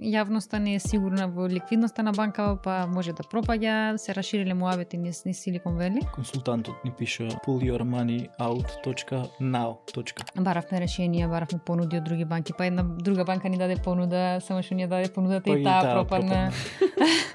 јавноста не е сигурна во ликвидноста на банкава, па може да пропаѓа, се расшириле муабети низ Silicon Valley. Консултантот ни пише pullyourmoneyout.now. Баравме решенија, баравме понуди од други банки, па една друга банка ни даде понуда, само што ни даде понудата и таа пропадна.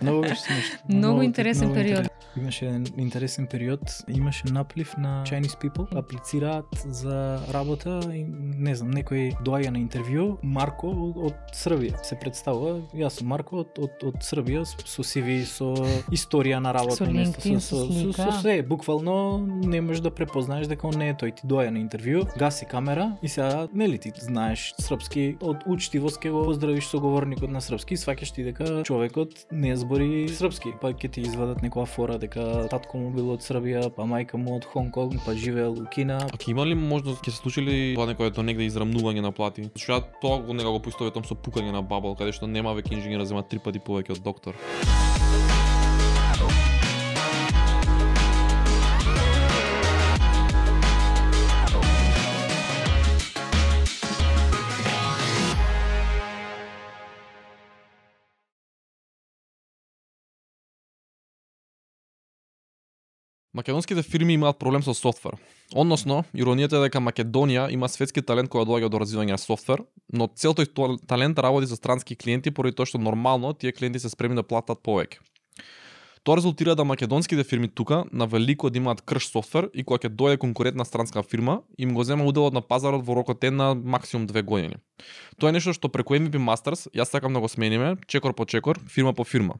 Многу беше смешно. Многу интересен период. Имаше еден интересен период, имаше наплив на Chinese people, аплицираат за работа и не знам, некој доаѓа на интервју, Марко од Србија се представува, јас сум Марко од Србија со CV, со историја на работа, со LinkedIn, со се, буквално не можеш да препознаеш дека он не е тој, ти доаѓа на интервју, гаси камера и сега нели ти знаеш српски, од учтивост ќе го поздравиш соговорникот на српски и сваќаш ти дека човекот не збори српски, па ќе ти извадат некоја фора дека татко му бил од Србија, па мајка му од Хонг Конг, па живеел у Кина. А ќе има ли можност, ќе се случи ли тоа некој до негде израмнување на плати? Зашто ја тоа го некако поистоветам со пукање на бабал, каде што нема веќе инженер зема 3 пати повеќе од доктор. Македонските фирми имаат проблем со софтвер. Односно, иронијата е дека Македонија има светски талент кој доаѓа до развивање на софтвер, но цел тој талент работи со странски клиенти поради тоа што нормално тие клиенти се спремни да платат повеќе. Тоа резултира да македонските фирми тука на велико да имаат крш софтвер и кога ќе дојде конкурентна странска фирма, им го зема уделот на пазарот во рокот една максимум 2 години. Тоа е нешто што преку MVP Masters јас сакам да го смениме, чекор по чекор, фирма по фирма.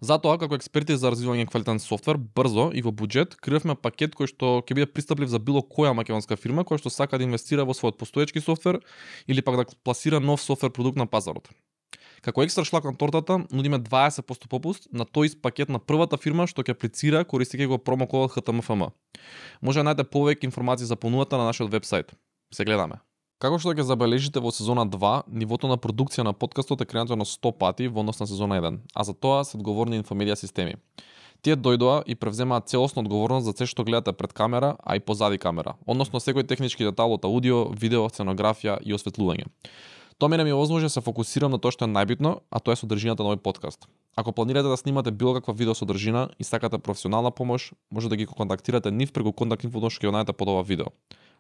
Затоа, како експерти за развивање квалитетен софтвер, брзо и во буџет, креавме пакет кој што ќе биде пристаплив за било која македонска фирма која што сака да инвестира во својот постоечки софтвер или пак да пласира нов софтвер продукт на пазарот. Како екстра шлак на тортата, нудиме 20% попуст на тој ист пакет на првата фирма што ќе аплицира користејќи го промокодот HTMFM. Може да најдете повеќе информации за понудата на нашиот вебсайт. Се гледаме. Како што ќе забележите во сезона 2, нивото на продукција на подкастот е креативно 100 пати во однос на сезона 1, а за тоа се одговорни инфомедија системи. Тие дојдоа и превземаат целосна одговорност за се што гледате пред камера, а и позади камера, односно секој технички детал од аудио, видео, сценографија и осветлување. Тоа мене ми овозможи да се фокусирам на тоа што е најбитно, а тоа е содржината на овој подкаст. Ако планирате да снимате било каква видео содржина и сакате професионална помош, може да ги контактирате нив преку контакт инфо што ќе најдете под ова видео.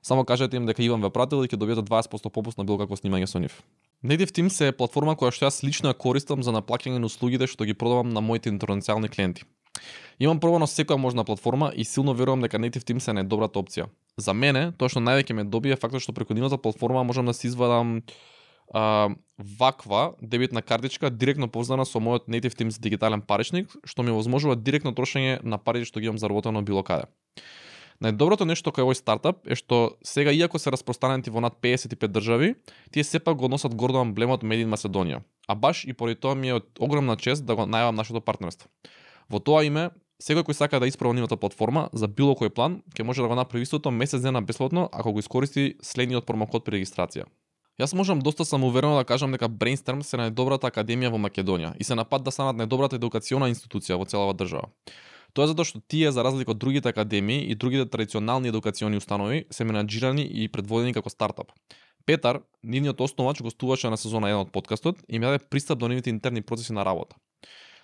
Само кажете им дека Иван ве пратил и ќе добиете 20% попуст на било какво снимање со нив. Native Teams е платформа која што јас лично ја користам за наплаќање на услугите што ги продавам на моите интернационални клиенти. Имам пробано секоја можна платформа и силно верувам дека Native Teams е најдобрата опција. За мене, тоа што највеќе ме добие е фактот што преку нивната платформа можам да си извадам ваква дебитна картичка директно поврзана со мојот Native Teams дигитален паричник, што ми овозможува директно трошење на парите што ги имам заработено било каде. Најдоброто нешто кај овој стартап е што сега, иако се распространети во над 55 држави, тие сепак го носат гордо емблемот Made in Macedonia. А баш и поради тоа ми е огромна чест да го најавам нашето партнерство. Во тоа име, секој кој сака да испроба нивната платформа за било кој план, ќе може да го направи истото месец дена бесплатно ако го искористи следниот промокод при регистрација. Јас можам доста самоуверено да кажам дека Brainstorm се најдобрата академија во Македонија и се на пат да станат најдобрата едукациона институција во целава држава. Тоа е затоа што тие, за разлика од другите академии и другите традиционални едукациони установи, се менаџирани и предводени како стартап. Петар, нивниот основач, гостуваше на сезона 1 од подкастот и ми даде пристап до нивните интерни процеси на работа.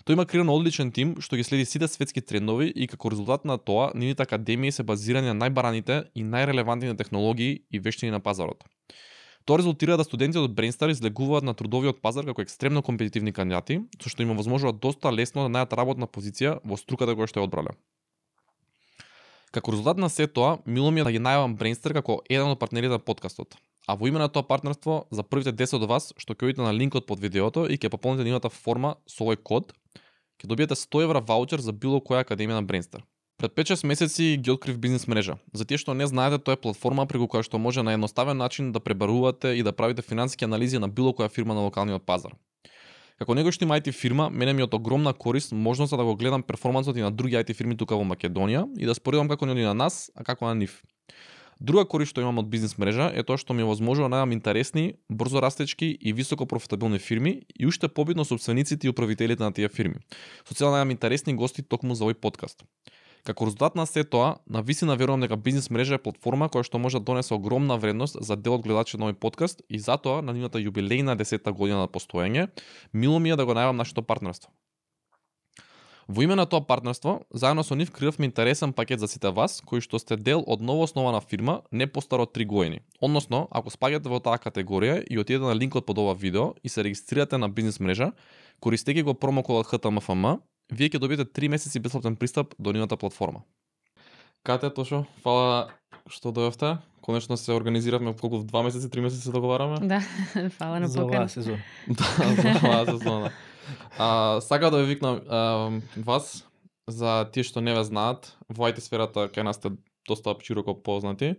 Тој има креиран одличен тим што ги следи сите светски трендови и како резултат на тоа, нивните академии се базирани на најбараните и најрелевантните технологии и вештини на пазарот. Тоа резултира да студентите од Brainstar излегуваат на трудовиот пазар како екстремно компетитивни кандидати, со што им овозможува доста лесно да најдат работна позиција во струката која што ја одбрале. Како резултат на сето тоа, мило ми е да ги најавам Brainstar како еден од партнерите на подкастот. А во име на тоа партнерство, за првите 10 од вас што ќе одите на линкот под видеото и ќе пополните нивната форма со овој код, ќе добиете 100 евра ваучер за било која академија на Brainstar. Пред 5-6 месеци ги открив бизнес мрежа. За тие што не знаете, тоа е платформа преку која што може на едноставен начин да пребарувате и да правите финансиски анализи на било која фирма на локалниот пазар. Како некој што има IT фирма, мене ми е од огромна корист можноста да го гледам перформансот и на други IT фирми тука во Македонија и да споредам како ни оди на нас, а како на нив. Друга корист што имам од бизнес мрежа е тоа што ми овозможува да најдам интересни, брзо растечки и високо профитабилни фирми и уште побитно собствениците и управителите на тие фирми. Со цел да најдам интересни гости токму за овој подкаст. Како резултат на се тоа, на висина верувам дека бизнис мрежа е платформа која што може да донесе огромна вредност за дел од гледачите на овој подкаст и затоа на нивната јубилејна 10-та година на постоење, мило ми е да го најавам нашето партнерство. Во име на тоа партнерство, заедно со нив креиравме интересен пакет за сите вас, кои што сте дел од новооснована фирма не постаро од 3 години. Односно, ако спаѓате во таа категорија и отидете на линкот под ова видео и се регистрирате на бизнис мрежа, користејќи го промокодот HTMFM, вие ќе добиете 3 месеци бесплатен пристап до нивната платформа. Кате, Тошо, фала што дојавте. Конечно се организиравме колку 2 месеци, 3 месеци се договараме. Да, фала на За оваа покана. сезон. Да, за оваа сезона. Сака да ве викнам вас за тие што не ве знаат, во IT сферата кај нас сте доста широко познати,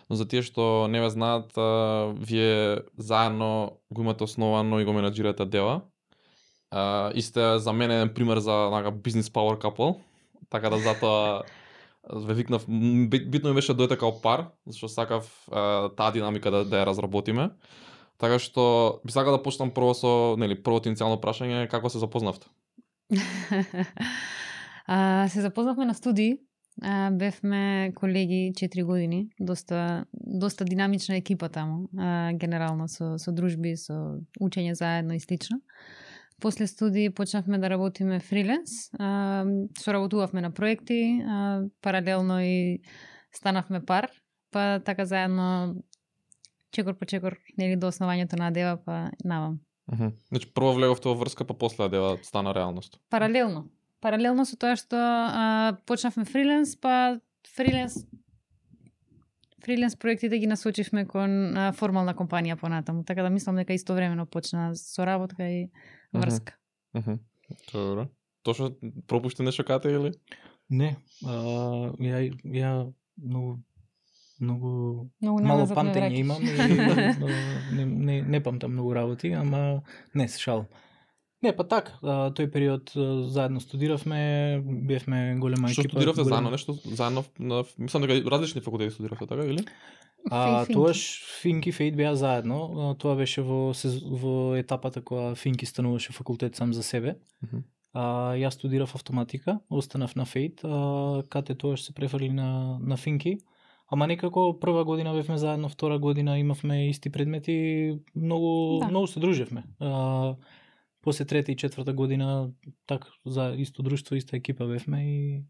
но за тие што не ве знаат, вие заедно го имате основано и го менаџирате Дева. И сте за мене еден пример за бизнес power couple, така да затоа ве викнав, битно ми беше дојдете као пар, зашто сакав таа динамика да ја разработиме. Така што би сакал да почнам прво со, првото иницијално прашање, како се запознавте? Се запознавме на студии. Бевме колеги 4 години, доста динамична екипа таму, генерално со дружби, со учење заедно и слично. После студии почнавме да работиме фриленс, соработувавме на проекти, паралелно и станавме пар, па така заедно чекор по чекор, до основањето на Дева, па навам. Значи прво влеговте во врска, па после Дева стана реалност. Паралелно со тоа што почнавме фриленс, па фриленс проектите ги насочивме кон формална компанија понатаму, така да мислам дека истовремено почна соработка и врска. Добро. Точно пропушти нешто кате или? Не, ја многу мало памтење имам и не памтам многу работи, ама не се шалам. Не, па така, тој период заедно студиравме, бевме голема екипа. Што студиравте заедно, нешто заедно, мислам дека различни факултети студиравте, така или? Тоаш Финки Фейт беа заедно, тоа беше во етапата кога Финки стануваше факултет сам за себе. Јас студирав автоматика, останав на Фейт, Кате тоаш се префрли на Финки. Ама некако прва година бевме заедно, втора година имавме исти предмети, многу се дружевме. После трета и четврта година така за исто друштво, иста екипа бевме и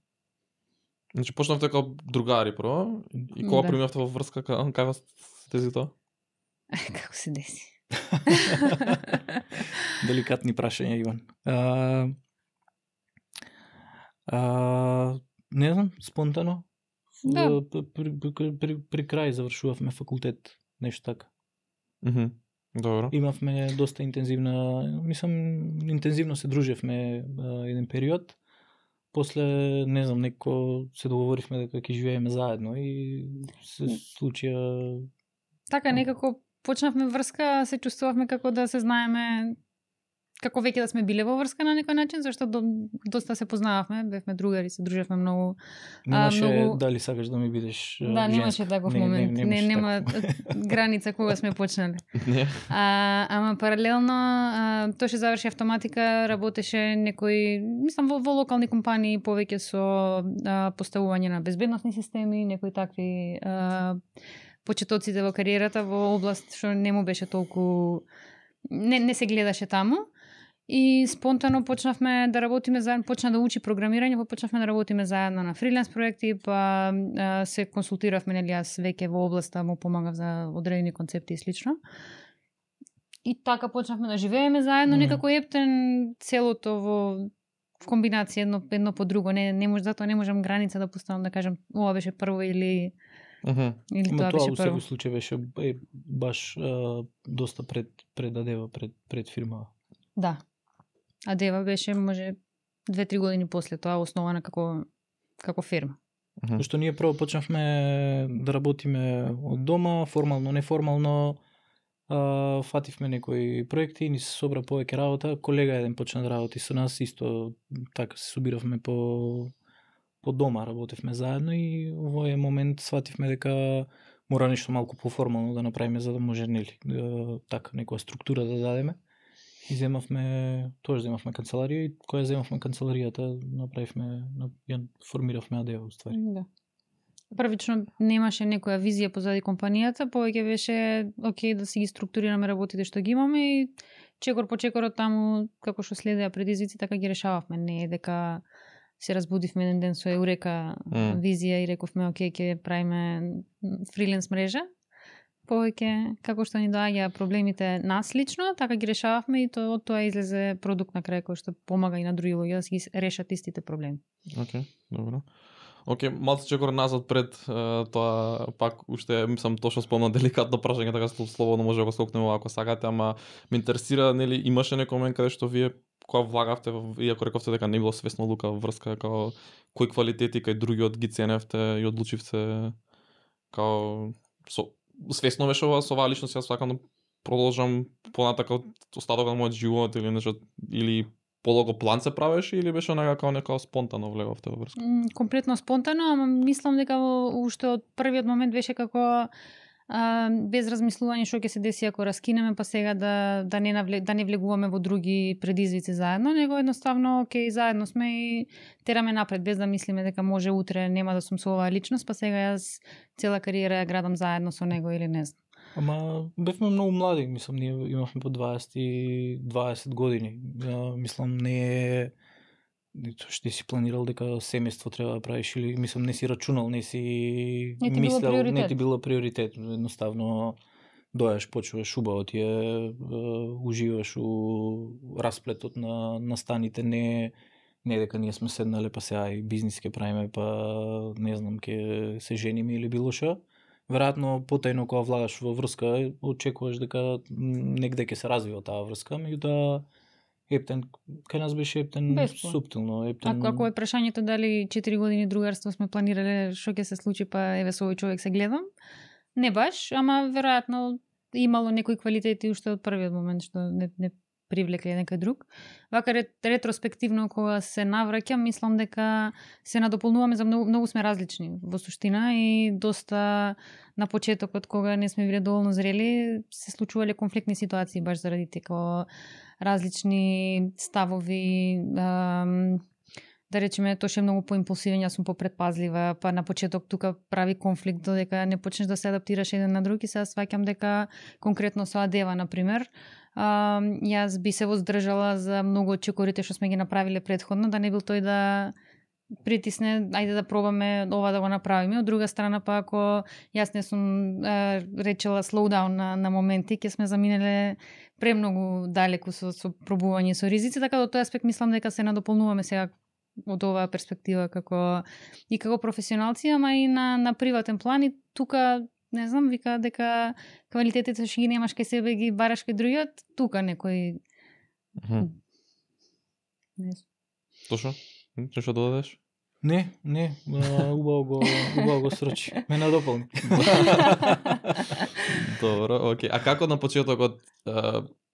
Значи почнавте како другари прво и кога преминавте во врска, како се деси тоа? Како се деси? Деликатни прашања, Иван. Не знам, спонтано. Да. При крај завршувавме факултет, нешто така. Добро. Имавме доста интензивно се дружевме еден период. После, не знам, некако се договоривме дека ќе живееме заедно и се случија... Така, некако почнавме врска, се чувствувавме како да се знаеме, како веќе да сме биле во врска на некој начин, зашто доста се познававме, бевме другари, се дружевме многу. Немаше дали сакаш да ми бидеш женска. Да, немаше таков момент. Нема граница кога сме почнале. Ама паралелно, тој што заврши автоматика, работеше некој, мислам, во локални компании, повеќе со поставување на безбедносни системи, некои такви почетоците во кариерата во област што не му беше толку не се гледаше таму. И спонтано почнавме да работиме заедно, почна да учи програмирање, па почнавме да работиме заедно на фриленс проекти, па се консултиравме, јас веќе во областа му помагав за одредени концепти и слично. И така почнавме да живееме заедно, некако ептен целото во комбинација едно по друго. Затоа не можам граница да поставам да кажам ова беше прво или тоа беше прво. Тоа во секој случај беше баш доста пред Адева, пред фирма. Да. Адева беше може 2-3 години после тоа основана како фирма. Што ние прво почнавме да работиме од дома, формално, неформално, фативме некои проекти, ни се собра повеќе работа, колега еден почна да работи со нас, исто така се собиравме по дома, работевме заедно и во овој момент свативме дека мора нешто малку поформално да направиме за да може така некоја структура да дадеме. И земавме канцеларија и која земавме канцеларијата, формиравме АД уствари. Да. Првично немаше некоја визија позади компанијата, повеќе беше окей да си ги структурираме работите што ги имаме и чекор по чекор таму како што следеа предизвици така ги решававме. Не е дека се разбудивме еден ден со еурека визија и рековме окей ќе правиме фриленс мрежа. Повеќе како што ни доаѓа проблемите нас лично, така ги решававме и од тоа излезе продукт на крај кој што помага и на други луѓе да си ги решат истите проблеми. Океј, добро. Океј, малку чекор назад пред тоа, пак уште мислам тоа што спомна деликатно прашање, така слободно може да го скокнеме ако сакате, ама ме интересира, нели имаше некој момент каде што вие кога влагавте, иако рековте дека не било свесно лука врска, као кои квалитети кај другиот ги ценевте и одлучивте као свесно беше ова со оваа личност, јас сакам да продолжам понатака остатокот на мојот живот или нешто, или полого план се правеше или беше некако спонтано влеговте во врска? Комплетно спонтано, ама мислам дека уште од првиот момент беше како без размислување што ќе се деси ако раскинеме, па сега да не влегуваме во други предизвици заедно, него едноставно окей, заедно сме и тераме напред без да мислиме дека може утре нема да сум со оваа личност, па сега јас цела кариера ја градам заедно со него или не знам. Ама бевме многу млади, мислам, ние имавме по 20 години. Мислам, не е што си планирал дека семејство треба да правиш или мислам не си рачунал, не си мислел, не ти било приоритет. Едноставно дојаш, почуваш убаво ти е, уживаш у расплетот на станите, не дека ние сме седнале па сега и бизнис ќе правиме, па не знам, ќе се жениме или било што. Веројатно потајно кога влагаш во врска, очекуваш дека негде ќе се развива таа врска, меѓутоа ептен, кај нас беше ептен суптилно. Ако е прашањето дали 4 години другарство сме планирале што ќе се случи, па еве со овој човек се гледам, не баш, ама веројатно имало некои квалитети уште од првиот момент што не привлекле некој друг. Вака ретроспективно кога се навраќам, мислам дека се надополнуваме за многу сме различни во суштина и доста на почетокот кога не сме биле доволно зрели, се случувале конфликтни ситуации баш заради дека различни ставови, да речеме, тоше многу поимпулсивен, јас сум попредпазлива, па на почеток тука прави конфликт додека не почнеш да се адаптираш еден на друг и сега сваќам дека конкретно со Адева, например, јас би се воздржала за многу од чекорите што сме ги направиле предходно, да не бил тој да притисне, ајде да пробаме ова да го направиме. Од друга страна, па ако јас не сум речела slowdown на моменти, ќе сме заминеле премногу далеку со пробување со ризици, така до тој аспект мислам дека се надополнуваме сега од оваа перспектива како професионалци, ама и на приватен план и тука не знам, вика дека квалитетите што ги немаш кај себе ги бараш кај другиот, тука некој не. Точно? Што додадеш? Не, убаво го срочи. Ме надополни. Добро, окей. А како на почетокот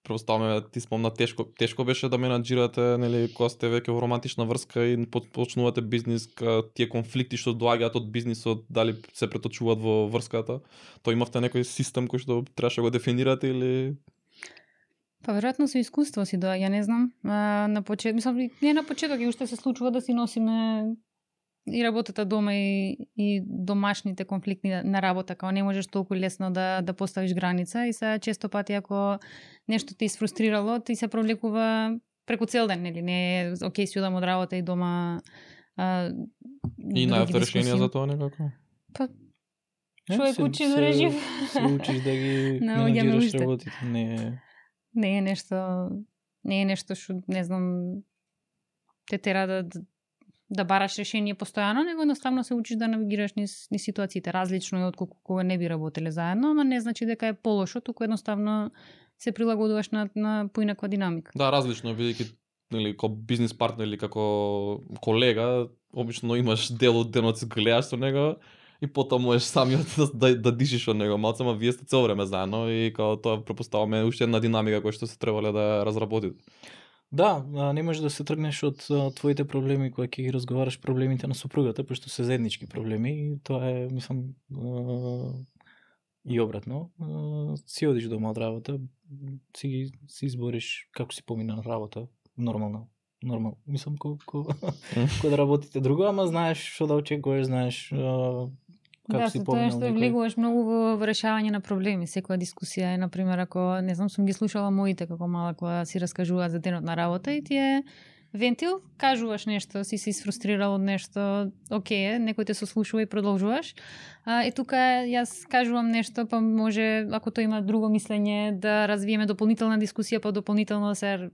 Проставаме, ти спомна, тешко беше да менаџирате, нели, кога сте веќе во романтична врска и почнувате бизнис, тие конфликти што доаѓаат од бизнисот, дали се преточуваат во врската? Тоа имавте некој систем кој што требаше го дефинирате или? Па веројатно со искуство си доаѓа, не знам. На почеток, мислам, не на почеток, и уште се случува да си носиме и работата дома и домашните конфликти на работа, као не можеш толку лесно да поставиш граница и сега често пати ако нешто ти изфрустрирало, ти се провлекува преку цел ден, нели? Не е окей си одам од работа и дома и најавте решение за тоа некако? Па човек учи да режи. Се учиш да ги менаџираш работите. Не е нешто што не знам те тера да бараш решение постојано, него едноставно се учиш да навигираш низ ситуациите. Различно е од кога не би работеле заедно, ама не значи дека е полошо, туку едноставно се прилагодуваш на поинаква динамика. Да, различно е, бидејќи нели како бизнис партнер или како колега, обично имаш дел од денот се гледаш со него и потоа можеш самиот да дишиш од него малку, ама вие сте цело време заедно и како тоа претпоставуваме уште една динамика која што се требале да разработите. Да, не можеш да се тргнеш од твоите проблеми кога ќе ги разговараш проблемите на супругата, пошто се заеднички проблеми и тоа е, мислам, И обратно, си одиш дома од работа, си избориш како си помина на работа, нормално. Мислам ко да работите друго, ама знаеш што да очекуваш, знаеш како си поминал. Да, тоа што влегуваш многу во решавање на проблеми. Секоја дискусија е, например, ако не знам, сум ги слушала моите како мала кога си раскажуваат за денот на работа и ти е вентил, кажуваш нешто, си се изфрустрирал од нешто, окей, некој те сослушува и продолжуваш. И тука јас кажувам нешто, па може, ако тој има друго мислење, да развиеме дополнителна дискусија, па дополнително да се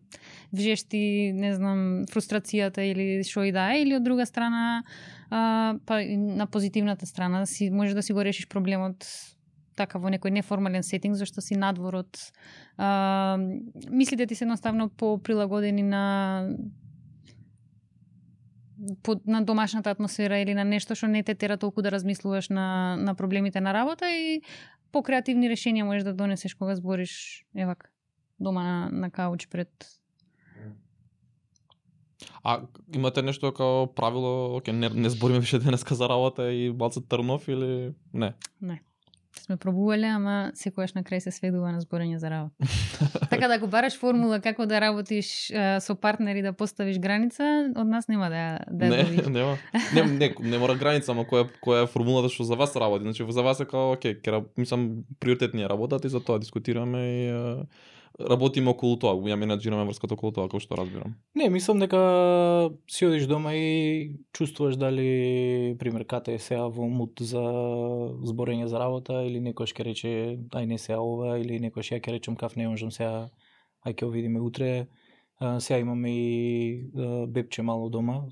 вжешти, не знам, фрустрацијата или што и да е, или од друга страна, па на позитивната страна, може да си го решиш проблемот така во некој неформален сетинг, зашто си надвор од мислите ти се едноставно поприлагодени на домашната атмосфера или на нешто што не те тера толку да размислуваш на проблемите на работа и по креативни решенија можеш да донесеш кога збориш евак дома на кауч пред. А имате нешто како правило, оке, не збориме више денеска за работа и балцат трнов или не? Не. Сме пробувале, ама секојаш на крај се сведува на зборење за работа. Така да ако бараш формула како да работиш со партнери да поставиш граница, од нас нема да добиш. Не мора граница, ама која е формулата што за вас работи? Значи за вас е како окей, мислам приоритетни работат и за тоа дискутираме и работиме околу тоа, ја менаџираме врската околу тоа, како што разбирам. Не, мислам дека си одиш дома и чувствуваш дали, пример, кате е сега во мут за зборење за работа или некој ќе рече ај не сега ова, или некој ја ќе речем каф не можам сега, ај ќе видиме утре. Сега имаме и бебче мало дома,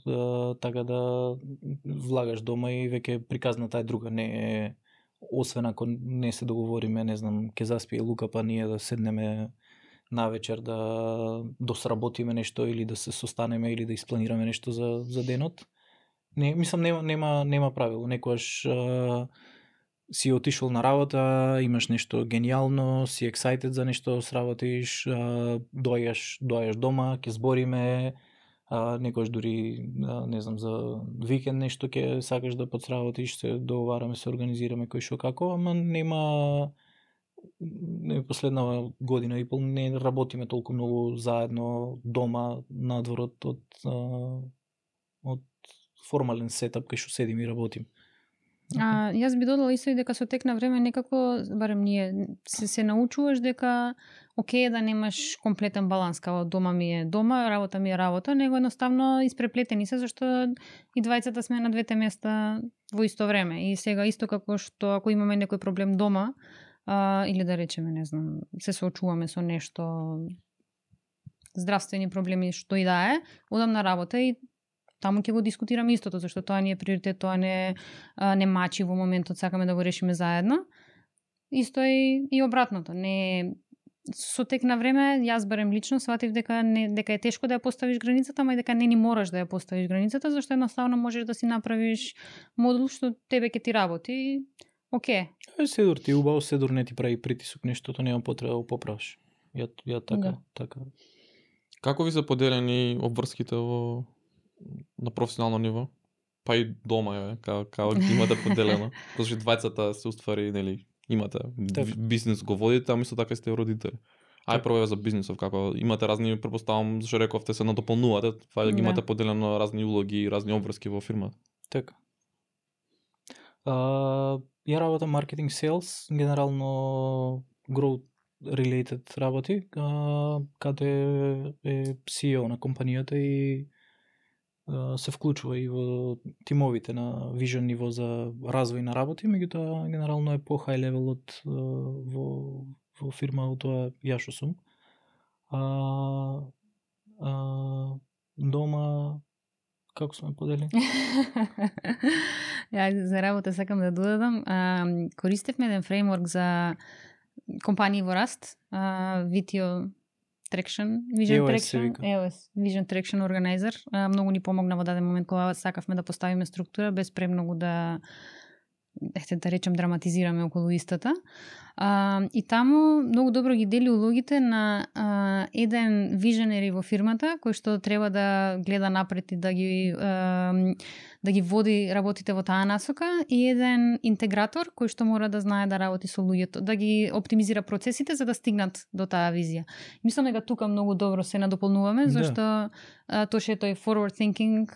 така да влагаш дома и веќе приказната е друга, не е освен ако не се договориме, не знам, ќе заспие Лука па ние да седнеме навечер да сработиме нешто или да се состанеме или да испланираме нешто за денот. Не, мислам нема правило. Некојаш си отишол на работа, имаш нешто гениално, си excited за нешто, сработиш, доаѓаш дома, ќе збориме, некојаш дури не знам за викенд нешто ќе сакаш да подсработиш, се договараме, се организираме кој што како, ама нема последна година и пол не работиме толку многу заедно дома надвор од формален сетап кај што седим и работим. Јас би додала исто и дека со тек на време некако, барем ние, се научуваш дека окей да немаш комплетен баланс, као дома ми е дома, работа ми е работа, него едноставно испреплетени се, зашто и двајцата сме на двете места во исто време. И сега исто како што ако имаме некој проблем дома, или да речеме, не знам, се соочуваме со нешто, здравствени проблеми, што и да е, одам на работа и таму ќе го дискутираме истото, зашто тоа ни е приоритет, тоа не мачи во моментот, сакаме да го решиме заедно. Исто и обратното. Не со тек на време, јас барем лично сватив дека е тешко да ја поставиш границата, ама и дека не ни мораш да ја поставиш границата, зашто едноставно можеш да си направиш модул што тебе ќе ти работи. Окей. Седор ти убаво, седор не ти прави притисок, нештото нема потреба да попраш. Ја така. Како ви се поделени обврските на професионално ниво? Па и дома како ги имате поделено? Зашто двајцата се уствари, нели, имате бизнес го водите, ама исто така сте родители. Ај прво за бизнисов, како имате разни, претпоставам, зашто рековте се надополнувате, тоа ги имате поделено разни улоги и разни обврски во фирмата. Така. Ја работам маркетинг селс, генерално growth related работи, каде е CEO на компанијата и се вклучува и во тимовите на вижен ниво за развој на работи, меѓутоа генерално е по high level од во фирма од тоа ја што сум. Дома како сме поделени? За работа сакам да додадам. Користевме еден фреймворк за компании во раст, VTO Traction, Vision Traction Organizer. Многу ни помогна во даден момент кога сакавме да поставиме структура без премногу да да речем, драматизираме околу истата. И таму многу добро ги дели улогите на еден виженери во фирмата, кој што треба да гледа напред и да ги води работите во таа насока, и еден интегратор кој што мора да знае да работи со луѓето, да ги оптимизира процесите за да стигнат до таа визија. Мислам дека тука многу добро се надополнуваме, зашто тоа што е тој forward thinking,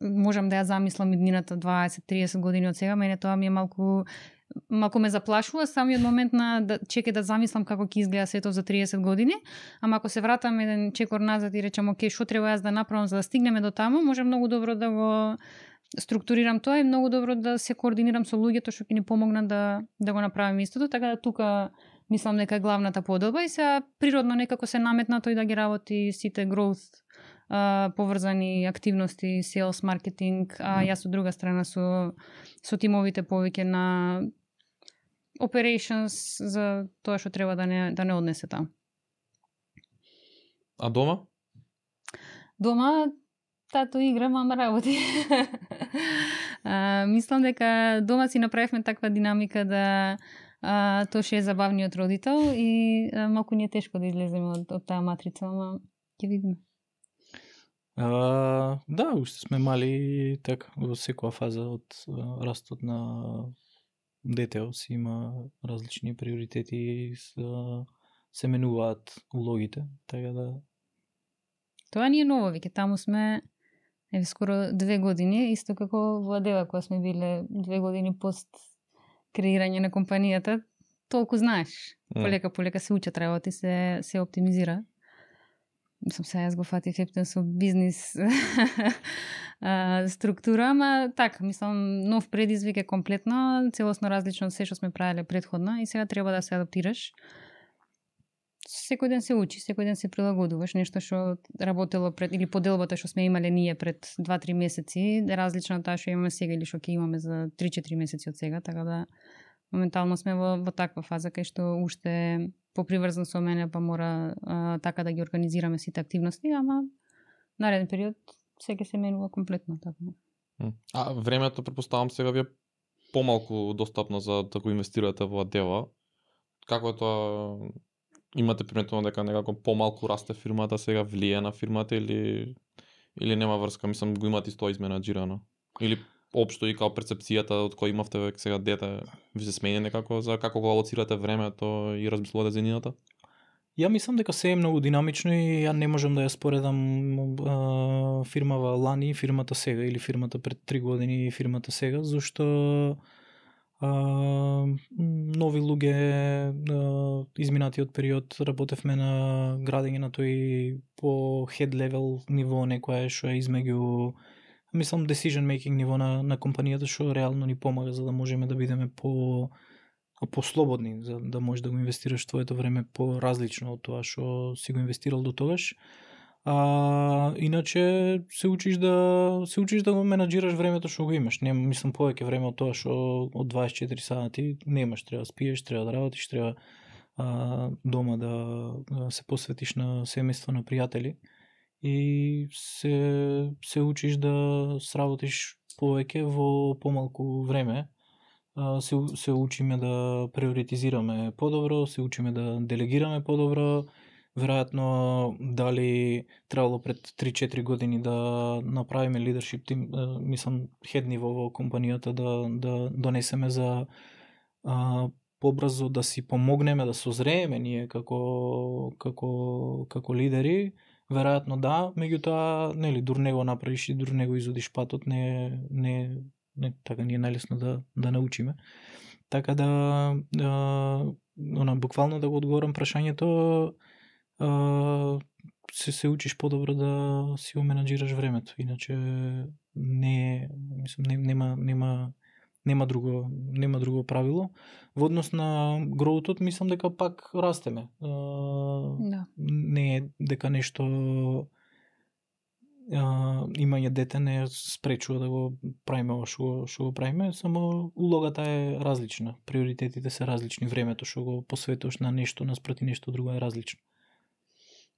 можам да ја замислам иднината 20-30 години од сега, мене тоа ми е малку ме заплашува самиот момент на да чекам да замислам како ќе изгледа сето за 30 години, ама ако се вратам еден чекор назад и речам окей, што треба јас да направам за да стигнеме до таму, може многу добро да го структурирам тоа и многу добро да се координирам со луѓето што ќе ни помогнат да го направиме истото, така да тука мислам дека е главната поделба и сега природно некако се наметна тој да ги работи сите growth поврзани активности, sales, маркетинг, а јас од друга страна со тимовите повеќе на operations за тоа што треба да не однесе таму. А дома? Дома тато игра, мама работи. Мислам дека дома си направивме таква динамика да тоа што е забавниот родител и малку ни е тешко да излеземе од таа матрица, ама ќе видиме. Да, уште сме мали така во секоја фаза од растот на детео си има различни приоритети и се менуваат улогите, така да тоа ни е ново, веќе таму сме скоро 2 години, исто како во Адела кога сме биле 2 години пост креирање на компанијата, толку знаеш. Полека се учат работи, се оптимизира. Мислам, сега јас го фатив ептен со бизнис структура, ама така, мислам, нов предизвик е комплетно, целосно различно од се што сме правеле предходно и сега треба да се адаптираш. Секој ден се учи, секој ден се прилагодуваш, нешто што работело пред, или поделбата што сме имале ние пред 2-3 месеци, различно од таа што имаме сега или што ќе имаме за 3-4 месеци од сега, така да моментално сме во таква фаза кај што уште поприврзан со мене, па мора така да ги организираме сите активности, ама нареден период се менува комплетно така. А времето претпоставам сега ви е помалку достапно за да го инвестирате во Адела. Како е тоа? Имате приметено дека некако помалку расте фирмата, сега влие на фирмата или нема врска, мислам го имате исто изменаџирано? Или општо и као перцепцијата од кој имавте век сега дете ви се смени некако за како го алоцирате времето и размислувате за иднината? Ја мислам дека се е многу динамично и ја не можам да ја споредам фирмава лани, фирмата сега или фирмата пред 3 години и фирмата сега, зашто нови луѓе изминатиот период работевме на градење на тој по head level ниво, некоја што е измеѓу мислам decision making ниво на компанијата, што реално ни помага за да можеме да бидеме по-слободни, за да можеш да го инвестираш твоето време по-различно од тоа што си го инвестирал до тогаш. Иначе се учиш да го менаџираш времето што го имаш. Не мислам повеќе време од тоа што од 24 сати немаш, треба да спиеш, треба да работиш, треба дома да се посветиш на семејство, на пријатели и се учиш да сработиш повеќе во помалку време. Се учиме да приоритизираме подобро, се учиме да делегираме подобро. Веројатно дали требало пред 3-4 години да направиме leadership team, мислам head ниво во компанијата да донесеме за побрзо да си помогнеме да созрееме ние како лидери. Веројатно да, меѓутоа нели дур него направиш и дур него изодиш патот, не така не е најлесно да научиме. Така да буквално да го одговорам прашањето, се учиш подобро да си го менаџираш времето, иначе нема друго правило. Во однос на гроутот мислам дека пак растеме. Не е дека нешто имање дете не спречува да го правиме ова што го правиме, само улогата е различна, приоритетите се различни, времето што го посветуваш на нешто наспроти нешто друго е различно.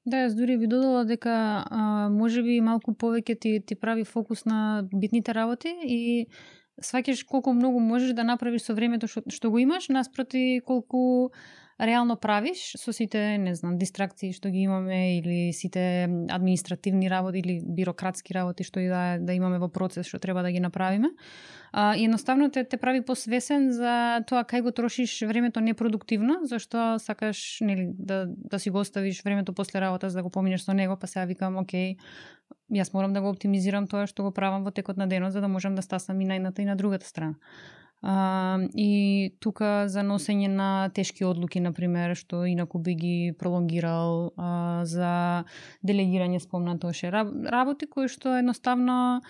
Да, јас дури би додала дека можеби малку повеќе ти прави фокус на битните работи и сваќаш колку многу можеш да направиш со времето што го имаш, наспроти колку реално правиш со сите, не знам, дистракции што ги имаме или сите административни работи или бирократски работи што и да имаме во процес што треба да ги направиме. И едноставно те прави посвесен за тоа кај го трошиш времето непродуктивно, зашто сакаш, нели, да си го оставиш времето после работа за да го поминеш со него, па сега викам, окей, јас морам да го оптимизирам тоа што го правам во текот на денот за да можам да стасам и на едната и на другата страна. И тука за носење на тешки одлуки, например, што инаку би ги пролонгирал, за делегирање спомнатоше работи кои што едноставно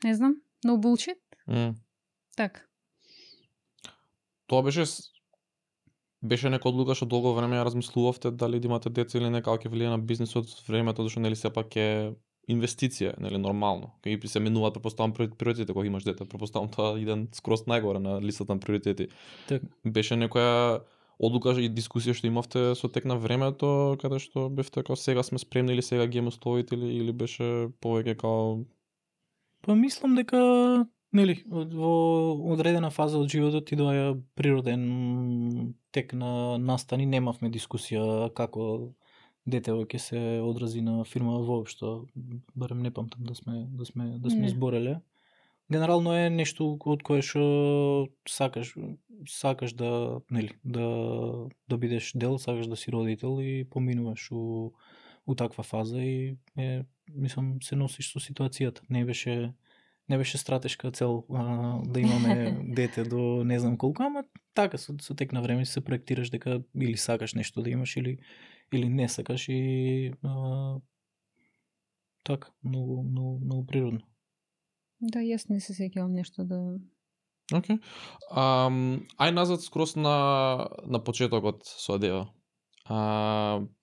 не знам, no bullshit. Так. Тоа беше нека одлука што долго време ја размислувавте дали да имате деца или не, како ќе влие на бизнисот времето, зашто нели сепак е инвестиција, нели нормално. Кога се менуваат претпоставам приоритетите кога имаш дете, претпоставам тоа иден скроз најгоре на листата на приоритети. Так. Беше некоја одлука и дискусија што имавте со тек на времето, каде што бевте како сега сме спремни или сега ги имаме условите или беше повеќе као... Па мислам дека нели во одредена фаза од животот ти доаѓа природен тек на настани, немавме дискусија како детево ќе се одрази на фирма воопшто, барем не памтам да сме збореле. Генерално е нешто од кое што сакаш да, нели, да бидеш дел, сакаш да си родител и поминуваш у таква фаза и мислам се носиш со ситуацијата. Не беше стратешка цел да имаме дете до не знам колку, ама така со тек на време се проектираш дека или сакаш нешто да имаш или не сакаш и така, многу природно. Да, јас не се сеќавам нешто да... Океј. Ај назад скроз на почетокот со Адева.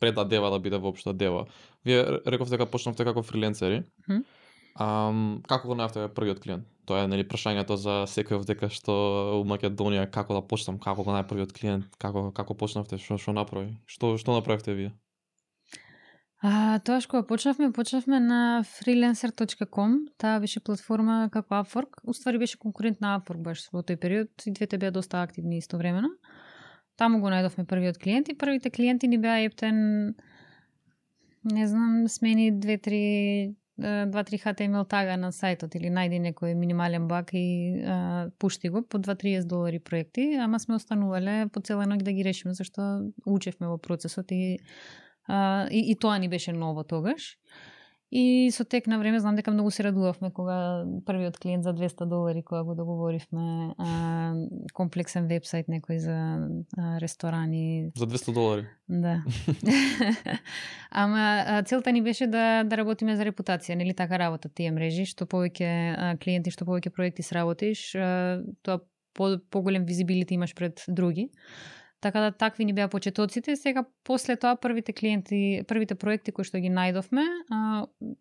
Пред Адева да биде воопшто Адева. Вие рековте дека почнавте како фриленцери. Како го најавте првиот клиент? Тоа е нели прашањето за секој дека што у Македонија како да почнам, како го најав првиот клиент, како почнавте, што направи? Што направивте вие? Тоа што почнавме на freelancer.com, таа беше платформа како Upwork, уствари беше конкурент на Upwork баш во тој период и двете беа доста активни истовремено. Таму го најдовме првиот клиент и првите клиенти ни беа ептен, не знам, смени 2-3 HTML тага на сајтот или најди некој минимален баг и пушти го по $2-30 проекти, ама сме останувале по цела ноќ да ги решиме зашто учевме во процесот и тоа ни беше ново тогаш. И со тек на време знам дека многу се радувавме кога првиот клиент за $200 кога го договоривме, комплексен вебсайт некој за ресторани. За $200? Да. Ама целта ни беше да работиме за репутација, нели така работат тие мрежи, што повеќе клиенти, што повеќе проекти сработиш, тоа поголем визибилити имаш пред други. Така да такви ни беа почетоците. Сега после тоа првите проекти кои што ги најдовме,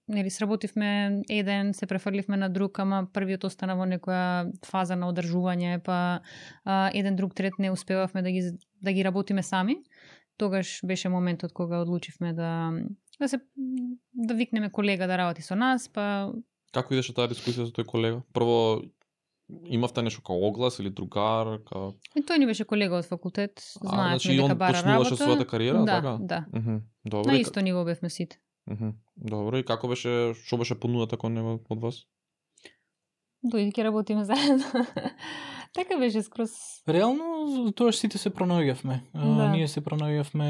нели сработивме еден, се префрливме на друг, ама првиот остана во некоја фаза на одржување, па еден друг трет не успевавме да ги работиме сами. Тогаш беше моментот кога одлучивме да викнеме колега да работи со нас, па... Како идеше таа дискусија со тој колега? Прво имавте нешто као оглас или другар? И тој ни беше колега од факултет, знаевме дека бара работа. Значи он почнуваше својата кариера, така? Да. Добро. На исто ниво бевме сите. Добро, и како беше, што беше понудата кон него од вас? дојди ќе работиме заедно. Така беше скроз. Реално тоа сите се пронаоѓавме. Да. Ние се пронаоѓавме,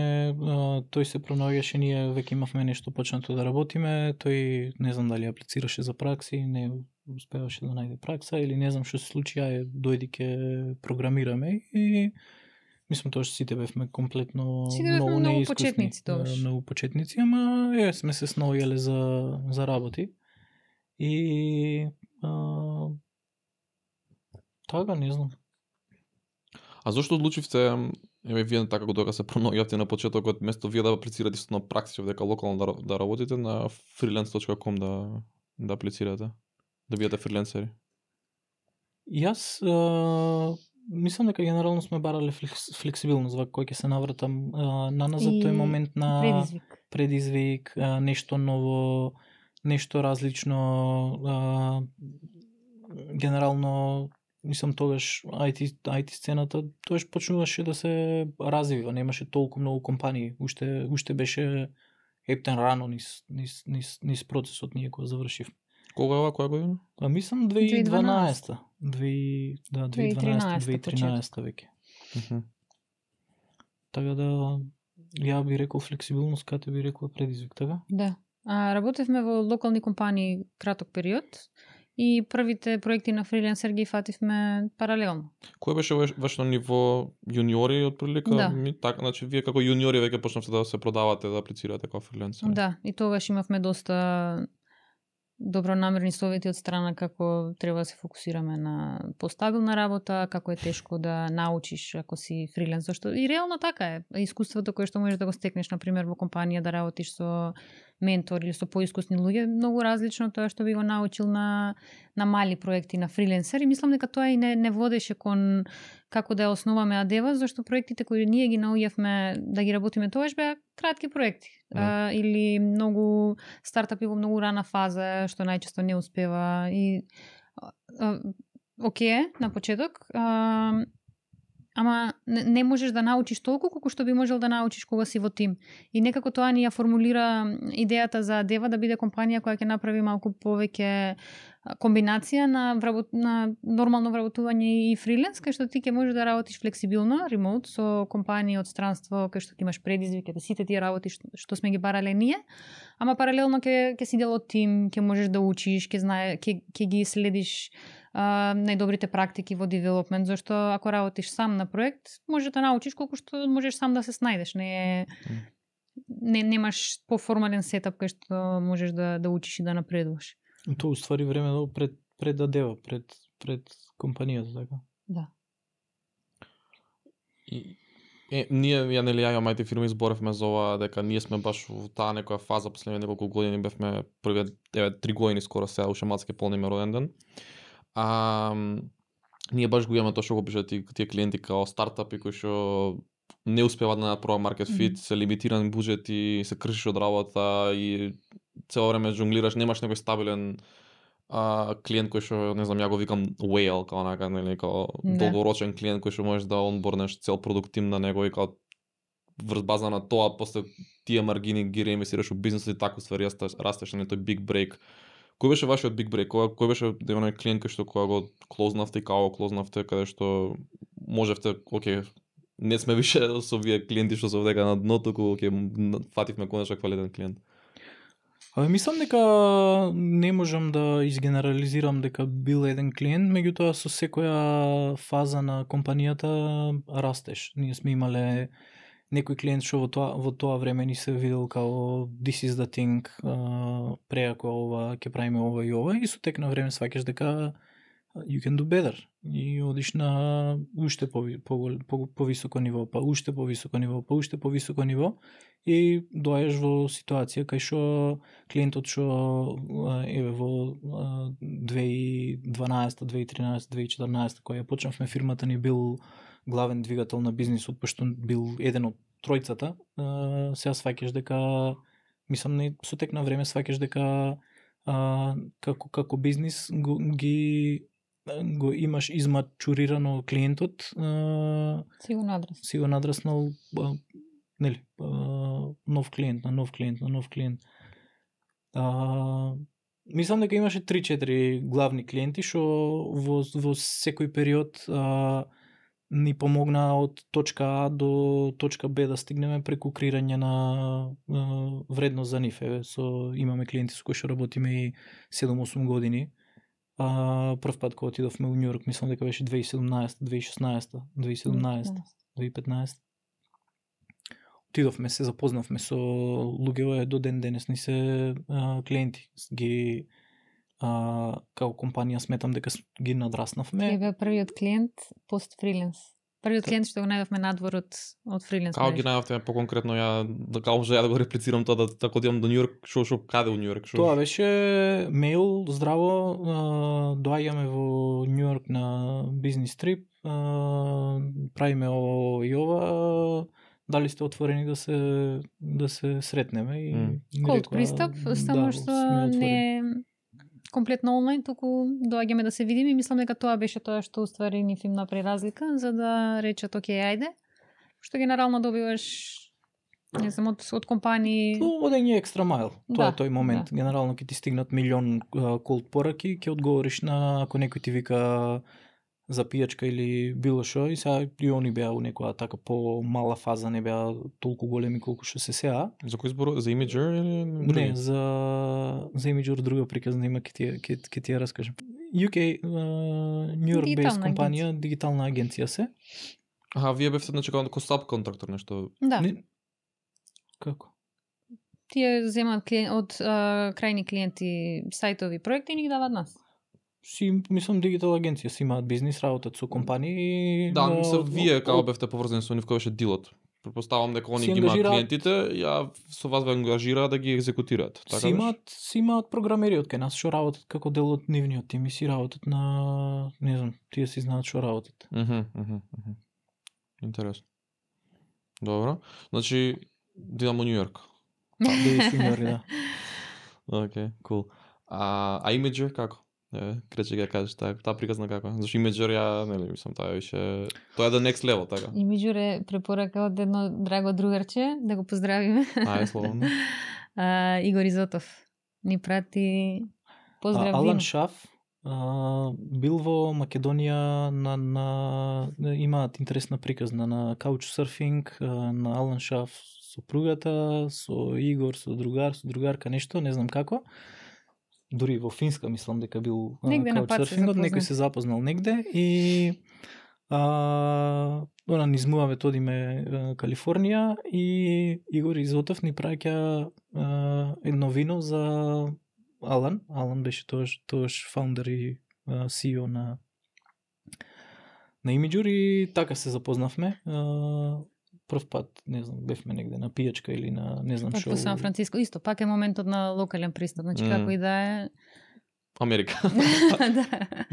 тој се пронаоѓаше, ние веќе имавме нешто почнато да работиме, тој не знам дали аплицираше за пракси, не успеваше да најде пракса или не знам што се случи, дојди ќе програмираме и мислам тоа што сите бевме комплетно многу почетници тогаш. Многу почетници, ама сме се снаоѓале за работи. И така, не знам. А зошто одлучивте, вие така кога се пронаоѓавте на почетокот, место вие да аплицирате на пракси дека локално да работите, на freelance.com да аплицирате, да бидете фриленсери? Јас мислам дека генерално сме барале флексибилност во кој ќе се навратам на нас за тој момент на предизвик, нешто ново, нешто различно, генерално мислам тогаш IT сцената тогаш почнуваше да се развива, немаше толку многу компании, уште беше ептен рано низ процесот ние кога завршивме. Кога е ова, која година? Мислам 2012. 2013 веќе. Така да ја би рекол флексибилност, кате би рекол предизвик, така? Да. Работевме во локални компании краток период и првите проекти на фриленсер ги фативме паралелно. Кој беше вашето ниво јуниори од прилика? Да. Така, значи вие како јуниори веќе почнавте да се продавате, да аплицирате како фриленсер. Да, и тогаш имавме доста добронамерни совети од страна како треба да се фокусираме на постабилна работа, како е тешко да научиш ако си фриленс, зашто и реално така е. Искуството кое што можеш да го стекнеш, на пример во компанија да работиш со ментор или со поискусни луѓе, многу различно тоа што би го научил на мали проекти на фриленсер, и мислам дека тоа и не водеше кон како да ја основаме Адева, зашто проектите кои ние ги наоѓавме да ги работиме тогаш беа кратки проекти. Или многу стартапи во многу рана фаза, што најчесто не успева и окей, на почеток, ама не можеш да научиш толку колку што би можел да научиш кога си во тим. И некако тоа ни ја формулира идејата за Адева да биде компанија која ќе направи малку повеќе комбинација на нормално вработување и фриленс, кај што ти ќе можеш да работиш флексибилно, ремоут, со компании од странство, кај што ќе имаш предизвик, да сите тие работи што сме ги барале ние, ама паралелно ќе си дел од тим, ќе можеш да учиш, ќе ги следиш најдобрите практики во девелопмент, зашто ако работиш сам на проект, можеш да научиш колку што можеш сам да се снајдеш. Немаш поформален сетап кај што можеш да учиш и да напредуваш. Тоа уствари време пред Адева, пред компанијата, така? Да. Ние ја имам IT фирми, зборевме за ова дека ние сме баш во таа некоја фаза последните неколку години, бевме првиот 3 години скоро сега уште мацке полниме роден ден. Ние баш го имаме тоа што го пишат тие клиенти као стартапи кои што не успеваат да најдат проба маркет фит, се лимитиран буџети, се кршиш од работа и цело време жонглираш, немаш некој стабилен клиент кој што, не знам, ја го викам whale, као онака, нели, као долгорочен клиент кој што можеш да онборнеш цел продукт тим на него и као врз база на тоа после тие маргини ги реинвестираш во бизнисот и така ствари растеш на тој big break. Кој беше вашиот big break? Кој беше оној клиент кој што кога го клознавте и као клознавте, каде што можевте, окей, не сме више со вие клиенти што се овдека на дно, туку окей, фативме конечно квалитетен клиент. Мислам дека не можам да изгенерализирам дека бил еден клиент, меѓутоа со секоја фаза на компанијата растеш. Ние сме имале некој клиент што во тоа време ни се видел као this is the thing, преако ова ќе правиме ова и ова, и со тек на време сваќаш дека you can do better и одиш на уште повисоко ниво, па уште повисоко ниво, па уште повисоко ниво и доаѓаш во ситуација кај што клиентот што еве во 2012, 2013, 2014 кога ја почнавме фирмата ни бил главен двигател на бизнисот, пошто бил еден од тројцата, сега сваќаш дека мислам не со тек на време сваќаш дека како бизнис го имаш измачурирано клиентот, си го надраснал нели, нов клиент. Мислам дека имаше 3-4 главни клиенти што во секој период ни помогна од точка А до точка Б да стигнеме преку креирање на вредност за нив. Имаме клиенти со кои што работиме и 7-8 години. Прв пат кога отидовме во Њујорк, мислам дека беше 2017, 2016, 2015. Отидовме, се запознавме со луѓе до ден денес ни се клиенти. Ги како компанија сметам дека ги надраснавме. Тој бе првиот клиент пост фриленс. Првиот клиент што го најдовме надвор од фриленс. Како ги најдовте поконкретно, ја да го реплицирам тоа, да така одам до Њујорк, што каде во Њујорк? Тоа беше мејл, здраво, доаѓаме во Њујорк на бизнис трип, правиме ова и ова, дали сте отворени да се сретнеме и Cold пристап, само што комплетно онлайн, туку доаѓаме да се видиме и мислам дека тоа беше тоа што уствари ни им направи разлика, за да речат окей, ајде. Што генерално добиваш не знам од компании. Одење екстра майл. Тоа е тој момент. Да. Генерално ќе ти стигнат милион колд пораки, ќе одговориш на ако некој ти вика за пијачка или било што, и сега и они беа у некоја така по-мала фаза, не беа толку големи колку што се сега. За кој збор? За Imgur или други? Не, за Imgur друга приказна има, ќе ти ја раскажам. UK, New York based компанија, дигитална агенција се. Вие бевте значи како сабконтрактор нешто? Да. Како? Тие земаат од крајни клиенти сајтови проекти и ни ги даваат нас. Мислам дигитал агенција си имаат бизнис, работат со компании. Да, мислам вие како бевте поврзани со нив, кој беше дилот. Предпоставам дека они ги имаат клиентите, ја со вас ве ангажираат да ги екзекутираат. Така си имаат програмери од кај нас што работат како дел од нивниот тим и си работат на, не знам, тие си знаат што работат. Интересно. Добро. Значи дидам у Њујорк. Да. Окей, кул. А Imgur како? Крече ќе кажеш таа приказна како? Зашто Imgur ја, нели, мислам, тоа е the next level, така. Imgur е препорака од едно драго другарче, да го поздравиме. Слободно. Игор Изотов ни прати поздрав. Алан Шаф бил во Македонија имаат интересна приказна на каучсерфинг, на Алан Шаф сопругата, со Игор, со другарка, нешто, не знам како. Дури во Финска мислам дека бил каучсерфингот, некој се запознал негде и она низмуваме одиме Калифорнија и Игор Изотов ни праќа едно вино за Алан. Алан беше тоаш фаундер и CEO на Imgur и така се запознавме. Прв пат, не знам, бевме негде на пијачка или на не знам што. По Сан Франциско исто, пак е моментот на локален пристап, значи како и да е Америка.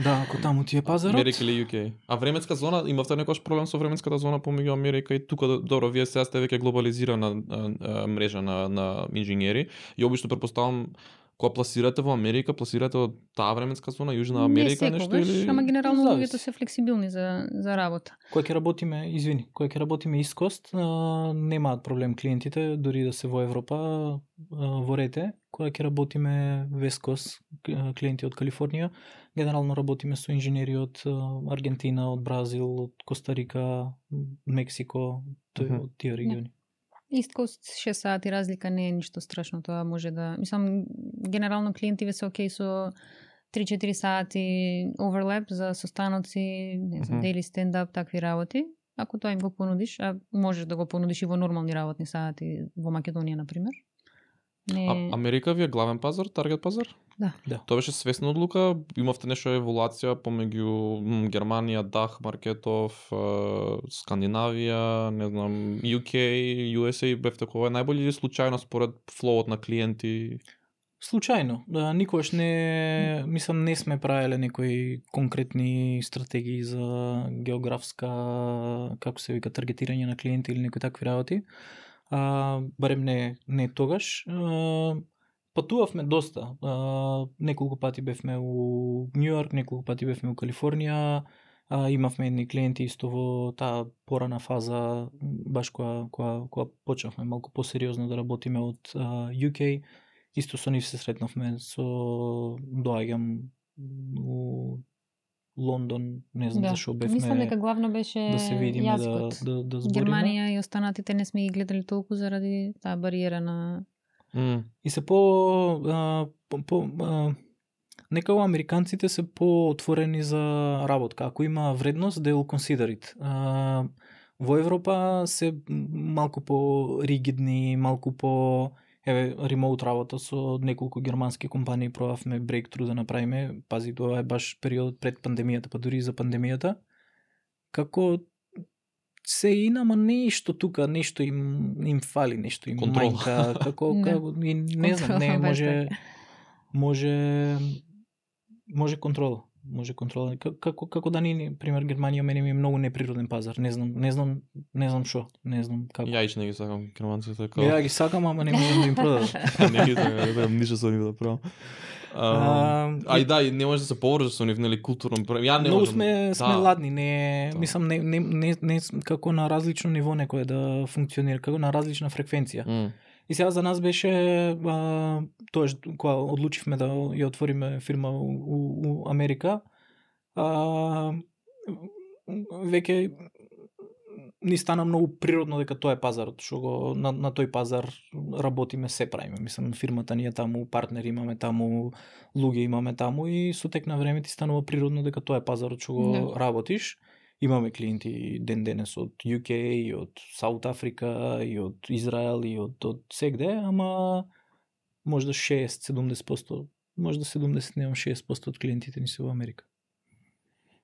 Да, ако таму ти е пазарот. Америка или UK. А временска зона, имавте некој проблем со временската зона помеѓу Америка и тука, добро, вие сега сте веќе глобализирана мрежа на инженери и обично претпоставам кога пласирате во Америка, пласирате од таа временска зона, Јужна Америка, не нешто или? Ама генерално луѓето се флексибилни за работа. Кога ќе работиме East Coast, немаат проблем клиентите, дури да се во Европа, во рете. Кога ќе работиме West Coast, клиенти од Калифорнија, генерално работиме со инженери од Аргентина, од Бразил, од Коста-Рика, Мексико, од тие региони. East Coast 6 сати разлика не е ништо страшно, тоа може да... Мислам, генерално клиентиве се окей со 3-4 сати оверлеп за состаноци, не знам, daily stand-up, такви работи. Ако тоа им го понудиш, а можеш да го понудиш и во нормални работни сати во Македонија, например. Америка ви е главен пазар, таргет пазар? Да. Тоа беше свесна одлука, имавте нешто еволуација помеѓу Германија, Дах, маркетов, Скандинавија, не знам, UK, USA, бевте кога е најбољи или случајно според флоот на клиенти? Случајно. Никогаш не, мислам, не сме правеле некои конкретни стратегии за географска, како се вика, таргетирање на клиенти или некои такви работи. Барем не тогаш. Патувавме доста. Неколку пати бевме у Њујорк, неколку пати бевме у Калифорнија. Имавме едни клиенти исто во таа порана фаза, баш кога почнавме малку посериозно да работиме од UK. Исто со нив се сретнавме, доаѓам у Лондон, не знам зашо бевме. Мислам дека главно беше да се видиме, јазикот. да збориме. Германија и останатите не сме ги гледали толку заради таа бариера на... И се некако американците се поотворени за работка. Ако има вредност, they will consider it. Во Европа се малку по-ригидни, малку по... ремоут работа со неколку германски компании пробавме breakthrough да направиме. Пази, тоа е баш период пред пандемијата, па дури за пандемијата. Како се инама нешто тука, нешто им фали, нешто им мајка, како не знам, не може контрола. Може контрола. Како да ни, пример, Германија мене ми е многу неприроден пазар. Не знам шо, не знам како. Ја ич не ги сакам германците. Ја ги сакам, ама не можам да им продадам. Не ги сакам, ништо со нив да правам. И да, и не може да се поврза со нив, нели, културно. Ја не многу можам. сме ладни, не мислам не како на различно ниво некој да функционира, како на различна фреквенција. И сега за нас беше тоа кога одлучивме да ја отвориме фирма у Америка, веќе ни стана многу природно дека тоа е пазарот, што го на тој пазар работиме, се правиме. Мислам, фирмата ни е таму, партнери имаме таму, луѓе имаме таму и со тек на време ти станува природно дека тоа е пазарот што го работиш. Имаме клиенти ден денес од UK, и од Саут Африка, и од Израел, и од сегде, ама може да 60-70%, може да 70, немам 60% од клиентите ни се во Америка.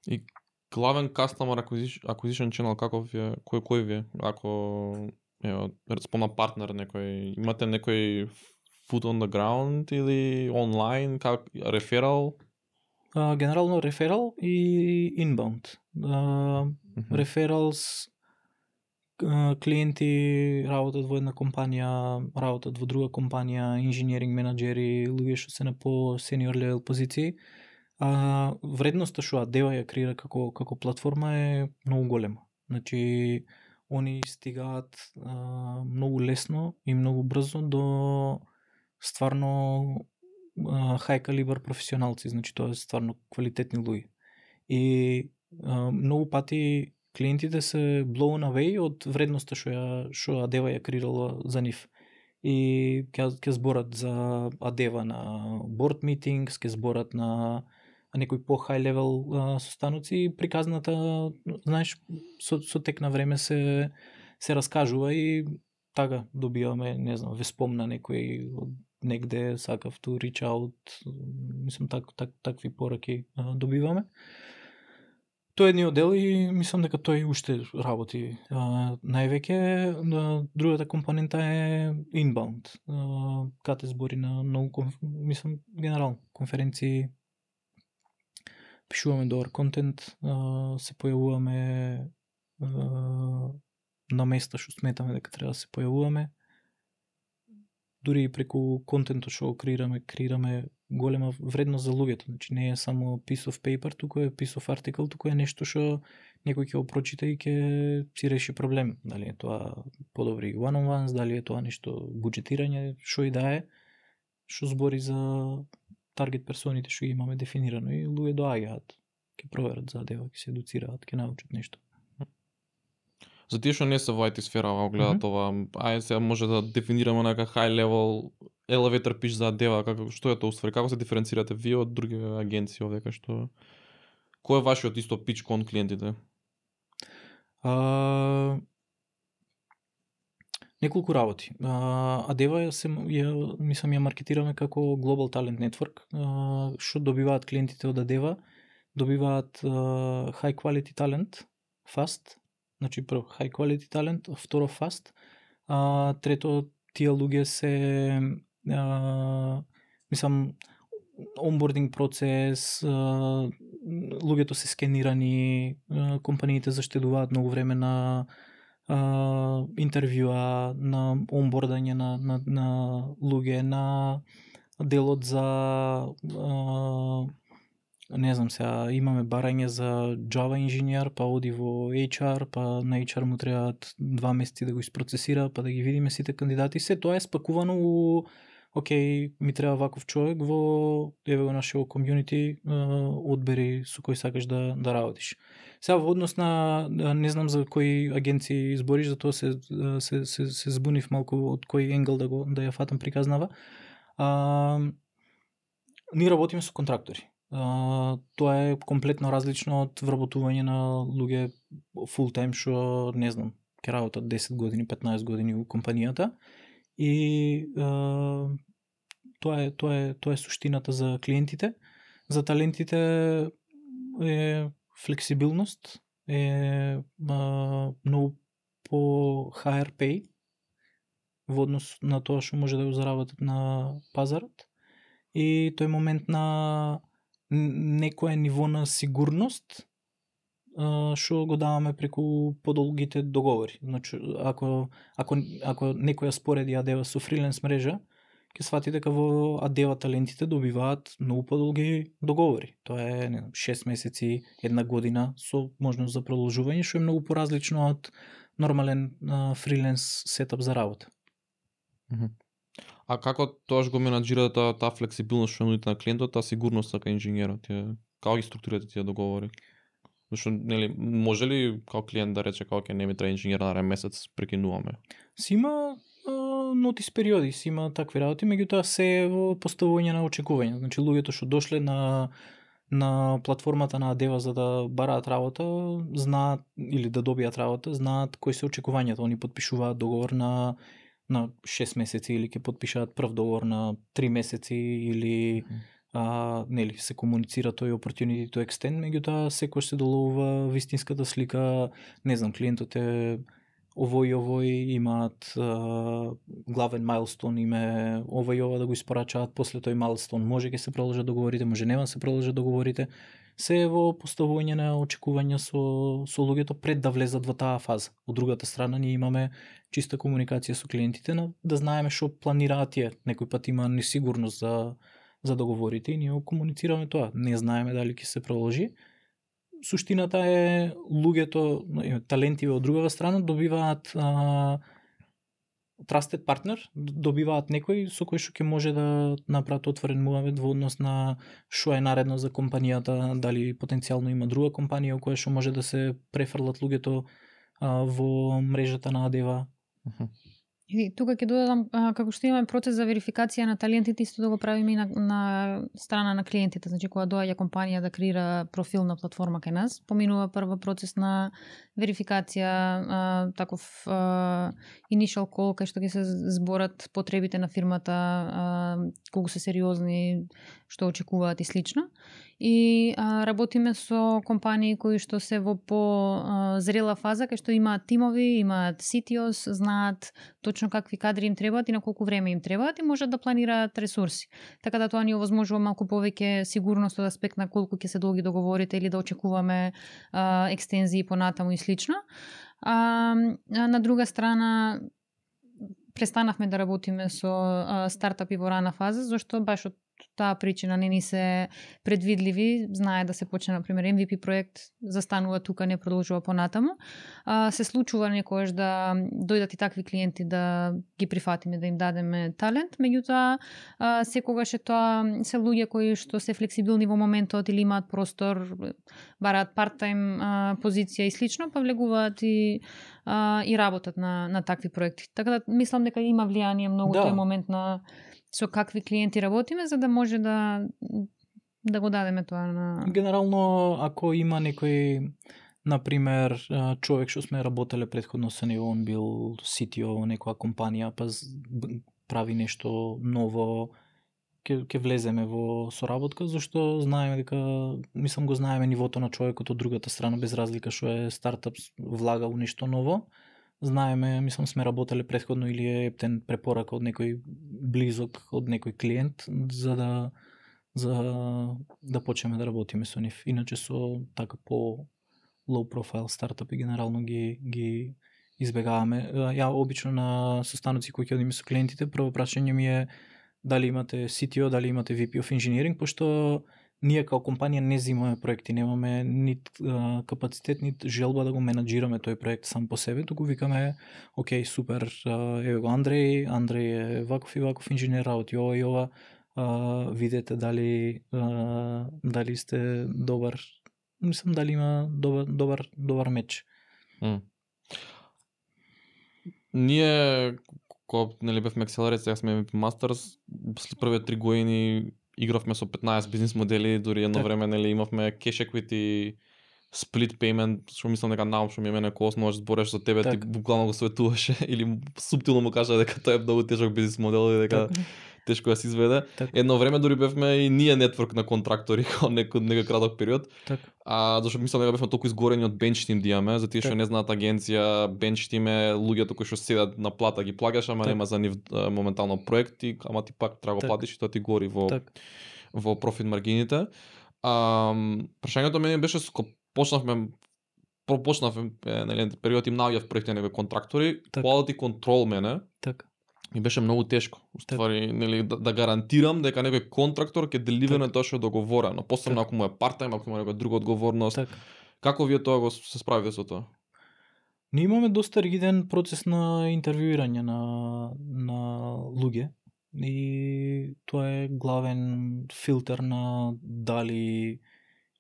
И главен customer acquisition channel каков е, кој ви е? Ако спомна партнер некој, имате некој foot on the ground или онлайн, как referral? Генерално referral и inbound. Referrals, клиенти работат во една компанија, работат во друга компанија, инженеринг менаџери, луѓе што се на по senior level позиции. Вредноста што Адева ја креира како платформа е многу голема. Значи, они стигаат многу лесно и многу брзо до стварно high caliber професионалци, значи тоа е стварно квалитетни луѓе. И многу пати клиентите се blown away од вредноста што Адева ја креирала за нив. И ќе зборат за Адева на board meetings, ќе зборат на некој по high level состаноци и приказната, знаеш, со тек на време се раскажува и така добиваме, не знам, ве спомна некој од негде сакав to reach out, мислам такви пораки добиваме. Тој е едниот дел и мислам дека тој уште работи највеќе. Другата компонента е inbound. Кате збори на многу, мислам, генерално конференции, пишуваме добар контент, се појавуваме на места што сметаме дека треба да се појавуваме. Дури и преку контентот што го креираме голема вредност за луѓето. Значи не е само piece of paper, туку е piece of article, туку е нешто што некој ќе го прочита и ќе си реши проблем. Дали е тоа подобри one-on-ones, дали е тоа нешто буџетирање, што и да е, што збори за таргет персоните што имаме дефинирано и луѓе доаѓаат, ќе проверат за Адева, ќе се едуцираат, ќе научат нешто. За тие што не се во IT сфера, гледат ова, ајде сега може да дефинираме нека high level elevator pitch за Адева, што е тоа уствари, како се диференцирате вие од други агенции овде, што кој е вашиот исто pitch кон клиентите? Неколку работи. Адева мислам ја маркетираме како Global Talent Network. Што добиваат клиентите од Адева? Добиваат high quality talent, fast. Значи прво high quality talent, второ fast. Трето, тие луѓе се мислам онбординг процес, луѓето се скенирани, компаниите заштедуваат многу време на интервјуа, на онбордање на луѓе, на делот за не знам сега, имаме барање за Java инженер, па оди во HR, па на HR му требаат 2 месеци да го isprocesира, па да ги видиме сите кандидати. Се тоа е спакувано у окей, ми треба ваков човек во еве го нашето комјунити, одбери со кој сакаш да работиш. Сега во однос на не знам за кои агенции збориш, затоа се збунив малку од кој енгл да ја фатам приказнава. Ние работиме со контрактори. Тоа е комплетно различно од вработување на луѓе full time што не знам, ќе работат 10 години, 15 години у компанијата и тоа е суштината за клиентите. За талентите е флексибилност, е многу по higher pay во однос на тоа што може да го заработат на пазарот и тој момент на некое ниво на сигурност што го даваме преку подолгите договори. Значи, ако некоја спореди Адева со фриленс мрежа ќе свати дека во Адева талентите добиваат многу подолги договори. Тоа е 6 месеци, 1 година со можност за продолжување, што е многу поразлично од нормален фриленс сетап за работа. А како тоаш го менаџирате таа флексибилност што нудите на клиентот, таа сигурност како инженерот? Како ги структурирате тие договори? Зашто нели може ли како клиент да рече како ќе не ми треба инженер нареден месец, прекинуваме? Си има нотис периоди, си има такви работи, меѓутоа се е во поставување на очекувања. Значи луѓето што дошле на платформата на Адева за да бараат работа, знаат или да добијат работа, знаат кои се очекувањата. Они подпишуваат договор на 6 месеци или ќе подпишаат прв договор на 3 месеци или нели се комуницира тој opportunity to extend, меѓутоа секој се доловува вистинската слика. Не знам, клиентот е овој имаат главен майлстон, име ова и ова да го испорачаат, после тој майлстон може ќе се продолжат договорите, може нема се продолжат договорите. Се е во поставување на очекувања со луѓето пред да влезат во таа фаза. Од другата страна ние имаме чиста комуникација со клиентите, да знаеме што планираат тие. Некој пат има несигурност за договорите и ние комуницираме тоа. Не знаеме дали ќе се продолжи. Суштината е луѓето, талентиве од другава страна добиваат trusted partner, добиваат некој со кој што ќе може да направат отворен муавет во однос на што е наредно за компанијата, дали потенцијално има друга компанија која што може да се префрлат луѓето во мрежата на Адева. И тука ќе додадам, како што имаме процес за верификација на талентите, исто да го правиме и на страна на клиентите. Значи, кога доаѓа компанија да креира профил на платформа кај нас, поминува прва процес на верификација, таков initial call, кај што ќе се зборат потребите на фирмата, колку се сериозни, што очекуваат и слично. И работиме со компании кои што се во по-зрела фаза, кај што имаат тимови, имаат CTOs, знаат точно какви кадри им требаат и на колку време им требаат и можат да планираат ресурси. Така да тоа ни овозможува малку повеќе сигурност од аспект на колку ќе се долги договорите или да очекуваме екстензии понатаму и слично. На друга страна, престанавме да работиме со стартапи во рана фаза, зашто баш од таа причина не ни се предвидливи, знае да се почне, например, MVP проект, застанува тука, не продолжува понатаму. Се случува некојаш да дојдат и такви клиенти да ги прифатиме, да им дадеме талент, меѓутоа секогаш е тоа се луѓе кои што се флексибилни во моментот или имаат простор, бараат part-time позиција и слично, па влегуваат и работат на такви проекти. Така да мислам дека има влијание многу тој момент на со какви клиенти работиме, за да може да го дадеме тоа на... Генерално, ако има некој, например, човек што сме работеле предходно со него, он бил CTO во некоја компанија, па прави нешто ново, ќе влеземе во соработка, зашто знаеме дека, мислам го знаеме нивото на човекот од другата страна, без разлика што е стартап, влага во нешто ново. Знаеме, мислам сме работеле предходно или е ептен препорака од некој близок, од некој клиент, за да почнеме да работиме со нив. Иначе со така по low profile стартапи генерално ги избегаваме. Ја обично на состаноци кои ќе одиме со клиентите, прво прашање ми е дали имате CTO, дали имате VP of Engineering, пошто ние као компанија не зимаме проекти, немаме нит капацитет, нит желба да го менаџираме тој проект сам по себе, туку викаме, окей, супер, еве го Андреј е ваков и ваков инженер, работи ова и ова, видете дали сте добар, мислам дали има добар меч. Ние, кога нели бевме Accelerate, сега сме Masters, след првите 3 години игравме со 15 бизнис модели, дури едно време нели имавме cash equity, split payment, што мислам дека научно ми е мене кога можеш збореш за тебе, ти буквално го советуваше или субтилно му кажа дека тоа е многу тежок бизнис модел и дека тешко да се изведе. Едно време дури бевме и ние нетворк на контрактори кога некој краток период. Зашто мислам дека бевме толку изгорени од bench team да имаме, за тие што не знаат агенција, bench team е луѓето кои што седат на плата ги плагаш, ама нема за нив моментално проекти, ама ти пак треба го платиш и тоа ти гори во профит маргините. Прашањето мене беше почнавме нели период им наоѓав проекти на контрактори, quality control мене. ми беше многу тешко. Уствари, нели, да гарантирам дека некој контрактор ќе деливерне тоа што е договорено, посебно ако му е парт-тајм, ако има некоја друга одговорност. Како вие тоа го се справите со тоа? Ние имаме доста ригиден процес на интервјуирање на луѓе и тоа е главен филтер на дали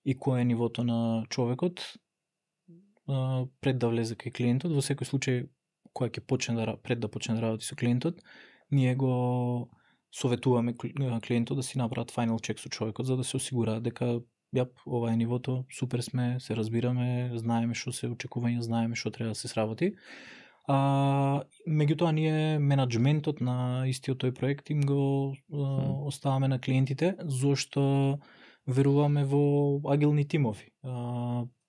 и кој е нивото на човекот пред да влезе кај клиентот. Во секој случај која ќе почне пред да почне да работи со клиентот, ние го советуваме клиентот да си направат final check со човекот за да се осигураат дека ова е нивото, супер сме, се разбираме, знаеме што се очекувања, знаеме што треба да се сработи. Меѓутоа ние менаџментот на истиот тој проект им го оставаме на клиентите, зашто веруваме во агилни тимови.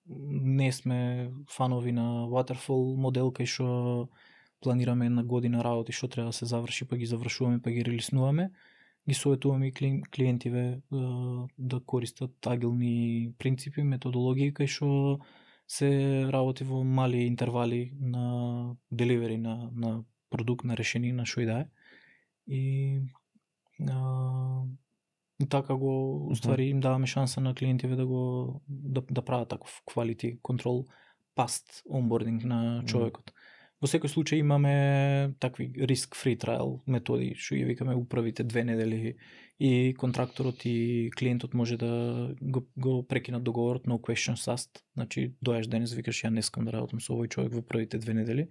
Не сме фанови на waterfall модел кај што планираме една година работи што треба да се заврши, па ги завршуваме, па ги релиснуваме. Ги советуваме и клиентиве да користат агилни принципи, методологии кај што се работи во мали интервали на деливери на продукт, на решение, на што и да е. И така го уствари им даваме шанса на клиентиве да прават таков quality control past onboarding на човекот. Во секој случај имаме такви risk-free trial методи, што ги викаме управите 2 недели и контракторот и клиентот може да го прекинат договорот no questions asked. Значи, дојаш денес, викаш ја не искам да работам со овој човек во првите 2 недели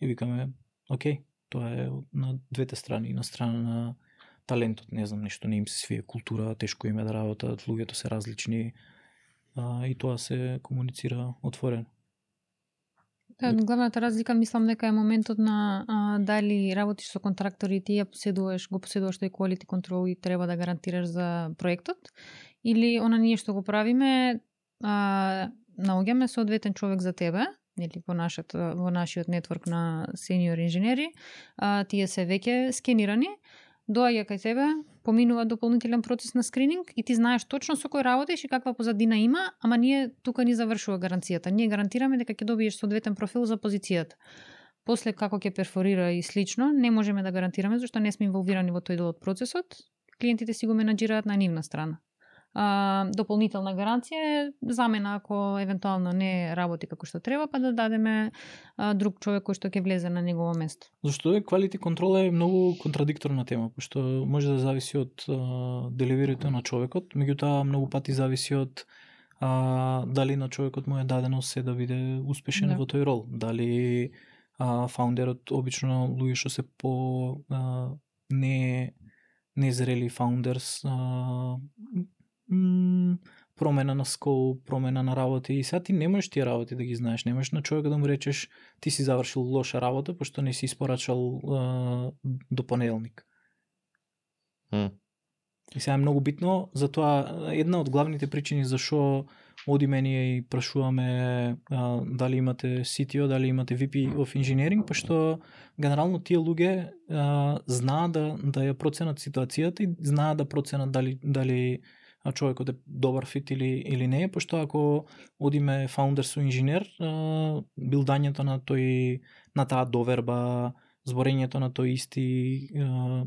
и викаме, окей, тоа е на двете страни, на страна на талентот, не знам, нешто не им се свие, култура, тешко им е да работат, луѓето се различни и тоа се комуницира отворено. Главната разлика мислам дека е моментот на дали работиш со контрактори и ти го поседуваш тој quality control и треба да гарантираш за проектот, или она ние што го правиме, наоѓаме соодветен човек за тебе, или во нашиот нетворк на сениор инженери, тие се веќе скенирани, доаѓа кај тебе, поминува дополнителен процес на скрининг и ти знаеш точно со кој работиш и каква позадина има, ама ние тука ни завршува гаранцијата. Ние гарантираме дека ќе добиеш соодветен профил за позицијата. После како ќе перфорира и слично, не можеме да гарантираме зашто не сме инволвирани во тој дел од процесот. Клиентите си го менаџираат на нивна страна. Дополнителна гаранција е замена ако евентуално не работи како што треба, па да дадеме друг човек кој што ќе влезе на негово место. Зашто quality control е многу контрадикторна тема, пошто може да зависи од деливерито на човекот, меѓутоа многу пати зависи од дали на човекот му е дадено се да биде успешен во тој рол, дали фаундерот, обично луѓе што се по незрели фаундерс, промена на скоп, промена на работи и сега ти не можеш тие работи да ги знаеш, не можеш на човека да му речеш ти си завршил лоша работа пошто не си испорачал до понеделник. И сега е многу битно, затоа една од главните причини зашо одиме ние и прашуваме дали имате CTO, дали имате VP of Engineering, пошто генерално тие луѓе знаат да ја проценат ситуацијата и знаат да проценат дали човекот е добар фит или не, пошто ако одиме фаундер со инженер, билдањето на таа доверба, зборењето на тој исти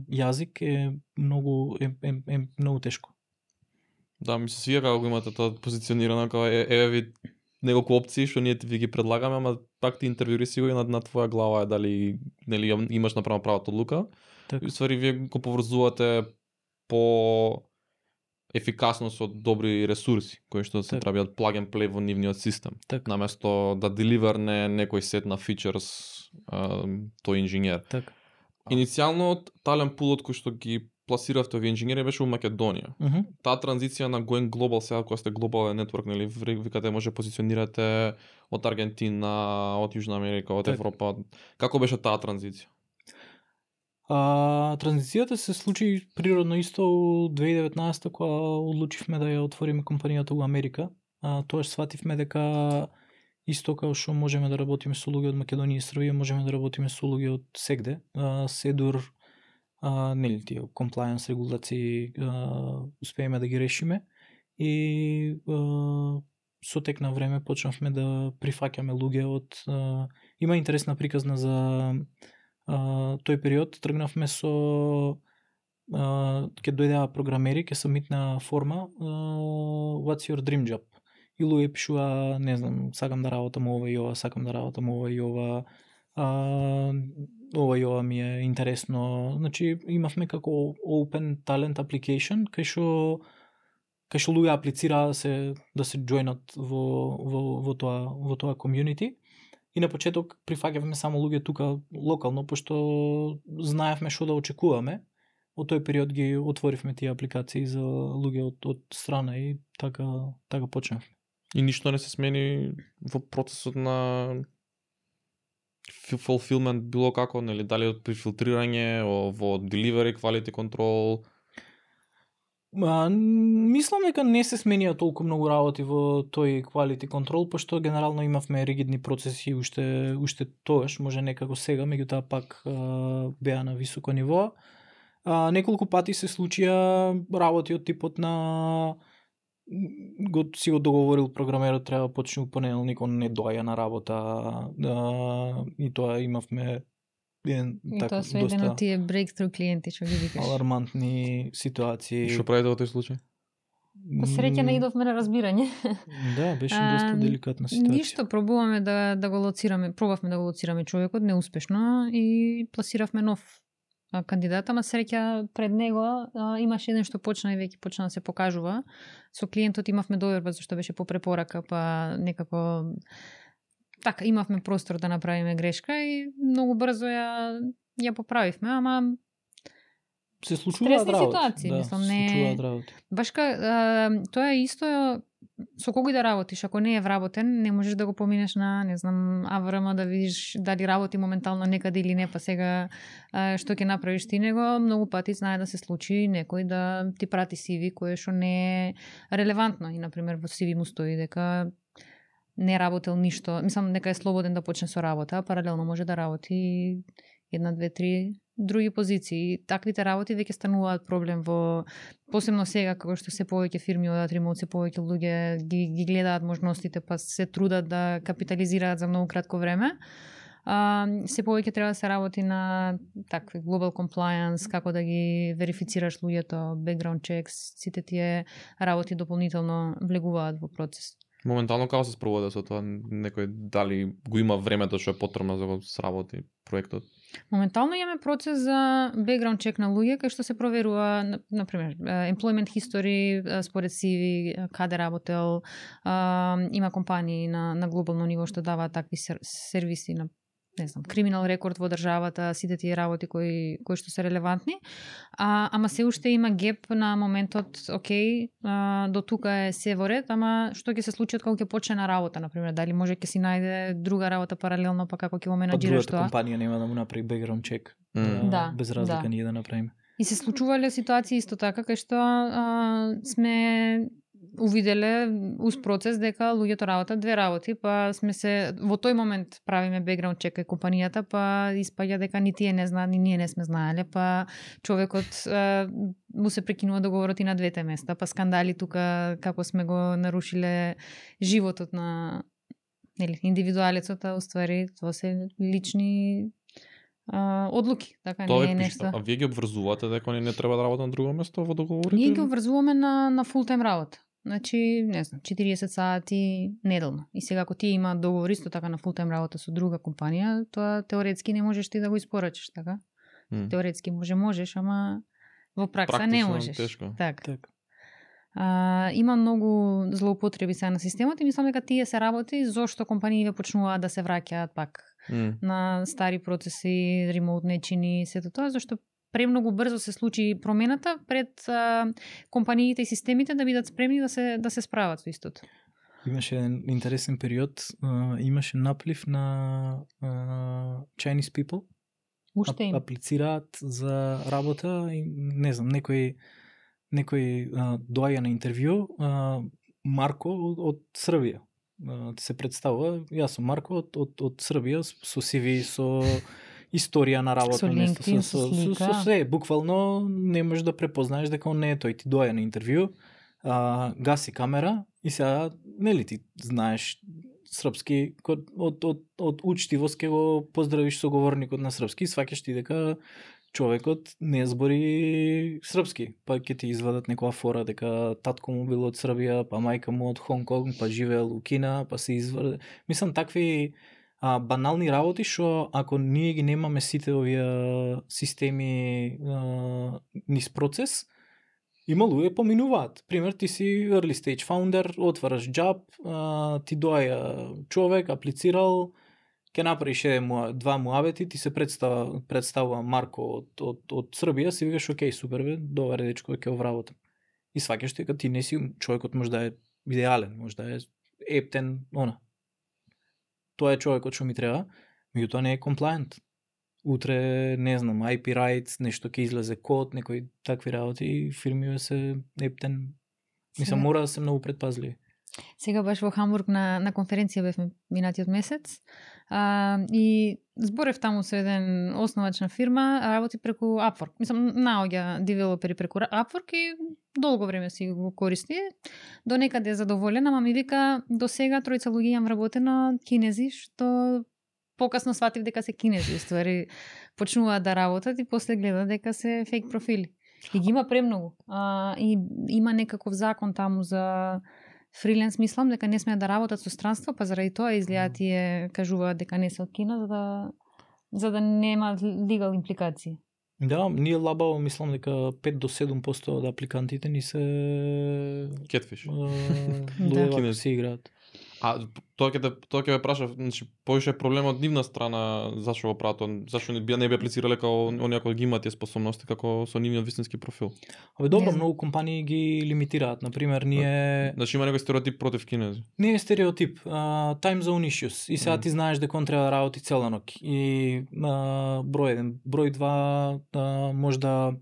јазик е многу тешко. Да, ми се свија како го имате тоа позиционирано, како еве ви неколку опции што ние ви ги предлагаме, ама пак ти интервјури си го и на твоја глава е дали нели имаш направено правата одлука. И ствари вие го поврзувате по ефикасно со добри ресурси кои што се треба да plug and play во нивниот систем. Наместо да деливерне некој сет на фичерс тој инженер. Иницијално талент пулот кој што ги пласиравте овие инженери беше во Македонија. Таа транзиција на going global, сега кога сте глобален нетворк, нели викате може позиционирате од Аргентина, од Јужна Америка, од Европа. Како беше таа транзиција? Транзицијата се случи природно исто во 2019 кога одлучивме да ја отвориме компанијата во Америка. Тоа свативме дека исто како што можеме да работиме со луѓе од Македонија и Србија, можеме да работиме со луѓе од сегде. Седур, нели тие compliance регулации успееме да ги решиме и со тек на време почнавме да прифаќаме луѓе од има интересна приказна за тој период тргнавме со ќе дојдеа програмери, ќе сабмитна форма What's your dream job? И луѓе пишува, не знам, сакам да работам ова и ова, сакам да работам ова и ова, ова и ова ми е интересно. Значи имавме како open talent application кај што луѓе аплицираа да се joinат во тоа community. И на почеток прифаќавме само луѓе тука локално, пошто знаевме што да очекуваме. Од тој период ги отворивме тие апликации за луѓе од страна и така почнавме. И ништо не се смени во процесот на fulfillment било како, нели, дали од прифилтрирање, во delivery, quality control? Мислам дека не се сменија толку многу работи во тој quality control, пошто генерално имавме ригидни процеси уште тогаш, може некако сега, меѓутоа пак беа на високо ниво. Неколку пати се случија работи од типот на си го договорил програмерот, треба да почне у понеделник, он не доаѓа на работа, и тоа имавме тоа се еден од тие breakthrough клиенти што ги викаш. Алармантни ситуации. Што правите во тој случај? По среќа наидовме на разбирање. Да, беше доста деликатна ситуација. Ништо, пробуваме да го лоцираме, пробавме да го лоцираме човекот, неуспешно, и пласиравме нов кандидат, ама среќа пред него имаше еден што почна и веќе почна да се покажува. Со клиентот имавме доверба зашто беше по препорака, па некако така имавме простор да направиме грешка и многу брзо ја поправивме, ама се случуваат ситуации, да, мислам, се случуваат работи. Баш тоа е исто со кого да работиш, ако не е вработен, не можеш да го поминеш на, не знам, АВРМ да видиш дали работи моментално некаде или не, па сега што ќе направиш ти него. Многу пати знае да се случи некој да ти прати CV кое што не е релевантно и, например, во CV му стои дека не работел ништо, мислам дека е слободен да почне со работа, а паралелно може да работи 1, 2, 3 други позиции. Таквите работи веќе стануваат проблем посебно сега како што се повеќе фирми одат ремоут, се повеќе луѓе ги гледаат можностите, па се трудат да капитализираат за многу кратко време. Се повеќе треба да се работи на такви global compliance, како да ги верифицираш луѓето, background checks, сите тие работи дополнително влегуваат во процес. Моментално како се спроводи со тоа, некој дали го има времето што е потребно за да го сработи проектот? Моментално имаме процес за background check на луѓе кај што се проверува, например, employment history според CV, каде работел, има компании на глобално ниво што даваат такви сервиси на, не знам, криминал рекорд во државата, сите тие работи кои што се релевантни. Ама се уште има геп на моментот, окей, до тука е се во ред, ама што ќе се случи кога ќе почне на работа, например, дали може ќе си најде друга работа паралелно, па како ќе го менаџираш тоа. Другата компанија нема да му направи background check. Да, без разлика ние да направиме. И се случувале ситуации исто така кај што сме увиделе уз процес дека луѓето работат две работи, па сме се во тој момент правиме background check кај компанијата, па испаѓа дека ни тие не знаат, ни ние не сме знаеле, па човекот му се прекинува договорот и на двете места, па скандали тука како сме го нарушиле животот на индивидуалецот, а уствари тоа се лични одлуки, така тоа не е нешто. А вие ги обврзувате дека они не треба да работат на друго место во договорите? Ние ги обврзуваме на фул тайм работа. Значи, не знам, 40 сати неделно. И сега ако ти има договор исто така на фул тайм работа со друга компанија, тоа теоретски не можеш ти да го испорачиш, така? Теоретски можеш, ама во пракса не можеш. Тешко. Така. Има многу злоупотреби сега на системот и мислам дека тие се работи зошто компаниите почнуваат да се враќаат пак на стари процеси, ремоут нечини, сето тоа, зашто премногу брзо се случи промената пред компаниите и системите да бидат спремни да се справат со истото. Имаше еден интересен период, имаше наплив на Chinese people. Уште им. Аплицираат за работа и не знам, некој доаѓа на интервју, Марко од Србија. Се представува, јас сум Марко од Србија со CV, со историја на работно место, со се, буквално не можеш да препознаеш дека он не е тој. Ти доаѓа на интервју, гаси камера и сега, нели ти знаеш српски, од учтивост ќе го поздравиш соговорникот на српски, сваќаш ти дека човекот не збори српски, па ќе ти извадат некоја фора дека татко му бил од Србија, па мајка му од Хонг Конг, па живеел у Кина, па се извади. Мислам такви банални работи што ако ние ги немаме сите овие системи низ процес, има луѓе поминуваат. Пример, ти си early stage founder, отвараш джаб, ти доаја човек, аплицирал, ќе направиш два муабети, ти се представува Марко од Србија, си викаш окей, супер бе, добар дечко, ќе овработам. И сваќаш дека ти не си човекот, може да е идеален, може да е ептен, Тоа е човекот што ми треба, меѓутоа не е комплајент. Утре, не знам, IP rights, нешто ќе излезе код, некои такви работи и фирмиве се ептен. Мислам, мора да се многу предпазливи. Сега баш во Хамбург на конференција бевме минатиот месец и зборев таму со еден основач на фирма, работи преку Upwork. Мислам, наоѓа девелопери преку Upwork и долго време си го користи. До некаде е задоволена, ама ми вика, до сега тројца луѓе имам работено кинези, што покасно сватив дека се кинези, ствари почнуваат да работат и после гледа дека се фейк профили. И ги има премногу. И има некаков закон таму за фриленс, мислам дека не смеат да работат со странство, па заради тоа изгледа тие кажуваат дека не се од Кина, за да нема легал импликации. Да, ние лабаво мислам дека 5 до 7% од апликантите ни се кетфиш. Луѓе се играат. Тоа ќе ме праша, значи повише проблем од нивна страна, зашо го прават, зашо не би аплицирале како оние кои ги имаат тие способности како со нивниот вистински профил. Добро, многу компании ги лимитираат. Например, ние Значи има некој стереотип против кинези. Не е стереотип, time zone issues. И сега ти знаеш дека он треба да работи цела ноќ. И број 1, број 2, можда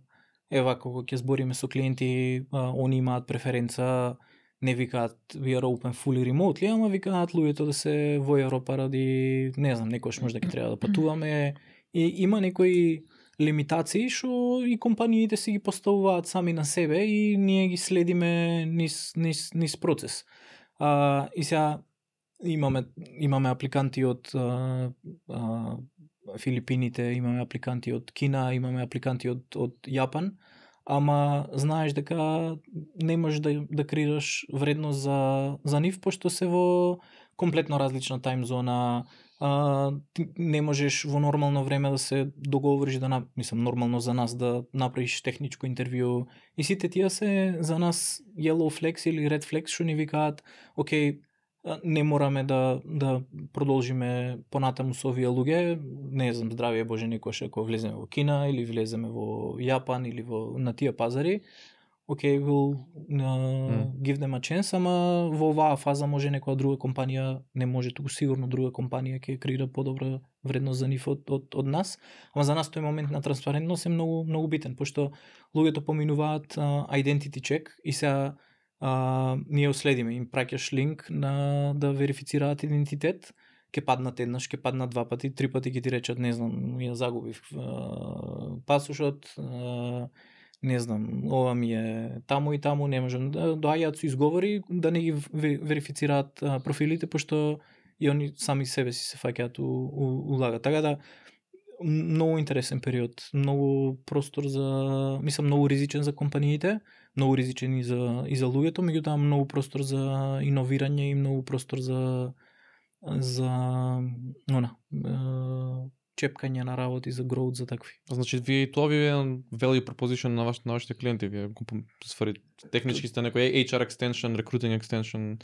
кога ќе збориме со клиенти, они имаат преференца, не викаат we are open fully remotely, ама викаат луѓето да се во Европа ради, не знам, некојаш можда ќе треба да патуваме. И има некои лимитации што и компаниите си ги поставуваат сами на себе и ние ги следиме низ процес. И сега имаме апликанти од Филипините, имаме апликанти од Кина, имаме апликанти од Јапан, ама знаеш дека не можеш да креираш вредност за нив, пошто се во комплетно различна тајм зона. Не можеш во нормално време да се договориш, мислам нормално за нас да направиш техничко интервју. И сите тие се за нас yellow flags или red flags што ни викаат, окей, не мораме да продолжиме понатаму со овие луѓе, не знам, здравие Боже, некојаш ако влеземе во Кина или влеземе во Јапан или на тие пазари, окей, we'll give them a chance, ама во оваа фаза може некоја друга компанија, не може, туку сигурно друга компанија ќе креира подобра вредност за нив од нас, ама за нас тој момент на транспарентност е многу, многу битен, пошто луѓето поминуваат identity check и сега ние следиме, им праќаш линк да верифицираат идентитет, ќе паднат еднаш, ќе паднат два пати, три пати ќе ти речат, не знам, ја загубив пасошот, не знам, ова ми е таму и таму, не можам, доаѓаат со изговори да не ги верифицираат профилите, пошто и они сами себе си се фаќаат у лага. Така да, многу интересен период, многу простор за, мислам, многу ризичен за компаниите, многу ризичен и за луѓето, меѓутоа многу простор за иновирање и многу простор за чепкање на работи, за growth, за такви. Значи, вие и тоа ви е value proposition на вашите клиенти, вие технички сте некој HR extension, recruiting extension.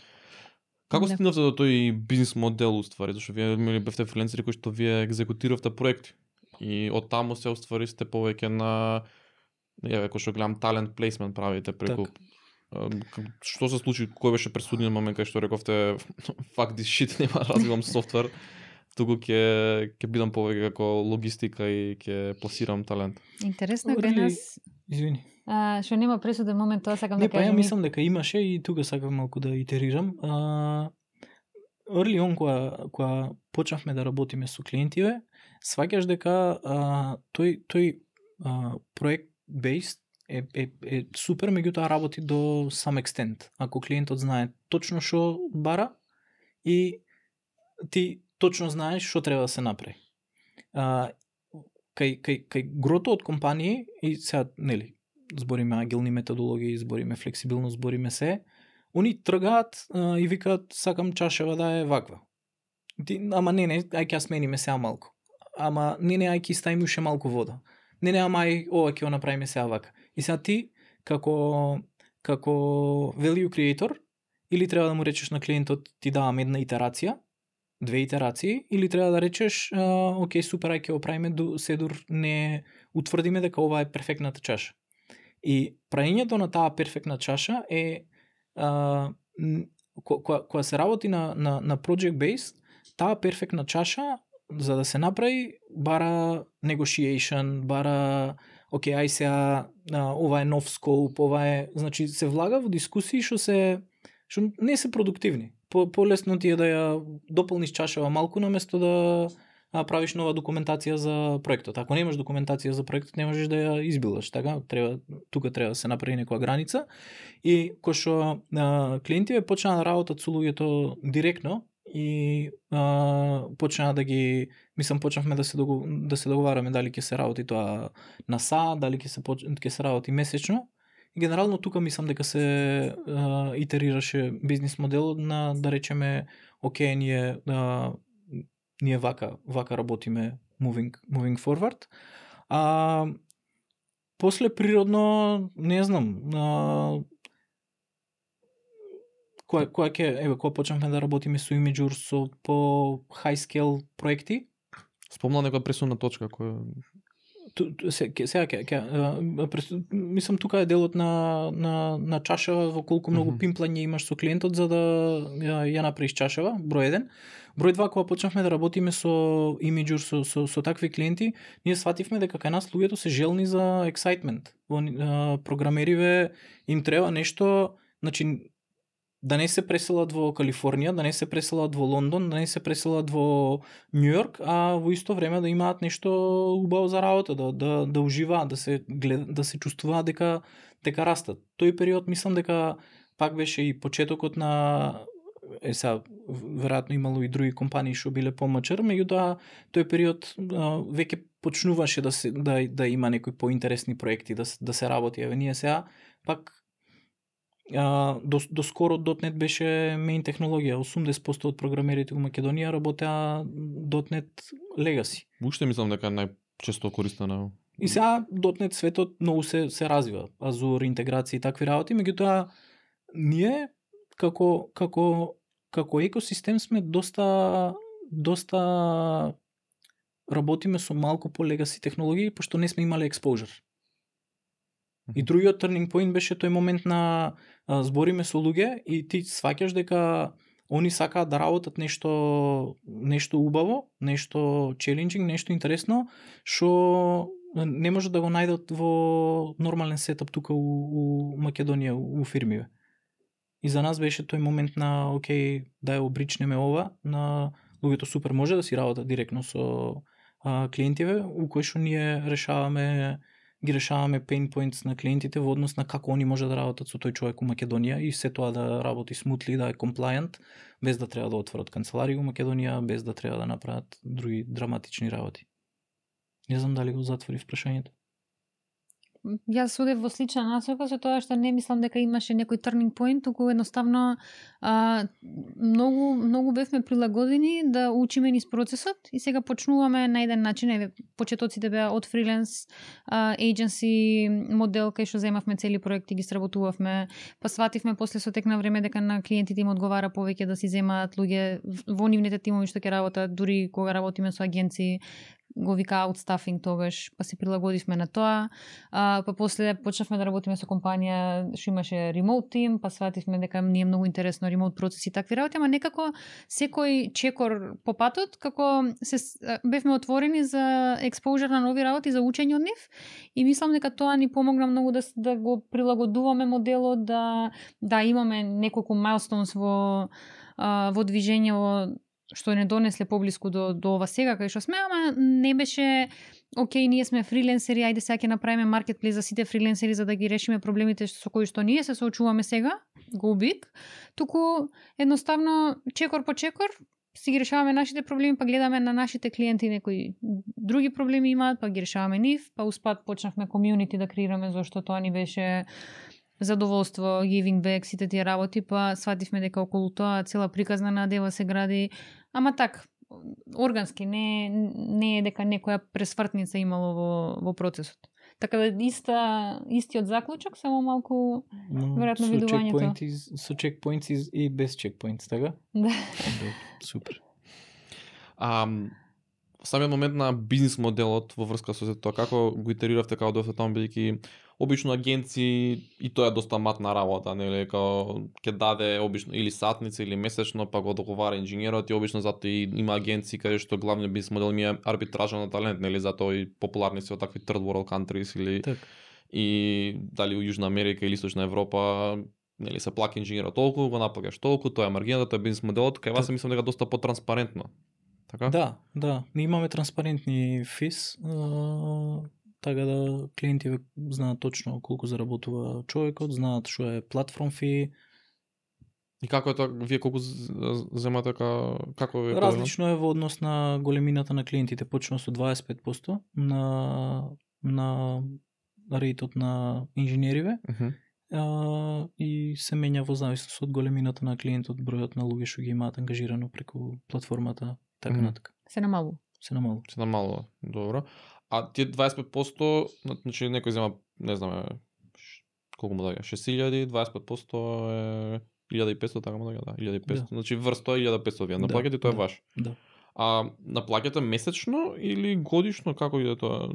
Како стигнавте до тој бизнес модел уствари? Зашто вие бевте фрилансери кои што вие екзекутиравте проекти и од таму се уствари сте повеќе на кој што гледам talent placement правите преку. Што се случи, кој беше пресудниот момент кај што рековте fuck this shit, нема развивам софтвер, туку ќе бидам повеќе како логистика и ќе пласирам талент? Интересно е кај нас. Извини. Што нема пресуден момент, тоа сакам да кажам. Не, па ја мислам дека имаше и тука сакам малку да итерирам. Early on, кога почнавме да работиме со клиентиве, сваќаш дека тој проект based е супер, меѓутоа работи до some extent. Ако клиентот знае точно што бара и ти точно знаеш што треба да се направи. Кај грото од компании и сега нели збориме агилни методологии, збориме флексибилност, збориме се, они тргаат и викаат сакам чашева да е ваква. Ама не, ај ќе смениме сега малку. Ама не, ај ќе ставиме уште малку вода. Не, ама ај ова ќе го направиме сега вака. И сега ти како value creator или треба да му речеш на клиентот ти давам една итерација, 2 итерации, или треба да речеш окей, супер, ај ќе го правиме седур не утврдиме дека ова е перфектната чаша. И правењето на таа перфектна чаша е кога се работи на project based, таа перфектна чаша за да се направи бара negotiation, бара окей, ај сега ова е нов скоп, ова е, значи се влага во дискусии што не се продуктивни. Полесно ти е да ја дополниш чашава малку наместо да правиш нова документација за проектот. Ако немаш документација за проектот, не можеш да ја избилаш, така? Тука треба да се направи некоја граница. И кој што клиентиве почнаа да работат со луѓето директно и почнаа да ги, почнавме да се договараме дали ќе се работи тоа на СА, дали ќе се работи месечно. И генерално тука мислам дека се итерираше бизнис моделот на, да речеме, окей, ние вака работиме moving forward. После природно, не знам, кога почнавме да работиме со Imgur со по high scale проекти. Спомна некоја пресудна точка која мислам тука е делот на чашава, во колку многу пимплање имаш со клиентот за да ја направиш чашава, број 1. Број 2, кога почнавме да работиме со Imgur со такви клиенти, ние свативме дека кај нас луѓето се желни за excitement. Програмериве им треба нешто, значи да не се преселат во Калифорнија, да не се преселат во Лондон, да не се преселат во Њујорк, а во исто време да имаат нешто убаво за работа, да уживаат, да се чувствуваат дека растат. Тој период мислам дека пак беше и почетокот на сега веројатно имало и други компании што биле помачар, меѓутоа тој период веќе почнуваше да има некои поинтересни проекти, да се работи. Еве ние сега пак до скоро .NET беше main технологија. 80% од програмерите во Македонија работеа .NET Legacy. Уште мислам дека најчесто користена. И сега .NET светот многу се развива. Azure, интеграција и такви работи, меѓутоа ние како екосистем сме доста работиме со малку по legacy технологии, пошто не сме имале exposure. И другиот turning point беше тој момент на збориме со луѓе и ти сваќаш дека они сакаат да работат нешто убаво, нешто challenging, нешто интересно, што не може да го најдат во нормален сетап тука у Македонија, у фирмиве. И за нас беше тој момент на окей, да ја обричнеме ова, на луѓето супер може да си работат директно со клиентиве, у кои што ние ги решаваме pain points на клиентите во однос на како они може да работат со тој човек у Македонија и се тоа да работи смутли, да е compliant, без да треба да отворат канцеларија у Македонија, без да треба да направат други драматични работи. Не знам дали го затворив прашањето. Јас одев во слична насока со тоа што не мислам дека имаше некој turning point, туку едноставно многу бевме прилагодени да учиме низ процесот и сега почнуваме на еден начин, почетоците беа од фриленс agency модел кај што земавме цели проекти, ги сработувавме, па свативме после со тек на време дека на клиентите им одговара повеќе да си земаат луѓе во нивните тимови што ќе работат, дури кога работиме со агенции, го вика outstaffing тогаш, па се прилагодивме на тоа. Па после почнавме да работиме со компанија што имаше remote team, па свативме дека ни е многу интересно remote процеси и такви работи, ама некако секој чекор по патот, како бевме отворени за exposure на нови работи, за учење од нив и мислам дека тоа ни помогна многу да го прилагодуваме моделот, да имаме неколку milestones во движење што не донесле поблиску до ова сега кај што сме, ама не беше окей, ние сме фриленсери, ајде сега ќе направиме маркетплейс за сите фриленсери за да ги решиме проблемите со кои што ние се соочуваме сега, go big, туку едноставно чекор по чекор си ги решаваме нашите проблеми, па гледаме на нашите клиенти некои други проблеми имаат, па ги решаваме нив, па успат почнавме комјунити да креираме зашто тоа ни беше задоволство, giving back, сите тие работи, па свативме дека околу тоа цела приказна надева се гради, ама так, органски, не е дека некоја пресвртница имало во процесот. Така да истиот заклучок, само малку веројатно видувањето. Со checkpoints и без checkpoints, така? Да. Супер. Самиот момент на бизнис моделот во врска со тоа, како го итериравте како дојдовте таму, бидејќи обично агенции и тоа е доста матна работа, нели, како ќе даде обично или сатница или месечно, па го договара инженерот и обично затоа и има агенции каде што главниот бизнис модел ми е арбитража на талент, нели, затоа и популарни се од такви third world countries или так. И дали во Јужна Америка или Источна Европа, нели, се плаќа инженерот толку, го наплакаш толку, тоа е маргината, тоа е бизнис моделот, кај вас мислам дека доста потранспарентно. Така? Да. Ние имаме транспарентни фис, така да клиентите знаат точно колку заработува човекот, знаат што е платформ фи. И како е тоа, вие колку земате, како е? Различно е во однос на големината на клиентите, почнува со 25% на рейтот на инженериве. И се менја во зависност од големината на клиентот, бројот на луѓе што ги имаат ангажирано преку платформата, така натака. Се намалува. Добро. А тие 25%, значи некој зема, не знам, колку му даѓа, 6.000, 25% е 1.500, така му даѓа, да, 1.500. Да. Значи врз тоа 1.500 вие наплаќате, тоа е ваш. Да. А наплаќате месечно или годишно, како иде тоа?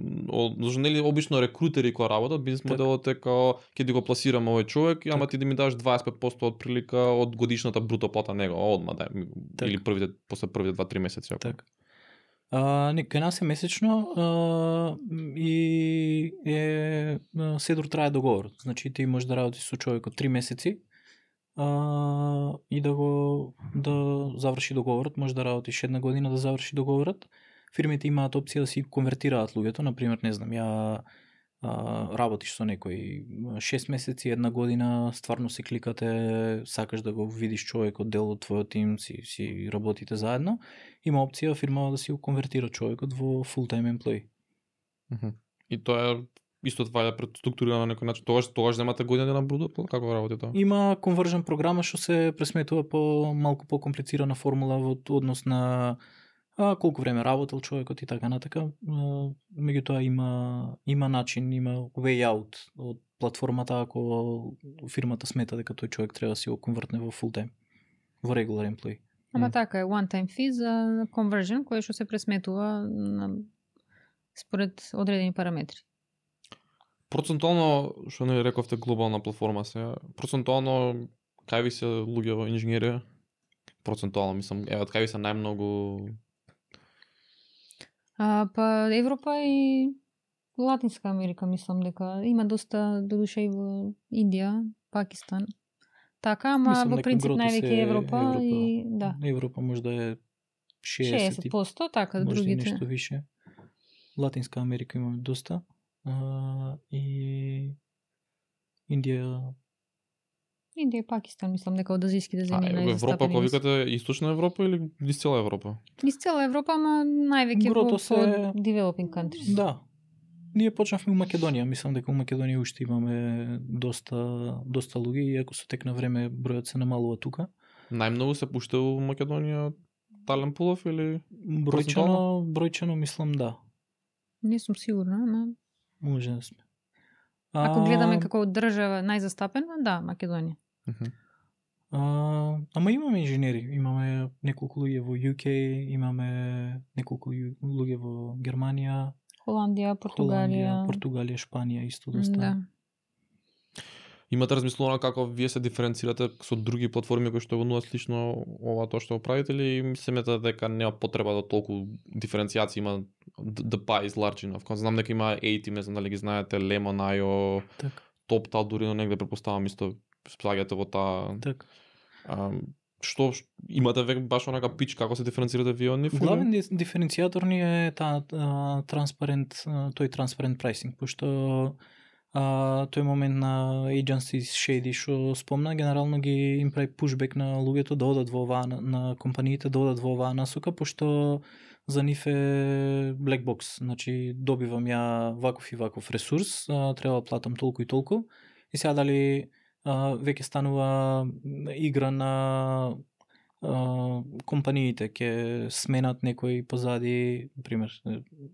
Зашто нели обично рекрутери кои работат, бизнис моделот е како ќе ти го пласираме овој човек, ама ти да ми даш 25% од прилика од годишната бруто плата него, одма да, или после првите 2-3 месеци. Така. Кај нас е месечно и седор трае договор. Значи ти можеш да работиш со човекот 3 месеци и да заврши договорот, може да работиш една година да заврши договорот. Фирмите имаат опција да си конвертираат луѓето, например, не знам, ја работиш со некој 6 месеци, една година, стварно се кликате, сакаш да го видиш човекот, дел од твојот тим, си работите заедно, има опција фирмава да си го конвертира човекот во full-time employee. И тоа е исто това е структурирано на некој начин. Тогаш земате година на бруто, како работи тоа? Има конвержен програма што се пресметува по малку по-комплицирана формула во однос на колку време работел човекот и така натака. Меѓутоа има начин, има way out од платформата ако фирмата смета дека тој човек треба да си го конвертне во full time, во regular employee. Ама така е one time fee за conversion кој што се пресметува според одредени параметри. Процентуално, што не рековте глобална платформа сега, процентуално кај ви се луѓе во инженерија? Процентуално, мислам, од кај ви се најмногу? Па Европа и Латинска Америка, мислам дека има доста, додуше и во Индија, Пакистан. Така, ама мислам, во принцип највеќе Европа и да. Европа може да е 60%, така, другите. Може нешто више. Латинска Америка имаме доста. И Индија и Пакистан, мислам дека од азијските земји најзастапени. Европа, кога викате Источна Европа или низ цела Европа? Низ цела Европа, ама највеќе во developing countries. Да. Ние почнавме во Македонија, мислам дека во Македонија уште имаме доста луѓе, иако со тек на време бројот се намалува тука. Најмногу се пушта во Македонија талент пулов или бројчано мислам да. Не сум сигурна, ама може да сме. Ако гледаме како држава најзастапена, да, Македонија. Ама имаме инженери, имаме неколку луѓе во UK, имаме неколку луѓе во Германија, Холандија, Португалија, Шпанија исто доста. Да. Имате размислувано како вие се диференцирате со други платформи кои што го нудат слично ова тоа што го правите или мислите дека нема потреба да толку диференцијација има the pie is large enough? Знам дека има A-Team, не знам дали ги знаете, Lemon, IO, TopTal, дури негде претпоставам исто спаѓате во таа. Так. Што имате веќе баш онака пич како се диференцирате вие од нив? Главен диференцијатор ни е тој транспарент прайсинг, пошто тој момент на agency shady што спомна, генерално ги им прави пушбек на луѓето да одат во оваа, на компаниите да одат во оваа насока, пошто за нив е black box, значи добивам ја ваков и ваков ресурс, треба да платам толку и толку, и сега дали веќе станува игра на компаниите ќе сменат некој позади, пример,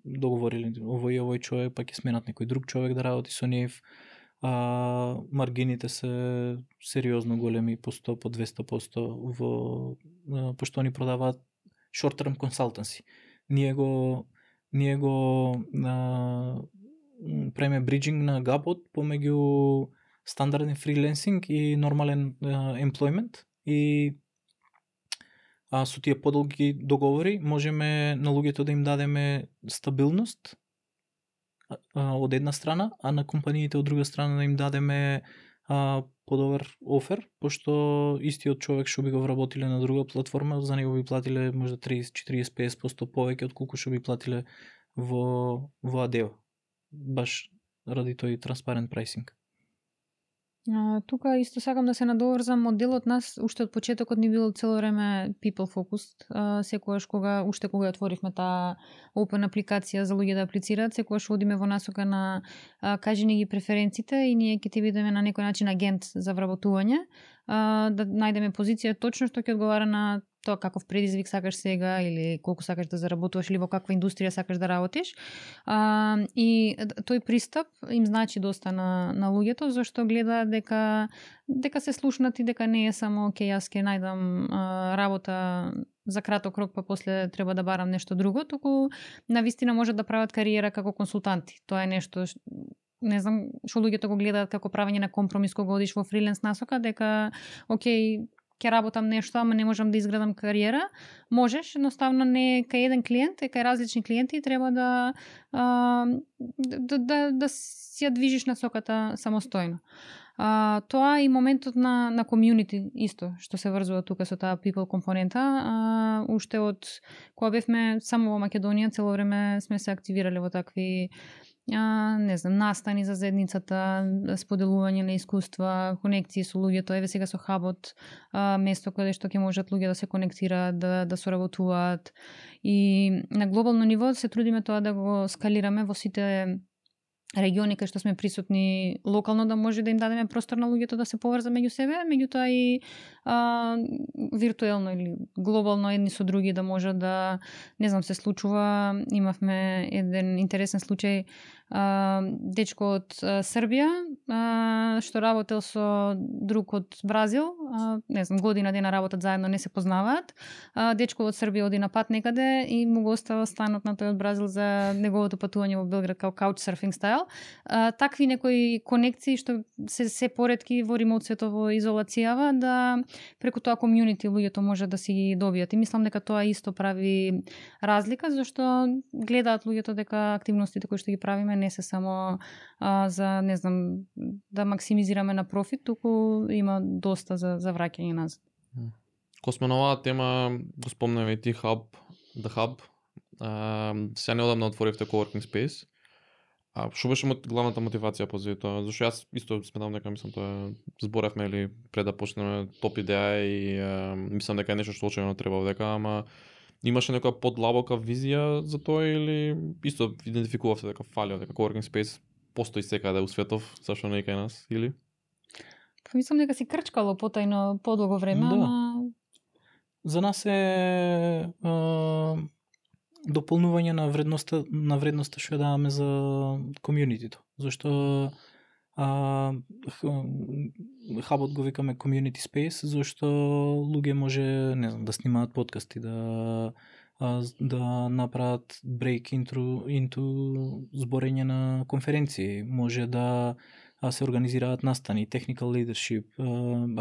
договорили овој човек, па ќе сменат некој друг човек да работи со нив. Маргините се сериозно големи, по 100, по 200% пошто они продаваат short term consultancy. Ние го правиме бриджинг на гапот помеѓу стандарден фриленсинг и нормален employment, и со тие подолги договори можеме на луѓето да им дадеме стабилност од една страна, а на компаниите од друга страна да им дадеме подобар офер, пошто истиот човек што би го вработиле на друга платформа, за него би платиле можда 30-40-50% повеќе од колку што би платиле во Adeo, баш ради тој транспарент прайсинг. Тука исто сакам да се надоврзам, моделот нас уште од почетокот ни бил цело време people focused. Секогаш кога отворивме таа open апликација за луѓе да аплицираат, секогаш одиме во насока на кажи ни ги преференциите и ние ќе ти бидеме на некој начин агент за вработување, да најдеме позиција точно што ќе одговара на тоа каков предизвик сакаш сега или колку сакаш да заработуваш или во каква индустрија сакаш да работиш. И тој пристап им значи доста на луѓето, зашто гледаат дека се слушнати, дека не е само јас ќе најдам работа за краток рок, па после треба да барам нешто друго, туку навистина можат да прават кариера како консултанти. Тоа е нешто не знам што луѓето го гледаат како правење на компромис кога одиш во фриленс насока, дека ќе работам нешто, ама не можам да изградам кариера. Можеш, едноставно не кај еден клиент, е кај различни клиенти и треба да си ја движиш насоката самостојно. Тоа и моментот на комјунити исто, што се врзува тука со таа people компонента. Уште од кога бевме само во Македонија, цело време сме се активирале во такви настани за заедницата, споделување на искуства, конекции со луѓето. Еве сега со хабот, место каде што ќе можат луѓе да се конектираат, да соработуваат. И на глобално ниво се трудиме тоа да го скалираме во сите региони кај што сме присутни локално, да може да им дадеме простор на луѓето да се поврза меѓу себе, меѓутоа и виртуелно или глобално едни со други да може да, не знам, се случува. Имавме еден интересен случај, дечко од Србија што работел со друг од Бразил, не знам, година дена работат заедно, не се познаваат. Дечко од Србија оди на пат некаде и му го остава станот на тој од Бразил за неговото патување во Белград као couchsurfing стайл. Такви некои конекции што се поретки во ремоут светово изолацијава, да преку тоа комјунити луѓето може да си ги добијат. И мислам дека тоа исто прави разлика, зашто гледаат луѓето дека активностите кои што ги правиме не се само за, не знам, да максимизираме на профит, туку има доста за враќање назад. Ко сме на оваа тема, го спомнаве и ти The Hub. Сега неодамна отворивте coworking space. Што беше главната мотивација позади тоа? Зашто јас исто сметам дека тоа зборевме или пред да почнеме топ идеја и мислам дека е нешто што очевидно треба дека, ама имаше некоја подлабока визија за тоа или исто идентификувавте дека фали, дека coworking space постои секаде у светов, зашто не и кај нас, или? Мислам дека си крчкало потајно подолго време, ама за нас е дополнување на вредноста што ја даваме за комјунитито. Зашто хабот го викаме community space, зашто луѓе може, не знам, да снимаат подкасти, да направат break into зборење на конференции, може да се организираат настани, technical leadership,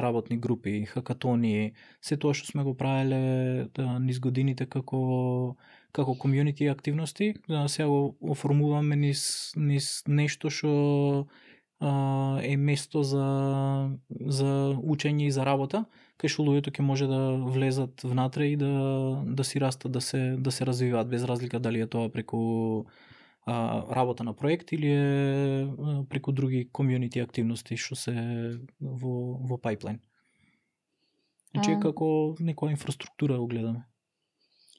работни групи, хакатони, се тоа што сме го правеле низ годините како community активности, сега го оформуваме низ нешто што е место за учење и за работа, кај што луѓето ќе може да влезат внатре и да си растат, да се развиваат, без разлика дали е тоа преку работа на проект или е преку други комјунити активности што се во пайплайн? Значи како некоја инфраструктура го гледаме.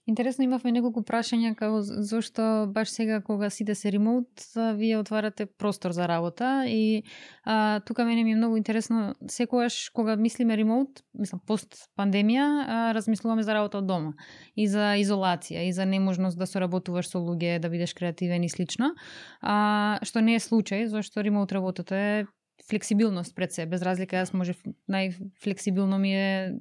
Интересно, имавме неколку прашања како зошто баш сега кога сите се ремоут, вие отварате простор за работа и тука мене ми е многу интересно, секогаш кога мислиме ремоут, мислам пост пандемија, размислуваме за работа од дома и за изолација и за неможност да соработуваш со луѓе, да бидеш креативен и слично. Што не е случај, зашто ремоут работата е флексибилност пред се, без разлика јас може најфлексибилно ми е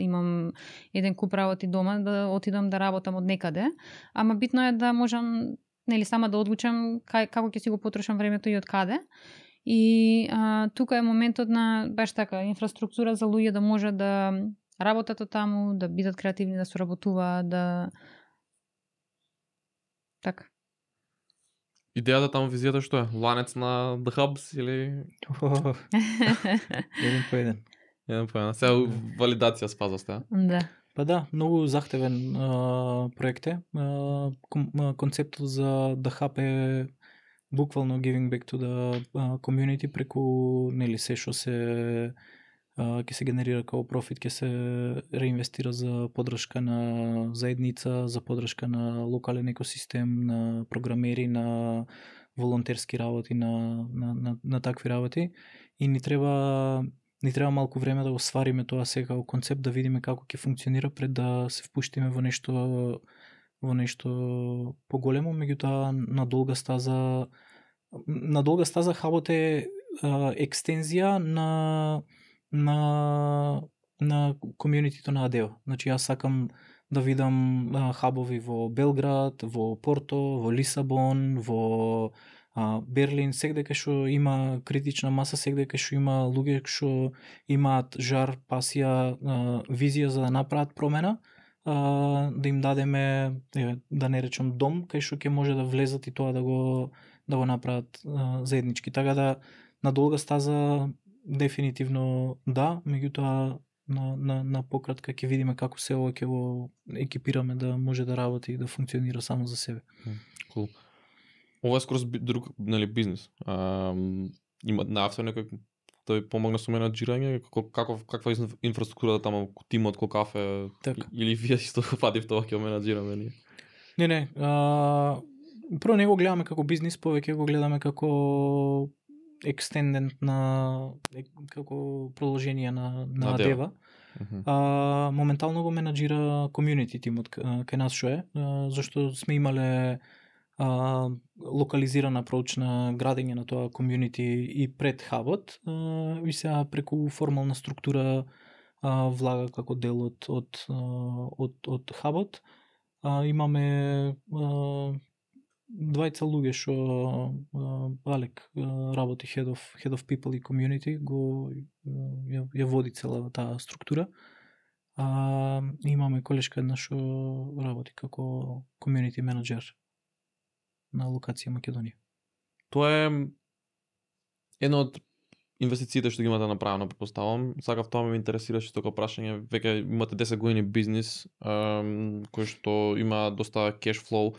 имам еден куп работи дома да отидам да работам од некаде, ама битно е да можам сама да одлучам како ќе си го потрошам времето и од каде. И тука е моментот на баш така инфраструктура за луѓе да може да работат од таму, да бидат креативни, да соработуваат, да така. Идејата таму визијата што е? Ланец на The Hubs или... Еден по еден. Сега валидација спаза сте, Да. Па да, многу захтевен проект е. Концептот за The Hub е буквално giving back to the community преку се што се ќе се генерира како профит, ќе се реинвестира за поддршка на заедница, за поддршка на локален екосистем, на програмери, на волонтерски работи, на такви работи. И ни треба малку време да го свариме тоа сега како концепт, да видиме како ќе функционира пред да се впуштиме во нешто поголемо, меѓутоа на долга стаза хабот е екстензија на комјунитито на Адева. Значи јас сакам да видам хабови во Белград, во Порто, во Лисабон, во Берлин, сегде кај што има критична маса, сегде кај што има луѓе што имаат жар, пасија, визија за да направат промена, да им дадеме, да не речам дом, кај што ќе може да влезат и тоа да го направат заеднички. Така да на долга стаза дефинитивно да, меѓутоа на пократка ќе видиме како се ова ќе го екипираме да може да работи и да функционира само за себе. Cool. Ова е скоро друг бизнис. Има наавте некој тој помогна со менаџирање, каква инфраструктура таму, тимот колкав е, или вие исто фатив тоа ќе менаџираме ние? Не. Прво не го гледаме како бизнис, повеќе го гледаме како екстендент како продолжение на Адева. Моментално го менаџира комјунити тимот кај нас што е, зашто сме имале локализиран апроч на градење на тоа комјунити и пред хабот, и сега преку формална структура влага како дел од хабот. Имаме двајца луѓе што Алек работи Head of People и Community, ја води цела таа структура. Имаме колешка една што работи како Community Manager на локација Македонија. Тоа е едно од инвестициите што ги имате направено, предпоставам. Сакав тоа ме интересираше тоа прашање. Веќе имате 10 години бизнис кој што има доста cash flow.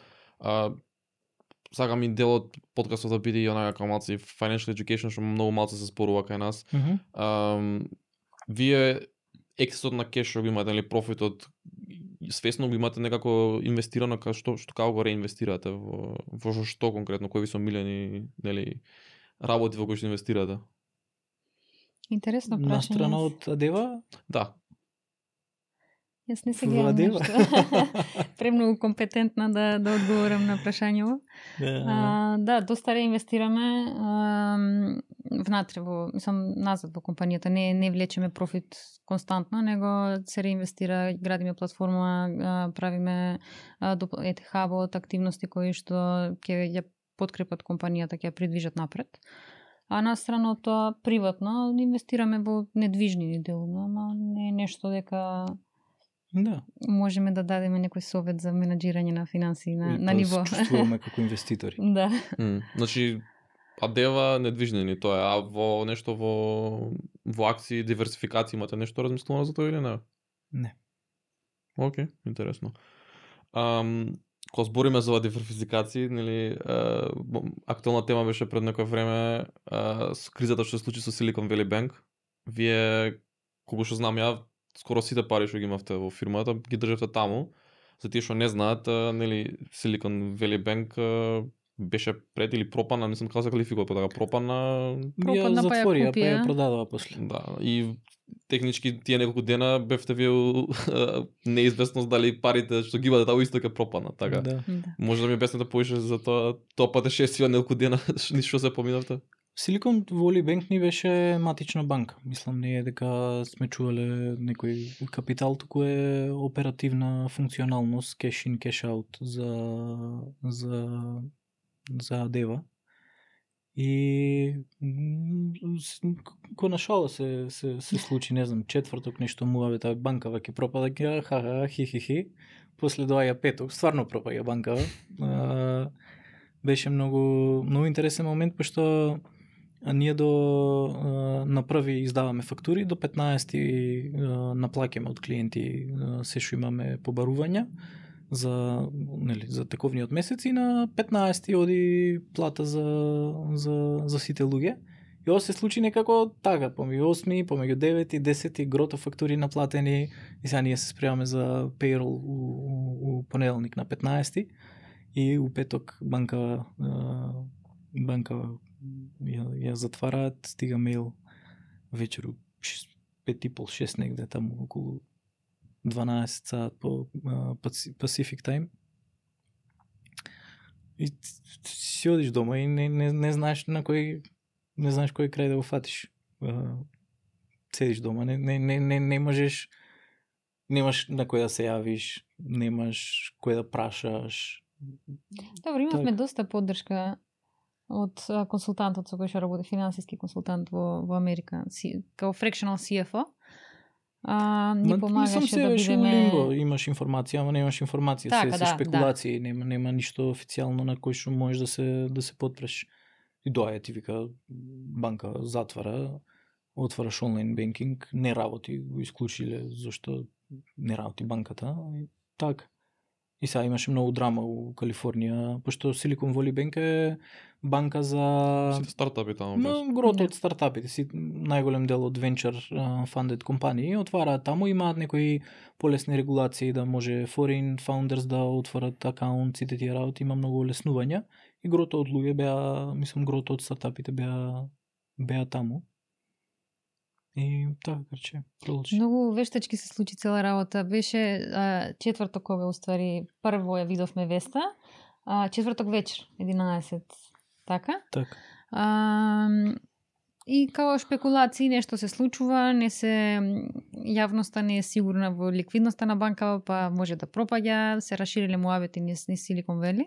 Сакам и дел од подкастот да биде и онака како малци financial education, што многу малце се спорува кај нас. Вие ексесот на кеш што го имате, или профитот, свесно го имате некако инвестирано, што како го реинвестирате во што конкретно, кои ви се милени, нели, работи во кои што инвестирате? Интересно прашање. На страна од Адева? Да. Јас не се гледам нешто. Премногу компетентна да одговорам на прашањево. Да, доста реинвестираме внатре назад во компанијата. Не влечеме профит константно, него се реинвестира, градиме платформа, правиме хабот, активности кои што ќе ја подкрепат компанијата, ќе ја придвижат напред. А на страна од тоа приватно инвестираме во недвижни делови, ама не е нешто дека можеме да дадеме некој совет за менаџирање на финансии на ниво. Чувствуваме како инвеститори. Да. Значи, Адева недвижнени тоа е, а во нешто во акции, диверсификација имате нешто размислувано за тоа или не? Не. Океј, интересно. кога збориме за диверсификација, нели, актуелна тема беше пред некое време со кризата што се случи со Silicon Valley Bank. Вие, колку што знам ја, скоро сите пари што ги имавте во фирмата ги држите таму. За тие што не знаат, нели, Silicon Valley Bank беше пред или пропана, мислам како се квалификува тоа, пропана ја затворија, па ја продадува после. Да, и технички тие неколку дена бевте вие неизвестност дали парите што ги имате таму исто ќе пропаднат, така. Да. Може да ми обясните повеќе за тоа патешествие неколку дена што се поминавте? Silicon Valley Bank ни беше матична банка. Мислам не е дека сме чувале некој капитал, туку е оперативна функционалност, cash in, cash out за Адева. И ко на шала се случи, не знам, четврток нешто муаве таа банкава ќе пропада, ха хи. После доаѓа петок, стварно пропаѓа банкава. Беше многу интересен момент, пошто ние на први издаваме фактури, до 15 наплаќаме од клиенти се што имаме побарувања за тековниот месец и на 15 оди плата за сите луѓе. И ова се случи некако така, помеѓу 8, помеѓу 9 и 10 грото фактури наплатени и сега ние се спремаме за payroll у понеделник на 15 и у петок банка ја затвараат, стига мејл вечеру 5:30-6 негде таму околу 12 саат по Pacific Time. И си одиш дома и не знаеш на кој крај да го фатиш. Седиш дома, не можеш, немаш на кој да се јавиш, немаш кој да прашаш. Добро, имавме доста поддршка од консултантот со кој што работи, финансиски консултант во Америка, као fractional CFO. Ни помагаше да бидеме... Лимбо, имаш информација, ама немаш информација, така, се спекулации, да. Нема ништо официјално на кој што можеш да се потпреш. И доаѓа ти вика банка затвара, отвараш онлайн бенкинг, не работи, го исклучиле зашто не работи банката и така. И сега имаше многу драма у Калифорнија, пошто Silicon Valley Bank е банка за сите стартапи таму. Грото од стартапите, најголем дел од venture funded компании отвараат таму, имаат некои полесни регулации да може foreign founders да отворат акаунт, сите тие работи, има многу олеснувања и грото од луѓе беа, мислам грото од стартапите беа таму. И така, карче, продолжи. Многу вештачки се случи цела работа. Беше четврток кога уствари прво ја видовме веста, четврток вечер, 11, така? Така. И као шпекулации нешто се случува, јавноста не е сигурна во ликвидноста на банка, па може да пропаѓа, се расшириле муавети низ Silicon Valley.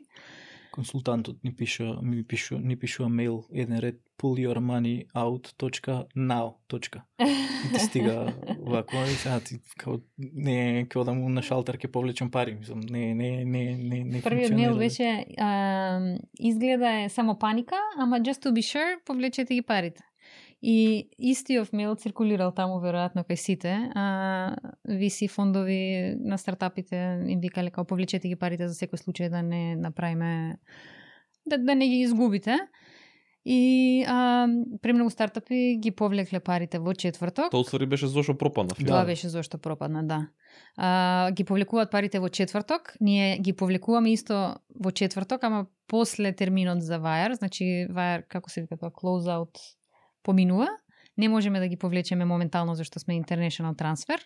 Консултантот ни пишува мејл еден ред pullyourmoneyout.now. И ти стига вако и сега ти не као да му на шалтер ке повлечам пари, мислам, не првиот мејл беше изгледа е само паника, ама just to be sure повлечете ги парите. И истиот мејл циркулирал таму веројатно кај сите, VC фондови на стартапите им викале као повлечете ги парите за секој случај да не направиме, да не ги изгубите. И премногу стартапи ги повлекле парите во четврток. Тоа уствари беше зошто пропадна. Тоа беше зошто пропадна, да. Ги повлекуваат парите во четврток, ние ги повлекуваме исто во четврток, ама после терминот за Wire, значи Wire, како се вика тоа, close out поминува, не можеме да ги повлечеме моментално зашто сме international transfer.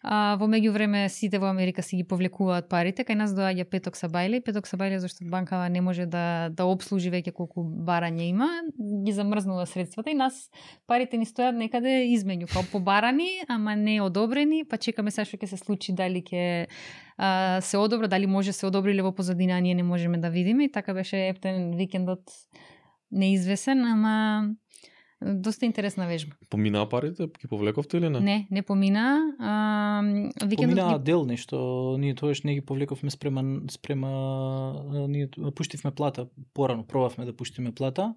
Во меѓувреме сите во Америка си ги повлекуваат парите, кај нас доаѓа Петок Сабајле зашто банкава не може да обслужи веќе колку барање има, ги замрзнува средствата и нас парите ни стојат некаде измеѓу, као побарани, ама не одобрени, па чекаме сега што ќе се случи, дали ќе се одобра, дали може се одобриле во позадина, ние не можеме да видиме и така беше ептен викендот неизвесен, ама доста интересна вежба. Поминаа парите? Ги повлековте или не? Не помина. Поминаа дел нешто. Ние тоаш не ги повлековме спрема ние пуштивме плата порано, пробавме да пуштиме плата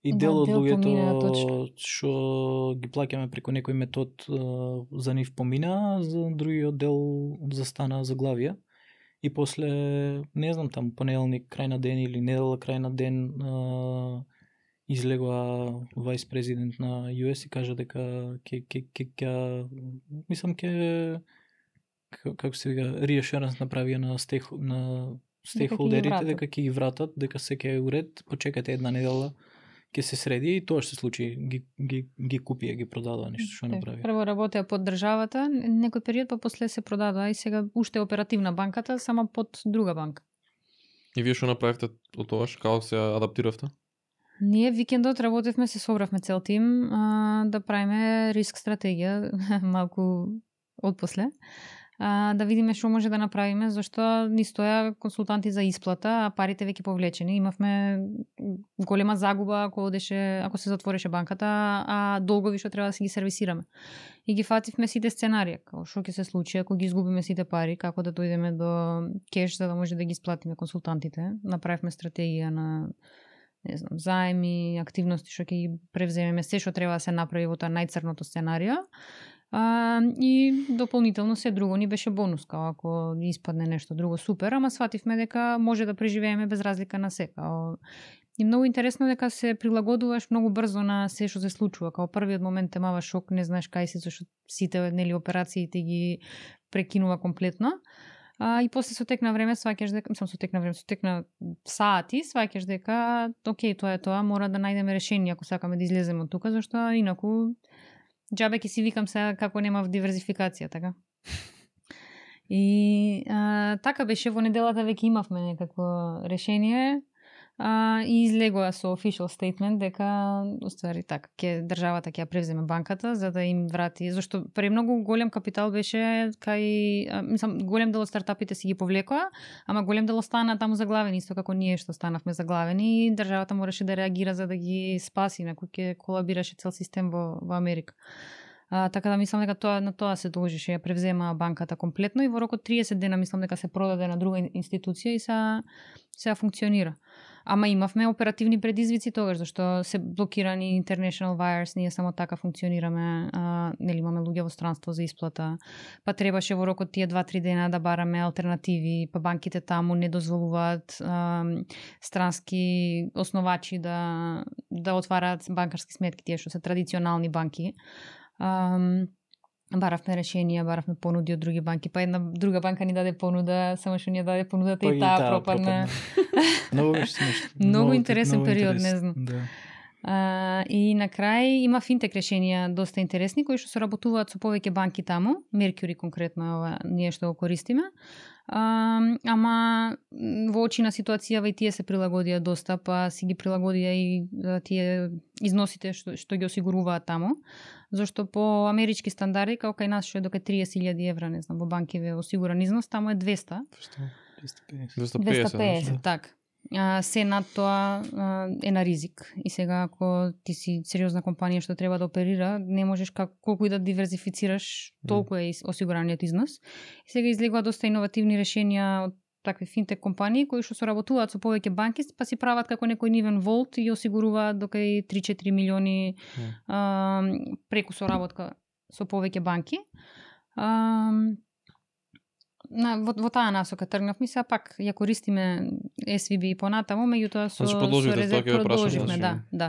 и дел од луѓето што ги плаќаме преку некој метод за нив помина, за другиот дел застана заглавија и после, не знам, там понеделник крај на ден или недела крај на ден излегува вајс президент на US и кажа дека мислам како се вика reassurance направија на стейкхолдерите дека ќе ги вратат, дека се ќе е уред, почекате една недела ќе се среди и тоа што се случи, ги купија, ги продадоа нешто што направи. Прво работеа под државата некој период, па после се продадоа и сега уште оперативна банката, само под друга банка. И вие што направивте од тоа, како се адаптиравте? Ние викендот работевме, се собравме цел тим да правиме риск стратегија малку отпосле. Да видиме што може да направиме, зашто ни стоја консултанти за исплата, а парите веќе повлечени. Имавме голема загуба ако се затвореше банката, а долгови што треба да си ги сервисираме. И ги фативме сите сценарија, како што ќе се случи ако ги изгубиме сите пари, како да дојдеме до кеш за да може да ги исплатиме консултантите. Направивме стратегија на заеми, активности што ќе ги превземеме, се што треба да се направи во тоа најцрното сценарио. И дополнително се друго ни беше бонус, као ако испадне нешто друго супер, ама свативме дека може да преживееме без разлика на се. И многу интересно дека се прилагодуваш многу брзо на се што се случува. Као првиот момент те мава шок, не знаеш кај си, зашто сите операциите ги прекинува комплетно. И после со тек на време сваќаш дека, со тек на сати сваќаш дека окей, тоа е тоа, мора да најдеме решение ако сакаме да излеземе од тука, зашто инаку џабе ќе си викам сега како нема диверзификација, така. И така беше, во неделата веќе имавме некакво решение и излегоа со official statement дека уствари така државата ќе ја превземе банката за да им врати, зашто премногу голем капитал беше голем дел од стартапите си ги повлекоа, ама голем дел остана таму заглавени, исто како ние што станавме заглавени и државата мораше да реагира за да ги спаси, инаку ќе колабираше цел систем во Америка. Така да мислам дека на тоа се должише, ја превзема банката комплетно и во рок од 30 дена мислам дека се продаде на друга институција и сега функционира. Ама имавме оперативни предизвици тогаш, зашто се блокирани international wires, ние само така функционираме, нели имаме луѓе во странство за исплата, па требаше во рок од тие 2-3 дена да бараме алтернативи, па банките таму не дозволуваат странски основачи да отвараат банкарски сметки, тие што се традиционални банки. Баравме решенија, баравме понуди од други банки, па една друга банка ни даде понуда, само што ни даде понудата и таа пропадна. Многу интересен период, не знам. Да. И на крај има финтек решенија доста интересни кои што се работуваат со повеќе банки таму, Mercury конкретно ние што го користиме. Ама во очи на ситуацијава и тие се прилагодија доста, па си ги прилагодија и тие износите што ги осигуруваат таму, зашто по амерички стандарди, како кај нас што е дока 30.000 евра, не знам, во банки е осигуран износ, таму е 200. 250, така. Се над тоа е на ризик. И сега ако ти си сериозна компанија што треба да оперира, не можеш колку и да диверзифицираш, толку е осигураниот износ. И сега излегува доста иновативни решенија од такви финтек компании кои што соработуваат со повеќе банки, па си прават како некој нивен волт и осигуруваат дока и 3-4 милиони преку соработка со повеќе банки. Во таа насока тргнавме, сега пак ја користиме SVB и понатаму, меѓутоа со продолживме, да.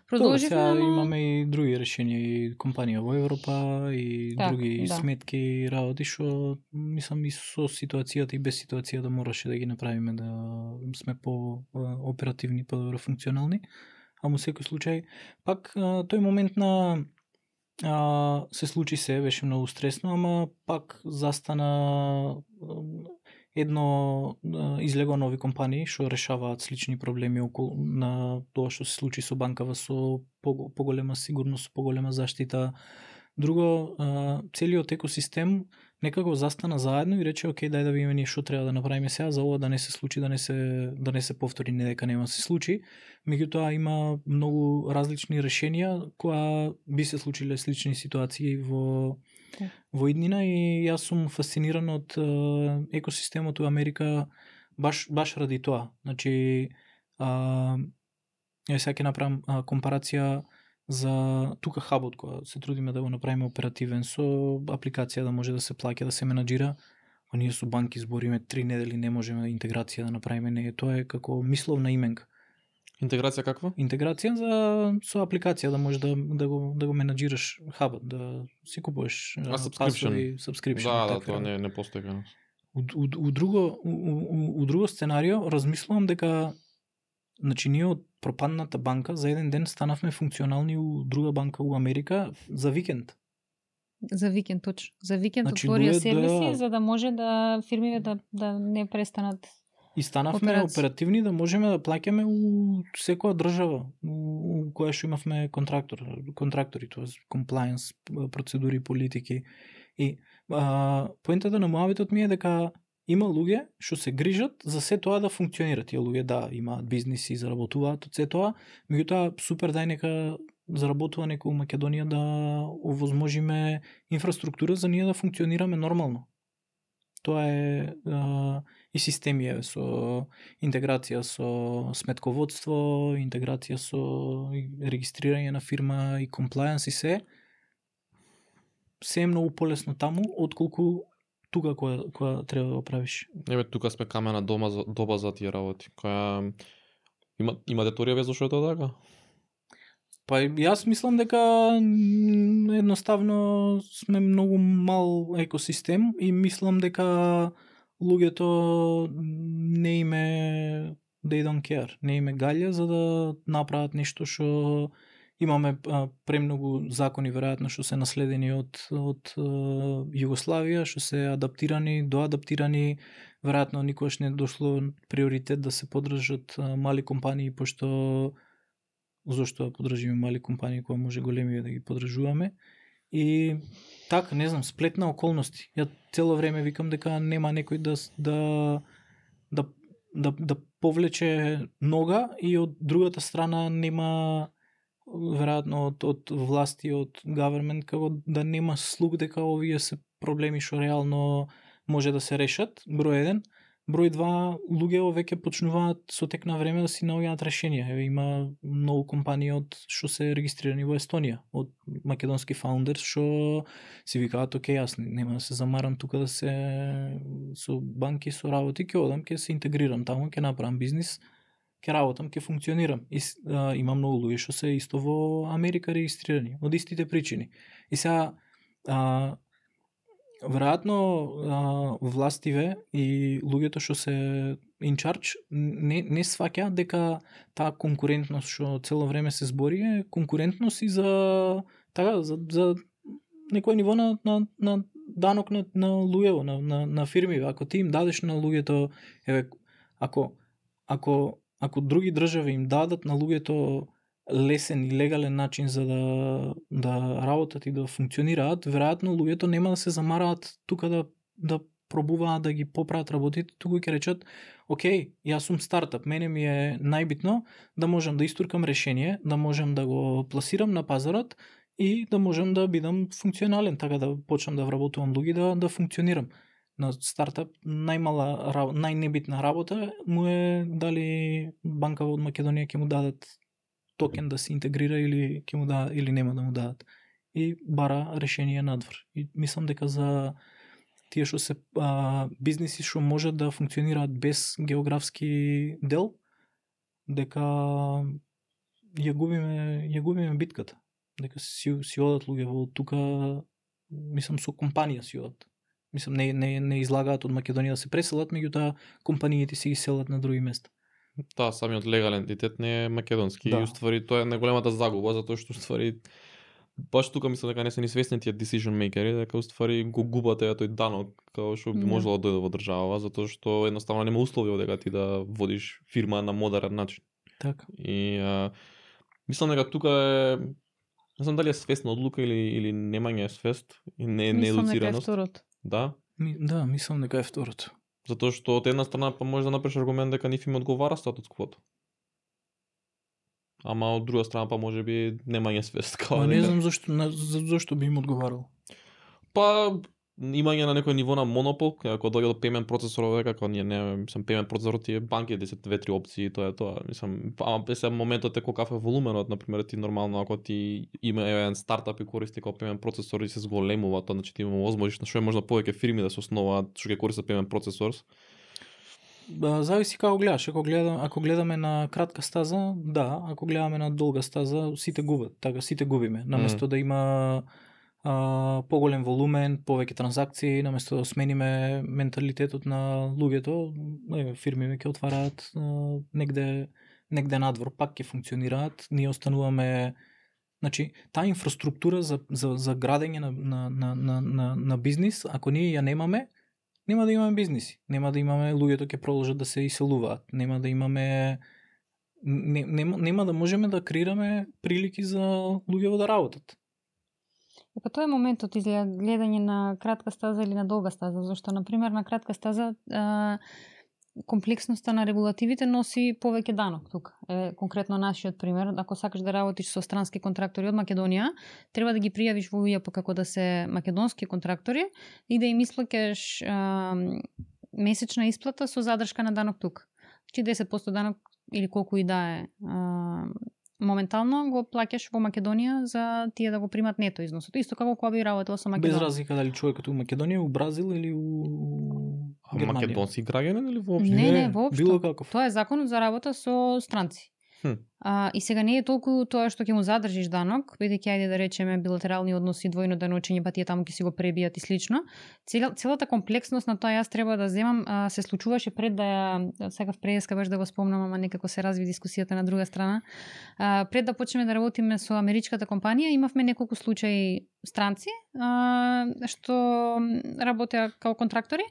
Продолживме, сега имаме и други решенија, и компанија во Европа и други сметки, работи што мислам и со ситуацијата и без ситуацијата мораше да ги направиме да сме по оперативни, по-добро функционални. А во секој случај пак тој момент на се случи се, беше многу стресно, ама пак застана излегоа нови компании што решаваат слични проблеми околу на тоа што се случи со банкава со поголема сигурност, поголема заштита. Друго, целиот екосистем некако застана заедно и рече окей, дај да видиме ние што треба да направиме сега за ова да не се случи, да не се повтори, не дека нема се случи. Меѓутоа има многу различни решенија кои би се случиле слични ситуации во иднина и јас сум фасциниран од екосистемот во Америка баш ради тоа. Значи сега ќе направам компарација за тука хабот која се трудиме да го направиме оперативен со апликација да може да се плаќа, да се менаџира. па ние со банки збориме 3 недели, не можеме интеграција да направиме, не, тоа е како мисловна именка. Интеграција каква? Интеграција со апликација да можеш да го менаџираш хабот, да си купуваш subscription. Да, тоа не постои кај нас. У друго сценарио размислувам дека значи ние од пропадната банка за еден ден станавме функционални у друга банка у Америка за викенд. За викенд, точно. За викенд значи, отворија сервиси за да може да фирмите да не престанат. И станавме оперативни да можеме да плаќаме у секоја држава у која што имавме контрактори, тоа compliance процедури, политики. И поентата на муабетот ми е дека има луѓе што се грижат за се тоа да функционира. Тие луѓе да имаат бизниси, заработуваат од се тоа, меѓутоа супер дај нека заработува некој у Македонија да овозможиме инфраструктура за ние да функционираме нормално. Тоа е и системи со интеграција со сметководство, интеграција со регистрирање на фирма и compliance и се е многу полесно таму отколку тука која треба да го правиш. Еве тука сме камена доба за тие работи. Која имате теорија везо што е тоа така? Па јас мислам дека едноставно сме многу мал екосистем и мислам дека луѓето не име they don't care, не име галја за да направат нешто што имаме премногу закони веројатно што се наследени од Југославија, што се адаптирани, доадаптирани, веројатно никогаш не дошло приоритет да се поддржат мали компании, пошто зошто да поддржиме мали компании кога може големи да ги поддржуваме. И така, не знам, сплет на околности. Ја цело време викам дека нема некој да повлече нога и од другата страна нема веројатно од власти, од government, како да нема слух дека овие се проблеми што реално може да се решат, број 1. Број 2, луѓето веќе почнуваат со тек на време да си наоѓаат решенија. Еве има многу компании што се регистрирани во Естонија, од македонски фаундерс што си викаат, окей, јас нема да се замарам тука да се со банки, со работи, ќе одам, ќе се интегрирам таму, ќе направам бизнис, ќе работам, ќе функционирам. И има многу луѓе што се исто во Америка регистрирани од истите причини. И сега веројатно властиве и луѓето што се in charge не сваќаат дека таа конкурентност што цело време се збори е конкурентност и за некој ниво на данок на луѓето, на фирми. Ако ти им дадеш на луѓето, еве, ако други држави им дадат на луѓето лесен и легален начин за да работат и да функционираат, веројатно луѓето нема да се замараат тука да пробуваат да ги поправат работите, туку ќе речат, окей, јас сум стартап, мене ми е најбитно да можам да истуркам решение, да можам да го пласирам на пазарот и да можам да бидам функционален, така да почнам да вработувам луѓе да функционирам. На стартап најнебитна работа му е дали банка од Македонија ќе му дадат токен да се интегрира или ќе му дадат или нема да му дадат. И бара решение надвор. И мислам дека за тие што се бизниси што можат да функционираат без географски дел, дека ја губиме битката. Дека си одат луѓе во тука, мислам со компанија си одат. Мислам не излагаат од Македонија да се преселат, меѓутоа компаниите си ги селат на други места. Таа самиот легален ентитет не е македонски и уствари тоа е најголемата загуба, затоа што уствари баш тука мислам дека не се ни свесни тие decision makeri, дека уствари го губате тој данок како што би можело да дојде во држава, затоа што едноставно нема услови дека ти да водиш фирма на модерен начин. Така. И мислам дека тука е, не знам дали е свесна одлука или немање свест и не едуцираност. Да? Да, мислам дека е второто. Затоа што од една страна па може да направиш аргумент дека нив им одговара статус квото. Ама од друга страна па можеби немање свест. Не знам зошто би им одговарал. Па имање на некој ниво на монопол, ако дојде до payment процесорове, како ние не, мислам payment процесорот тие банки 10-2-3 опции, тоа е тоа. Мислам, сега моментот е каков е волуменот, на пример, ти нормално ако ти има еден стартап и користи како payment процесор и се зголемува, тоа значи ти има возможност на што е можда повеќе фирми да се основаат што ќе користат payment процесор. Зависи како гледаш. Ако гледаме на кратка стаза, да, ако гледаме на долга стаза, сите губат, така сите губиме. Наместо да има поголем волумен, повеќе транзакции, наместо да смениме менталитетот на луѓето, фирми ќе отвараат негде надвор, пак ќе функционираат, ние остануваме. Значи, таа инфраструктура за градење на бизнис, ако ние ја немаме, нема да имаме бизниси, нема да имаме, луѓето ќе продолжат да се иселуваат, нема да имаме, нема да можеме да креираме прилики за луѓето да работат. Па тоа е моментот изгледа гледање на кратка стаза или на долга стаза, зашто на пример на кратка стаза комплексноста на регулативите носи повеќе данок тука. Конкретно нашиот пример, ако сакаш да работиш со странски контрактори од Македонија, треба да ги пријавиш во УЈП како да се македонски контрактори и да им исплаќаш месечна исплата со задршка на данок тука. Чи 10% данок или колку и да е моментално го плаќаш во Македонија за тие да го примат нето износот. Исто како кога би работел со Македонија. Без разлика дали човекот у Македонија, у Бразил или у Германија. Македонски граѓанин или воопшто? Не, воопшто. Било каков. Тоа е законот за работа со странци. И сега не е толку тоа што ќе му задржиш данок, бидејќи ајде да речеме билатерални односи, двојно деночење, па тие таму ќе си го пребијат и слично. Целата комплексност на тоа јас треба да земам се случуваше пред да ја сакав преска баш да го спомнам, ама некако се разви дискусијата на друга страна. Пред да почнеме да работиме со америчката компанија, имавме неколку случаи странци што работеа како контрактори.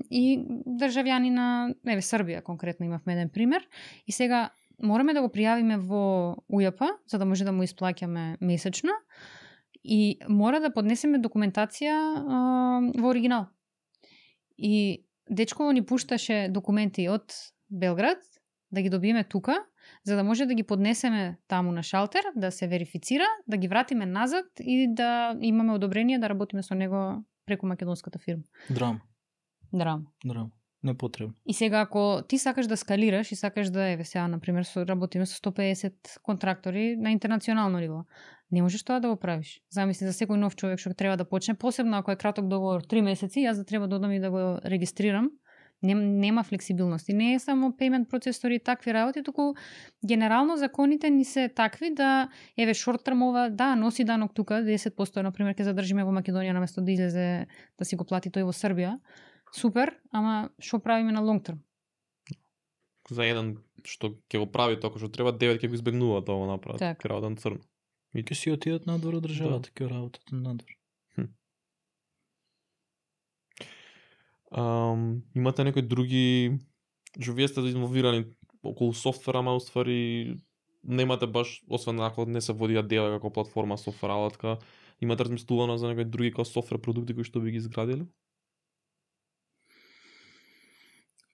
И државјани на Србија конкретно имавме еден пример. И сега мораме да го пријавиме во УЈП за да може да му исплаќаме месечно и мора да поднесеме документација во оригинал. И дечково ни пушташе документи од Белград да ги добиеме тука, за да може да ги поднесеме таму на шалтер, да се верифицира, да ги вратиме назад и да имаме одобрение да работиме со него преку македонската фирма. Драма. Непотребно. И сега ако ти сакаш да скалираш и сакаш да сега на пример работиме со 150 контрактори на интернационално ниво, не можеш тоа да го правиш. Замисли за секој нов човек што треба да почне, посебно ако е краток договор 3 месеци, јас да треба да одам и да го регистрирам. Нема флексибилност. И не е само payment процесори и такви работи, туку генерално законите ни се такви да short term да носи данок тука 10%, на пример ќе задржиме во Македонија наместо да излезе да си го плати тој во Србија. Супер, ама што правиме на long term? За еден што ќе го прави тоа што треба, 9 ќе го избегнува тоа го направат. Ќе работат на црно. И ќе си отидат надвор од државата, ќе работат надвор. Имате некои други, што вие сте инволвирани околу софтвера, ама уствари немате баш, освен ако не се води дела како платформа софтвер алатка, имате размислувано за некои други како софтвер продукти кои што би ги изградили?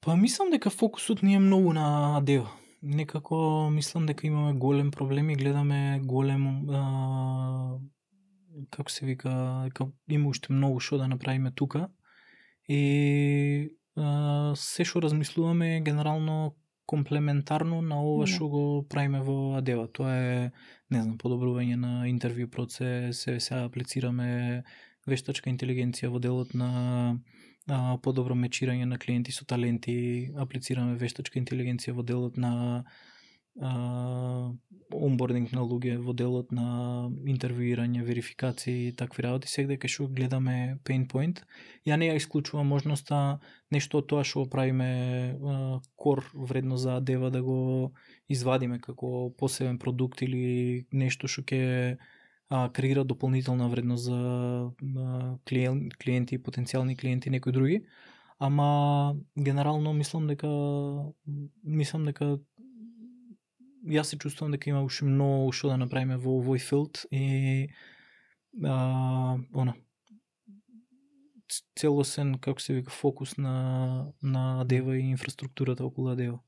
Па мислам дека фокусот ни е многу на дел. Некако мислам дека имаме голем проблем и гледаме голем како се вика, има уште многу што да направиме тука. И се што размислуваме е генерално комплементарно на ова што го правиме во Адева. Тоа е, не знам, подобрување на интервју процес, сега аплицираме вештачка интелигенција во делот на подобро мечирање на клиенти со таленти, аплицираме вештачка интелигенција во делот на онбординг на луѓе, во делот на интервјуирање, верификации и такви работи, сега дека што гледаме pain point. Ја не ја исклучувам можноста нешто од тоа што правиме кор вредно за Адева да го извадиме како посебен продукт или нешто што ќе креира дополнителна вредност за клиенти, потенцијални клиенти, некои други. Ама генерално мислам дека јас се чувствувам дека има уште многу што да направиме во овој филд и целосен, како се вика, фокус на Адева и инфраструктурата околу Адева.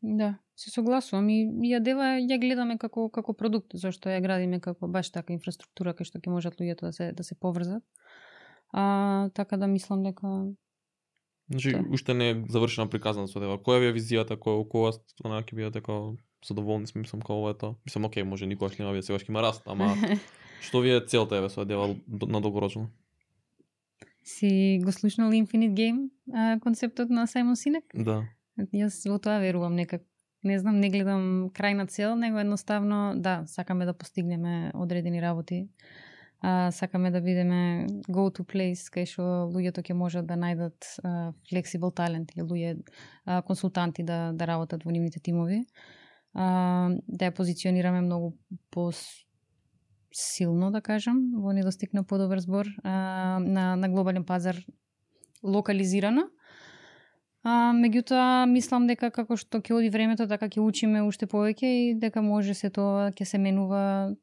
Да, се согласувам и Адева ја гледаме како продукт, зашто ја градиме како баш така инфраструктура кај што ќе можат луѓето да се поврзат. Така да мислам дека Значи, уште не е завршена приказната со дева. Која ви е визијата, кога ќе бидете како задоволни сме, мислам, како ова е тоа. Мислам, окей, може никогаш нема сега ќе има раст, ама што ви е целта еве со дева на долгорочно? Си го слушнал Infinite Game концептот на Сајмон Синек? Да. Јас во тоа верувам некак. Не знам, не гледам крајна цел, него едноставно, да, сакаме да постигнеме одредени работи. Сакаме да бидеме go to place кај што луѓето ќе можат да најдат flexible talent или луѓе консултанти да работат во нивните тимови. Да ја позиционираме многу силно, да кажам, во недостиг на подобар збор, на глобален пазар локализирано. Меѓутоа, мислам дека како што ќе оди времето, така ќе учиме уште повеќе и дека може се тоа ќе се менува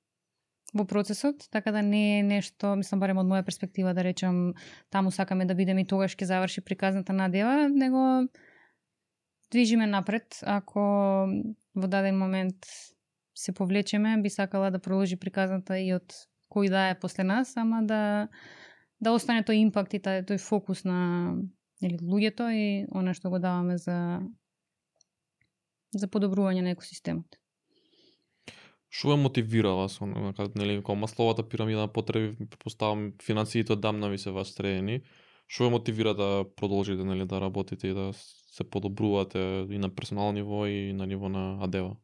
во процесот, така да не е нешто, мислам барем од моја перспектива да речам таму сакаме да бидеме и тогаш ќе заврши приказната надева, него движиме напред. Ако во даден момент се повлечеме, би сакала да продолжи приказната и од кој да е после нас, ама да остане тој импакт и тој фокус на луѓето и она што го даваме за подобрување на екосистемот. Што ве мотивира вас, кога масловата пирамида на потреби, предпоставам финансиите одамна ви се вас средени, што ве мотивира да продолжите да работите и да се подобрувате и на персонално ниво и на ниво на Адева?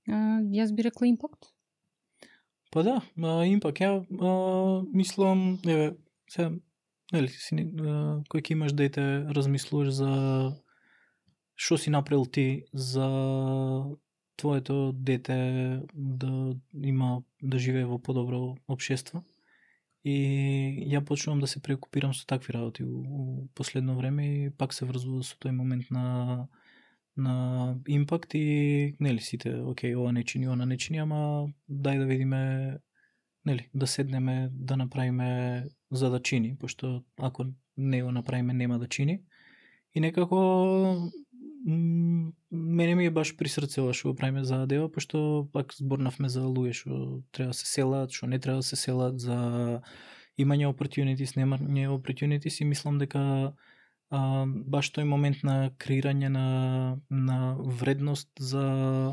Јас би рекла импакт. Па да, импакт. Ја мислам, еве, сега, кој ќе имаш дете, размислуваш за што си направил ти за твоето дете да живее во подобро општество. И ја почнувам да се преокупирам со такви работи у последно време и пак се врзува со тој момент на импакт и сите, окей, ова не чини, она не чини, ама дај да видиме, да седнеме, да направиме за да чини, пошто ако не го направиме нема да чини. И некако мене ми е баш при срце ова што го правиме за Адева, пошто пак зборнавме за луѓе што треба да се селат, што не треба да се селат, за имање opportunities, немање opportunities и мислам дека баш тој момент на креирање на вредност за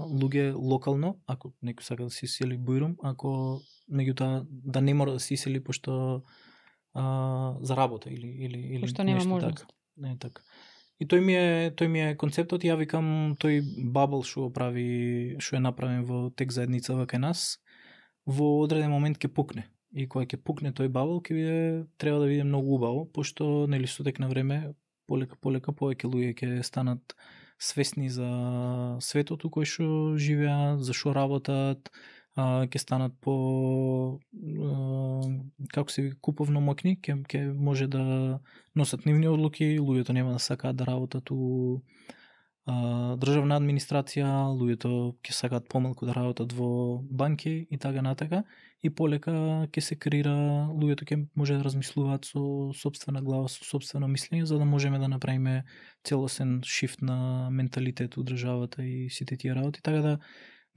луѓе локално, ако некој сака да се исели Бујрум, ако меѓутоа да не мора да се исели пошто за работа или пошто нема можност. Не е така. И тој ми е концептот, ја викам тој бабл што е направен во тек заедницава кај нас, во одреден момент ќе пукне. И кога ќе пукне тој бабл, треба да биде многу убаво, пошто со тек на време полека повеќе луѓе ќе станат свесни за светот у кој што живеат, за што работат, ќе станат како се куповно моќни, ќе може да носат нивни одлуки, луѓето нема да сакаат да работат у државна администрација, луѓето ќе сакаат помалку да работат во банки и така натака, и полека ќе се креира, луѓето ќе може да размислуваат со сопствена глава, со сопствено мислење, за да можеме да направиме целосен шифт на менталитет у државата и сите тие работи, така да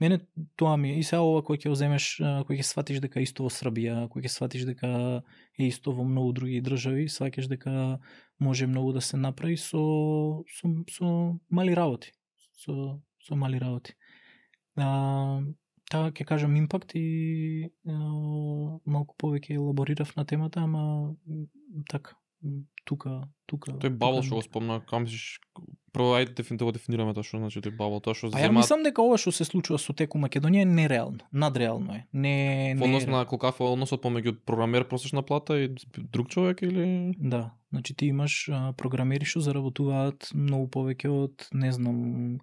мене тоа ми е. И сега ова кој ќе оземеш, кој ќе сватиш дека исто во Србија, кој ќе сватиш дека е исто во многу други држави, сваќаш дека може многу да се направи со мали работи. Со мали работи. Така ќе кажам импакт и малку повеќе елаборирав на темата, ама така, тука. Тој бабл што го спомна, кам мислиш, прво ајде дефинираме тоа што значи тој бабл, тоа што ја мислам дека ова што се случува со теку Македонија е нереално, надреално е. Во однос на колкав е односот помеѓу програмер просечна плата и друг човек или? Да, значи ти имаш програмери што заработуваат многу повеќе од, не знам,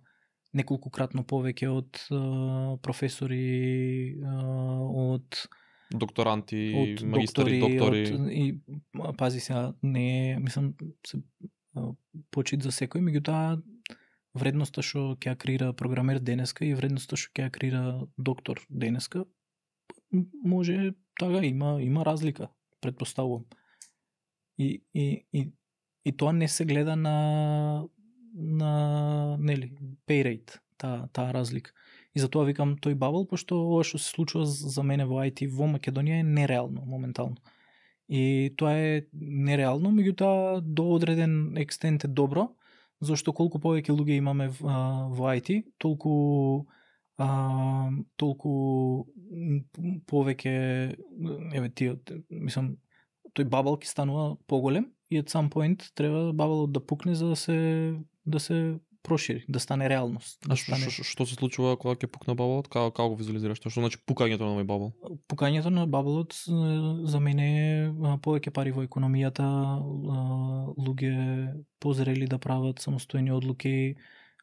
неколкукратно повеќе од професори, од докторанти, магистри, доктори. И пази сега, не мислам се почит за секој, меѓутоа вредноста што ќе ја креира програмер денеска и вредноста што ќе ја креира доктор денеска, може така има разлика, претпоставувам. И тоа не се гледа на pay rate, таа разлика. И затоа викам тој бабл, пошто ова што се случува за мене во IT во Македонија е нереално моментално. И тоа е нереално, меѓутоа до одреден екстент е добро, зашто колку повеќе луѓе имаме во IT, толку повеќе мислам тој бабл ќе станува поголем и at some point треба баблот да пукне за да се прошири, да стане реалност. А што се случува кога ќе пукне баблот? Како го визуализираш? Што значи пукањето на овој бабл? Пукањето на баблот за мене е повеќе пари во економијата, луѓе позрели да прават самостојни одлуки,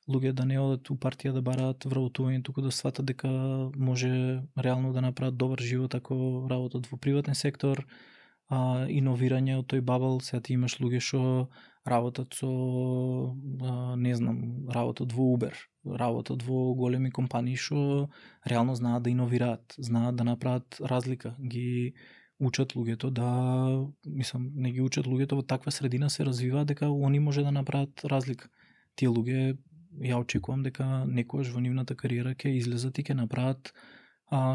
луѓе да не одат у партија да бараат вработување, туку да сватат дека може реално да направат добар живот ако работат во приватен сектор, иновирање од тој бабл. Сега ти имаш луѓе што работат со работат во Uber, работат во големи компании што реално знаат да иновираат, знаат да направат разлика, ги учат луѓето не ги учат луѓето во таква средина се развиваат дека они може да направат разлика. Тие луѓе ја очекувам дека некојаш во нивната кариера ќе излезат и ќе направат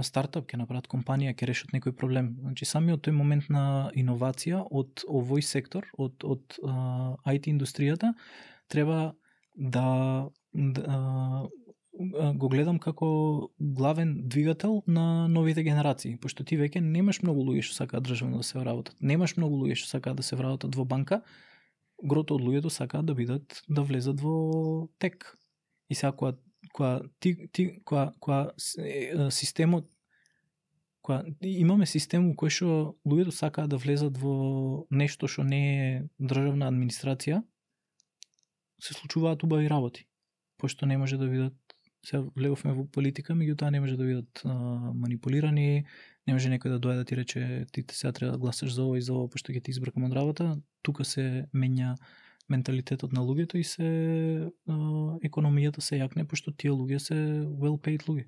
стартап, ќе направат компанија, ќе решат некој проблем. Значи самиот тој момент на иновација од овој сектор, од IT индустријата, треба да го гледам како главен двигател на новите генерации, пошто ти веќе немаш многу луѓе што сакаат државно да се вработат. Немаш многу луѓе што сакаат да се вработат во банка. Грото од луѓето сакаат да влезат во тек. И сега системот, имаме систем кој што луѓето сакаат да влезат во нешто што не е државна администрација, се случуваат убави работи, пошто не може да видат. Сега влеговме во политика, меѓутоа не може да бидат манипулирани, не може некој да дојде да ти рече ти сега треба да гласаш за ова и за ова, пошто ќе ти избракам од работа. Тука се менја менталитетот на луѓето и економијата се јакне, пошто тие луѓе се well paid луѓе.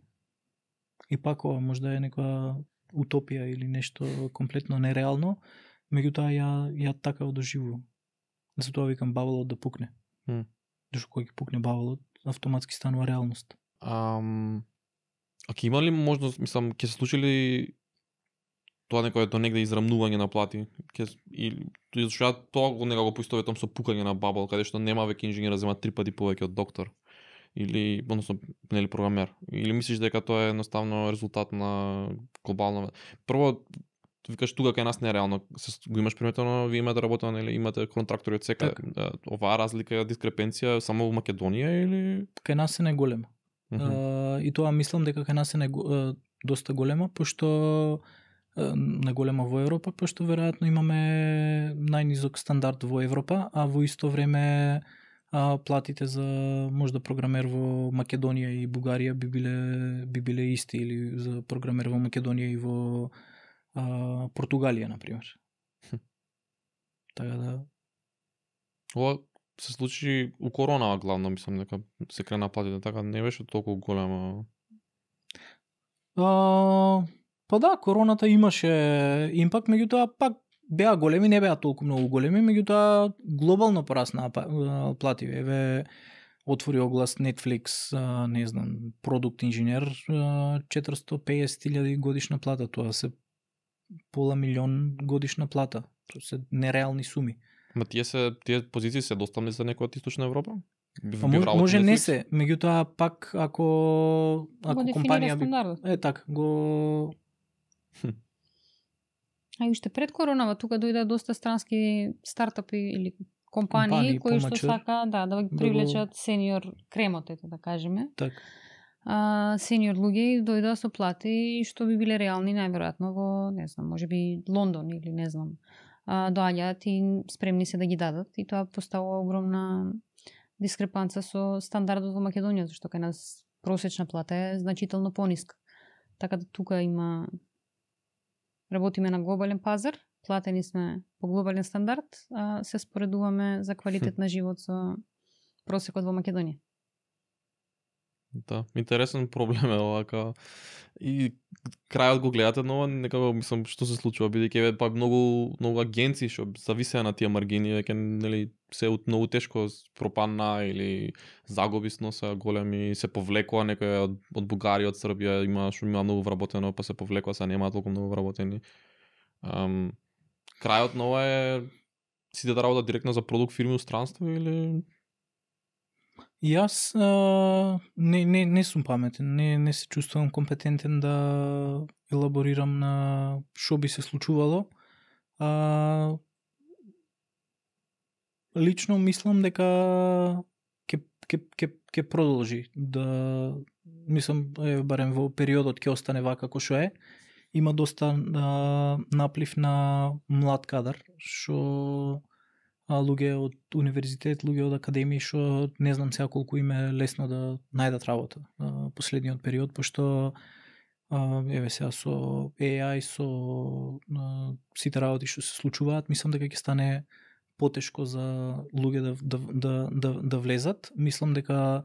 И пак ова може да е некоја утопија или нешто комплетно нереално, меѓутоа ја така доживувам. Затоа викам баблот да пукне. Зашто кога ќе пукне баблот, автоматски станува реалност. А ќе има ли можност, мислам, ќе се случи ли тоа некој до негде израмнување на плати? Зашто ја тоа го поистоветам со пукање на бабл, каде што нема веќе инженер зема 3 пати повеќе од доктор или односно нели програмер. Или мислиш дека тоа е едноставно резултат на глобална. Прво викаш тука кај нас не е реално. Го имаш приметено, вие имате работа, нели, имате контрактори од секаде. Оваа разлика, дискрепенција само во Македонија или кај нас е неголема. И тоа мислам дека кај нас е доста голема, пошто наголема во Европа, пошто веројатно имаме најнизок стандард во Европа, а во исто време платите за можда програмер во Македонија и Бугарија би биле исти, или за програмер во Македонија и во Португалија, например. Така да. Ова се случи у коронава главно, мислам дека се крена платите, така не беше толку голема. Па да, короната имаше импакт, меѓутоа пак беа големи, не беа толку многу големи, меѓутоа глобално порасна плати. Еве отвори оглас Netflix, не знам, продукт инженер, 450.000 годишна плата, тоа се пола милион годишна плата. Тоа се нереални суми. Ма тие позиции се достапни за некој од Источна Европа? Може не се, меѓутоа пак ако компанија така го А уште пред коронава тука дојде доста странски стартапи или компании кои што сака да привлечат сениор кремот, да кажеме. Така. Сениор луѓе дојдоа со плати што би биле реални најверојатно во, не знам, можеби Лондон или не знам. Доаѓаат и спремни се да ги дадат и тоа поставува огромна дискрепанца со стандардот во Македонија, зашто кај нас просечна плата е значително пониска. Така да тука работиме на глобален пазар, платени сме по глобален стандард, а се споредуваме за квалитет на живот со просекот во Македонија. Да, интересен проблем е овака. И крајот го гледате, но некако мислам што се случува, бидејќи па многу агенции што зависеа на тие маргини, веќе нели се многу тешко пропадна или загуби сноса големи, се повлекува некој од Бугарија, од Србија, има многу вработено, па се повлекува, са нема толку многу вработени. крајот на ова е сите да работат директно за продукт фирми у странство или Јас не сум паметен, не се чувствувам компетентен да елаборирам на што би се случувало. Лично мислам дека ќе продолжи да мислам барем во периодот ќе остане вака како што е. Има доста наплив на млад кадар што луѓе од универзитет, луѓе од академии што не знам сега колку им е лесно да најдат работа последниот период, пошто еве сега со AI, со сите работи што се случуваат, мислам дека ќе стане потешко за луѓе да влезат. Мислам дека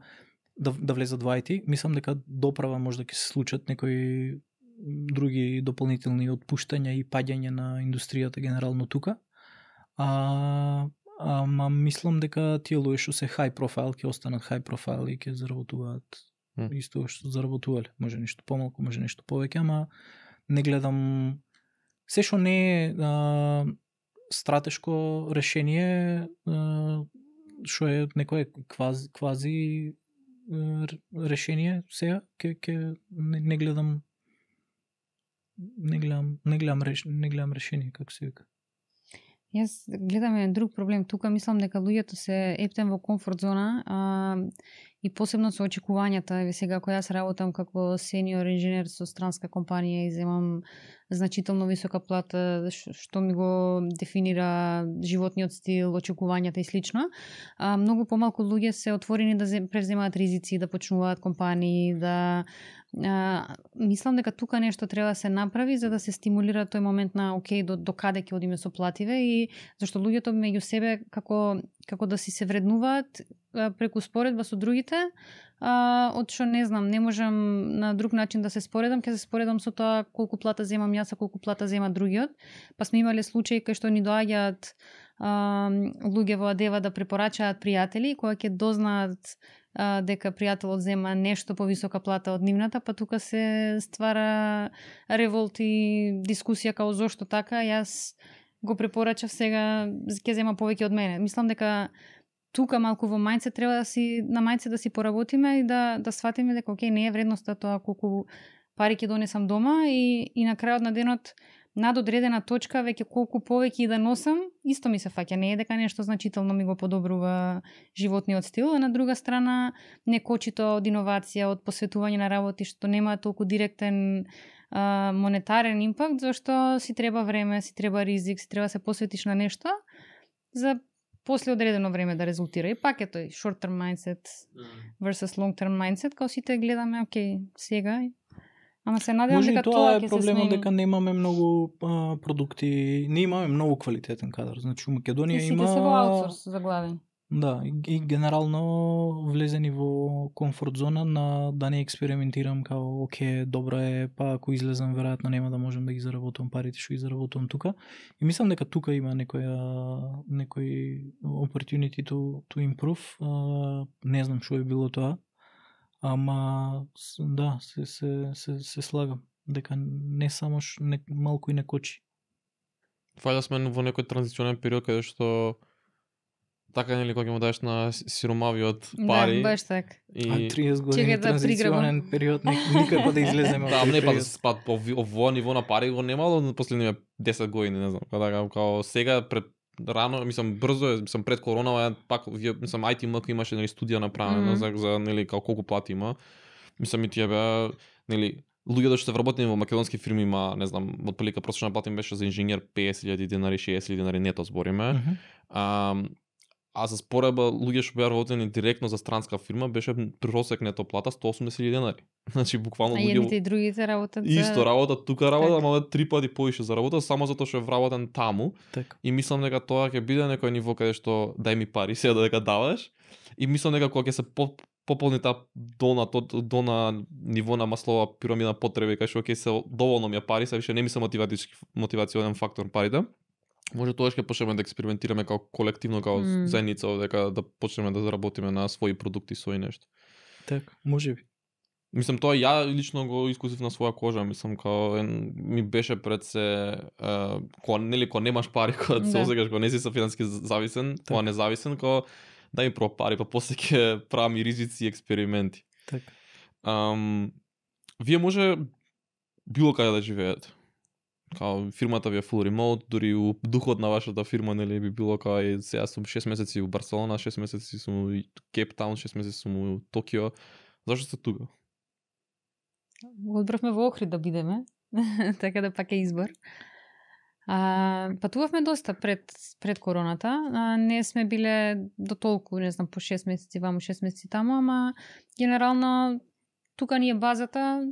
да влезат во IT, мислам дека доправа може да ќе се случат некои други дополнителни отпуштања и паѓање на индустријата генерално тука. Ама мислам дека тие луѓе што се high profile ќе останат high profile и ќе заработуваат исто што заработувале. Може нешто помалку, може нешто повеќе, ама не гледам се што не е стратешко решение, што е некое квази решение сега не гледам решение како се вика. Јас гледам еден друг проблем тука, мислам дека луѓето се ептен во комфорт зона и посебно со очекувањата. Еве сега кога јас работам како сениор инженер со странска компанија и земам значително висока плата што ми го дефинира животниот стил, очекувањата и слично. Многу помалку луѓе се отворени да преземаат ризици, да почнуваат компании, да мислам дека тука нешто треба да се направи за да се стимулира тој момент на окей, до каде ќе одиме со плативе и зашто луѓето меѓу себе како да си се вреднуваат преку споредба со другите, од што не знам, не можам на друг начин да се споредам, ќе се споредам со тоа колку плата земам јас, колку плата зема другиот. Па сме имале случаи кај што ни доаѓаат луѓе во Адева да препорачаат пријатели, кога ќе дознаат дека пријателот зема нешто повисока плата од нивната, па тука се ствара револт и дискусија као зошто така, јас го препорачав сега ќе зема повеќе од мене. Мислам дека тука малку во мајндсет треба да си на мајндсет да си поработиме и да сватиме дека окей, не е вредноста тоа колку пари ќе донесам дома и на крајот на денот над одредена точка веќе колку повеќе и да носам, исто ми се фаќа, не е дека нешто значително ми го подобрува животниот стил, а на друга страна не кочи тоа од иновација, од посветување на работи што нема толку директен монетарен импакт, зашто си треба време, си треба ризик, си треба да се посветиш на нешто за после одредено време да резултира. И пак е тој short term mindset versus long term mindset, као сите гледаме, окей, сега. Ама се надевам дека тоа ќе се смени. Може и тоа е проблемот дека немаме многу продукти, не имаме многу квалитетен кадар. Значи у Македонија има... Сите се во аутсорс заглавени. Да, и генерално влезени во комфорт зона на да не експериментирам као окей, добро е, па ако излезам веројатно нема да можам да ги заработам парите што ги заработам тука. И мислам дека тука има некој opportunity to improve. Не знам што е било тоа. Ама да, се слагам дека не само малку и не кочи. Фајда сме во некој транзиционен период каде што така нели кога му даеш на сиромавиот пари. Да, баш така. И 30 години транзиционен период никако да излеземе од тој период. Да, не па во ниво на пари го немало на последниве 10 години, не знам. Као сега пред рано, мислам брзо е, мислам пред коронава пак мислам IT имаше нели студија направена за нели колку плати има. Мислам и тие беа нели луѓето што се вработени во македонски фирми има, не знам, отприлика просечна плата им беше за инженер 50.000 денари, 60.000 денари нето збориме. А за спореба луѓе што беа работени директно за странска фирма беше просек нето плата 180.000 денари. Значи буквално луѓе. А едните и другите работат исто работат тука работа, ама 3 пати повише заработат само затоа што е вработен таму. Так. И мислам дека тоа ќе биде некој ниво каде што дај ми пари, сега дека даваш. И мислам дека кога ќе се пополни таа долна ниво на маслова пирамида потреби, кај што ќе се доволно ми пари, се више не ми се мотивационен фактор парите. Може тоа ќе почнеме да експериментираме како колективно, како заедница, дека да почнеме да заработиме на своји продукти, своји нешто. Так, може би. Мислам, тоа ја лично го искусив на своја кожа, мислам, као ми беше пред се, кога немаш пари, кога се осекаш, кога не си со финансиски зависен, кога независен, кога да ми прво пари, па после ќе правам и ризици и експерименти. Така. Вие може било каде да живеете. Као фирмата ви е full remote, дури у духот на вашата фирма, нели, би било као сега сум 6 месеци у Барселона, 6 месеци сум у Кейптаун, 6 месеци сум у Токио. Зашто сте тука? Одбравме во Охрид да бидеме, така да пак е избор. Патувавме доста пред короната. Не сме биле до толку, не знам, по 6 месеци ваму, 6 месеци таму, ама генерално тука ни е базата,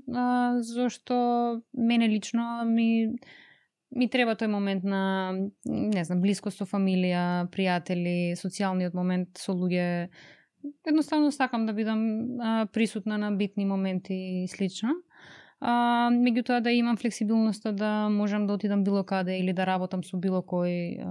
зашто мене лично ми треба тој момент на, не знам, блискост со фамилија, пријатели, социјалниот момент со луѓе. Едноставно сакам да бидам присутна на битни моменти и слично. Меѓутоа да имам флексибилноста да можам да отидам било каде или да работам со било кој,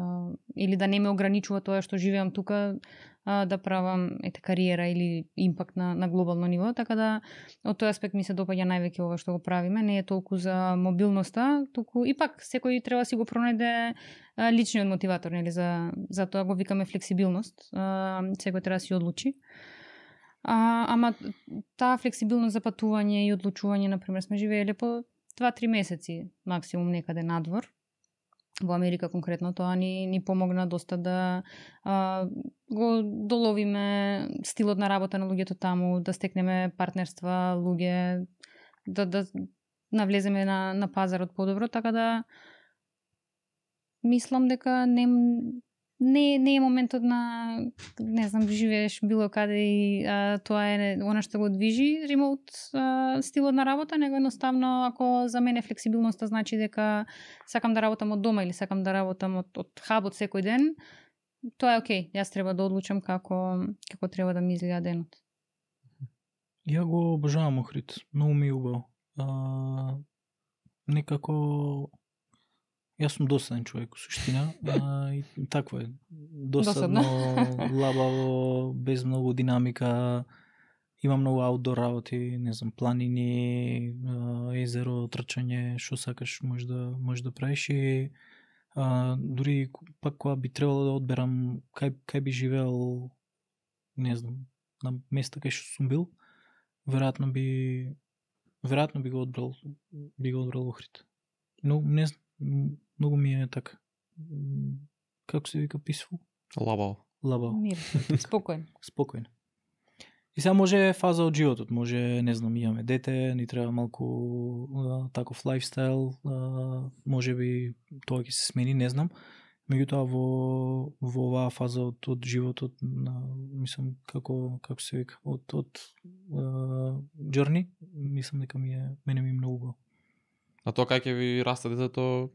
или да не ме ограничува тоа што живеам тука, да правам кариера или импакт на глобално ниво, така да од тој аспект ми се допаѓа највеќе ова што го правиме, не е толку за мобилноста, туку и пак секој треба да си го пронајде личниот мотиватор, нели, за тоа го викаме флексибилност. Секој треба да си одлучи. Ама таа флексибилност за патување и одлучување, например, сме живееле по 2-3 месеци максимум некаде надвор. Во Америка конкретно тоа ни помогна доста да го доловиме стилот на работа на луѓето таму, да стекнеме партнерства, луѓе, да навлеземе на пазарот подобро, така да мислам дека не е моментот на, не знам, живееш било каде и тоа е она што го движи ремоут стилот на работа, него едноставно ако за мене флексибилноста значи дека сакам да работам од дома или сакам да работам од хабот секој ден, тоа е окей. Јас треба да одлучам како треба да ми изгледа денот. Ја го обожавам Охрид, многу ми е убаво. Некако јас сум досаден човек у суштина, и такво е. Досадно, лабаво, без многу динамика. Има многу аутдор работи, не знам, планини, езеро, трчање, што сакаш можеш да правиш и дури пак кога би требало да одберам кај би живеел, не знам, на места кај што сум бил, веројатно би го одбрал Охрид. Но не знам, многу ми е така. Како се вика писфул? Лабаво. Мир, спокоен. И сега може фаза од животот, може, не знам, имаме дете, ни треба малку таков лајфстайл, може би тоа ќе се смени, не знам. Меѓутоа во оваа фаза од животот, мислам, како се вика, од journey, мислам дека мене ми е многу убаво. А тоа кај ќе ви расте детето,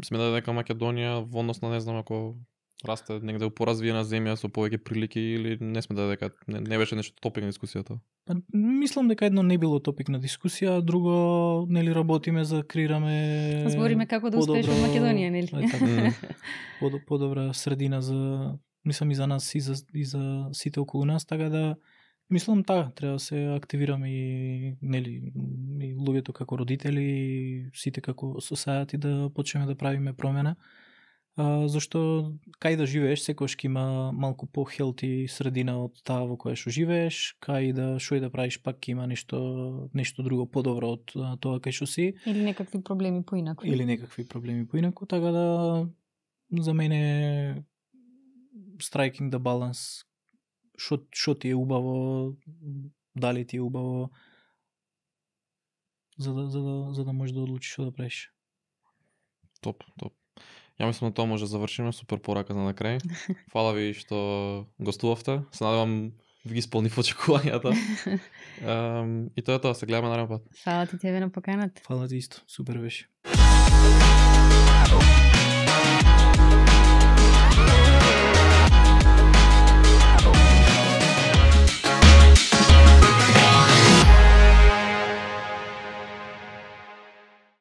сметате дека Македонија во однос на, не знам, ако расте негде у поразвиена земја со повеќе прилики, или не сметате дека не беше нешто топик на дискусијата? Мислам дека едно не било топик на дискусија, друго, нели, работиме за креираме збориме како да успееш во Македонија, нели? Подобра средина за, мислам, и за нас и за сите околу нас, така да мислам треба да се активираме и, нели, и луѓето како родители, и сите како society да почнеме да правиме промена. Зашто кај да живееш секогаш ќе има малку по-хелти средина од таа во која што живееш, кај да што и да правиш пак ќе има нешто друго подобро од тоа кај што си. Или некакви проблеми поинаку. Така да за мене striking the balance, што ти е убаво, дали ти е убаво, за да можеш да одлучиш што да правиш. Топ. Ја мислам на тоа може да завршиме, супер порака за на крај. Фала ви што гостувавте. Се надевам ви ги исполнив очекувањата. И тоа е тоа, се гледаме нареден пат. Фала ти тебе на поканата. Фала ти исто, супер беше.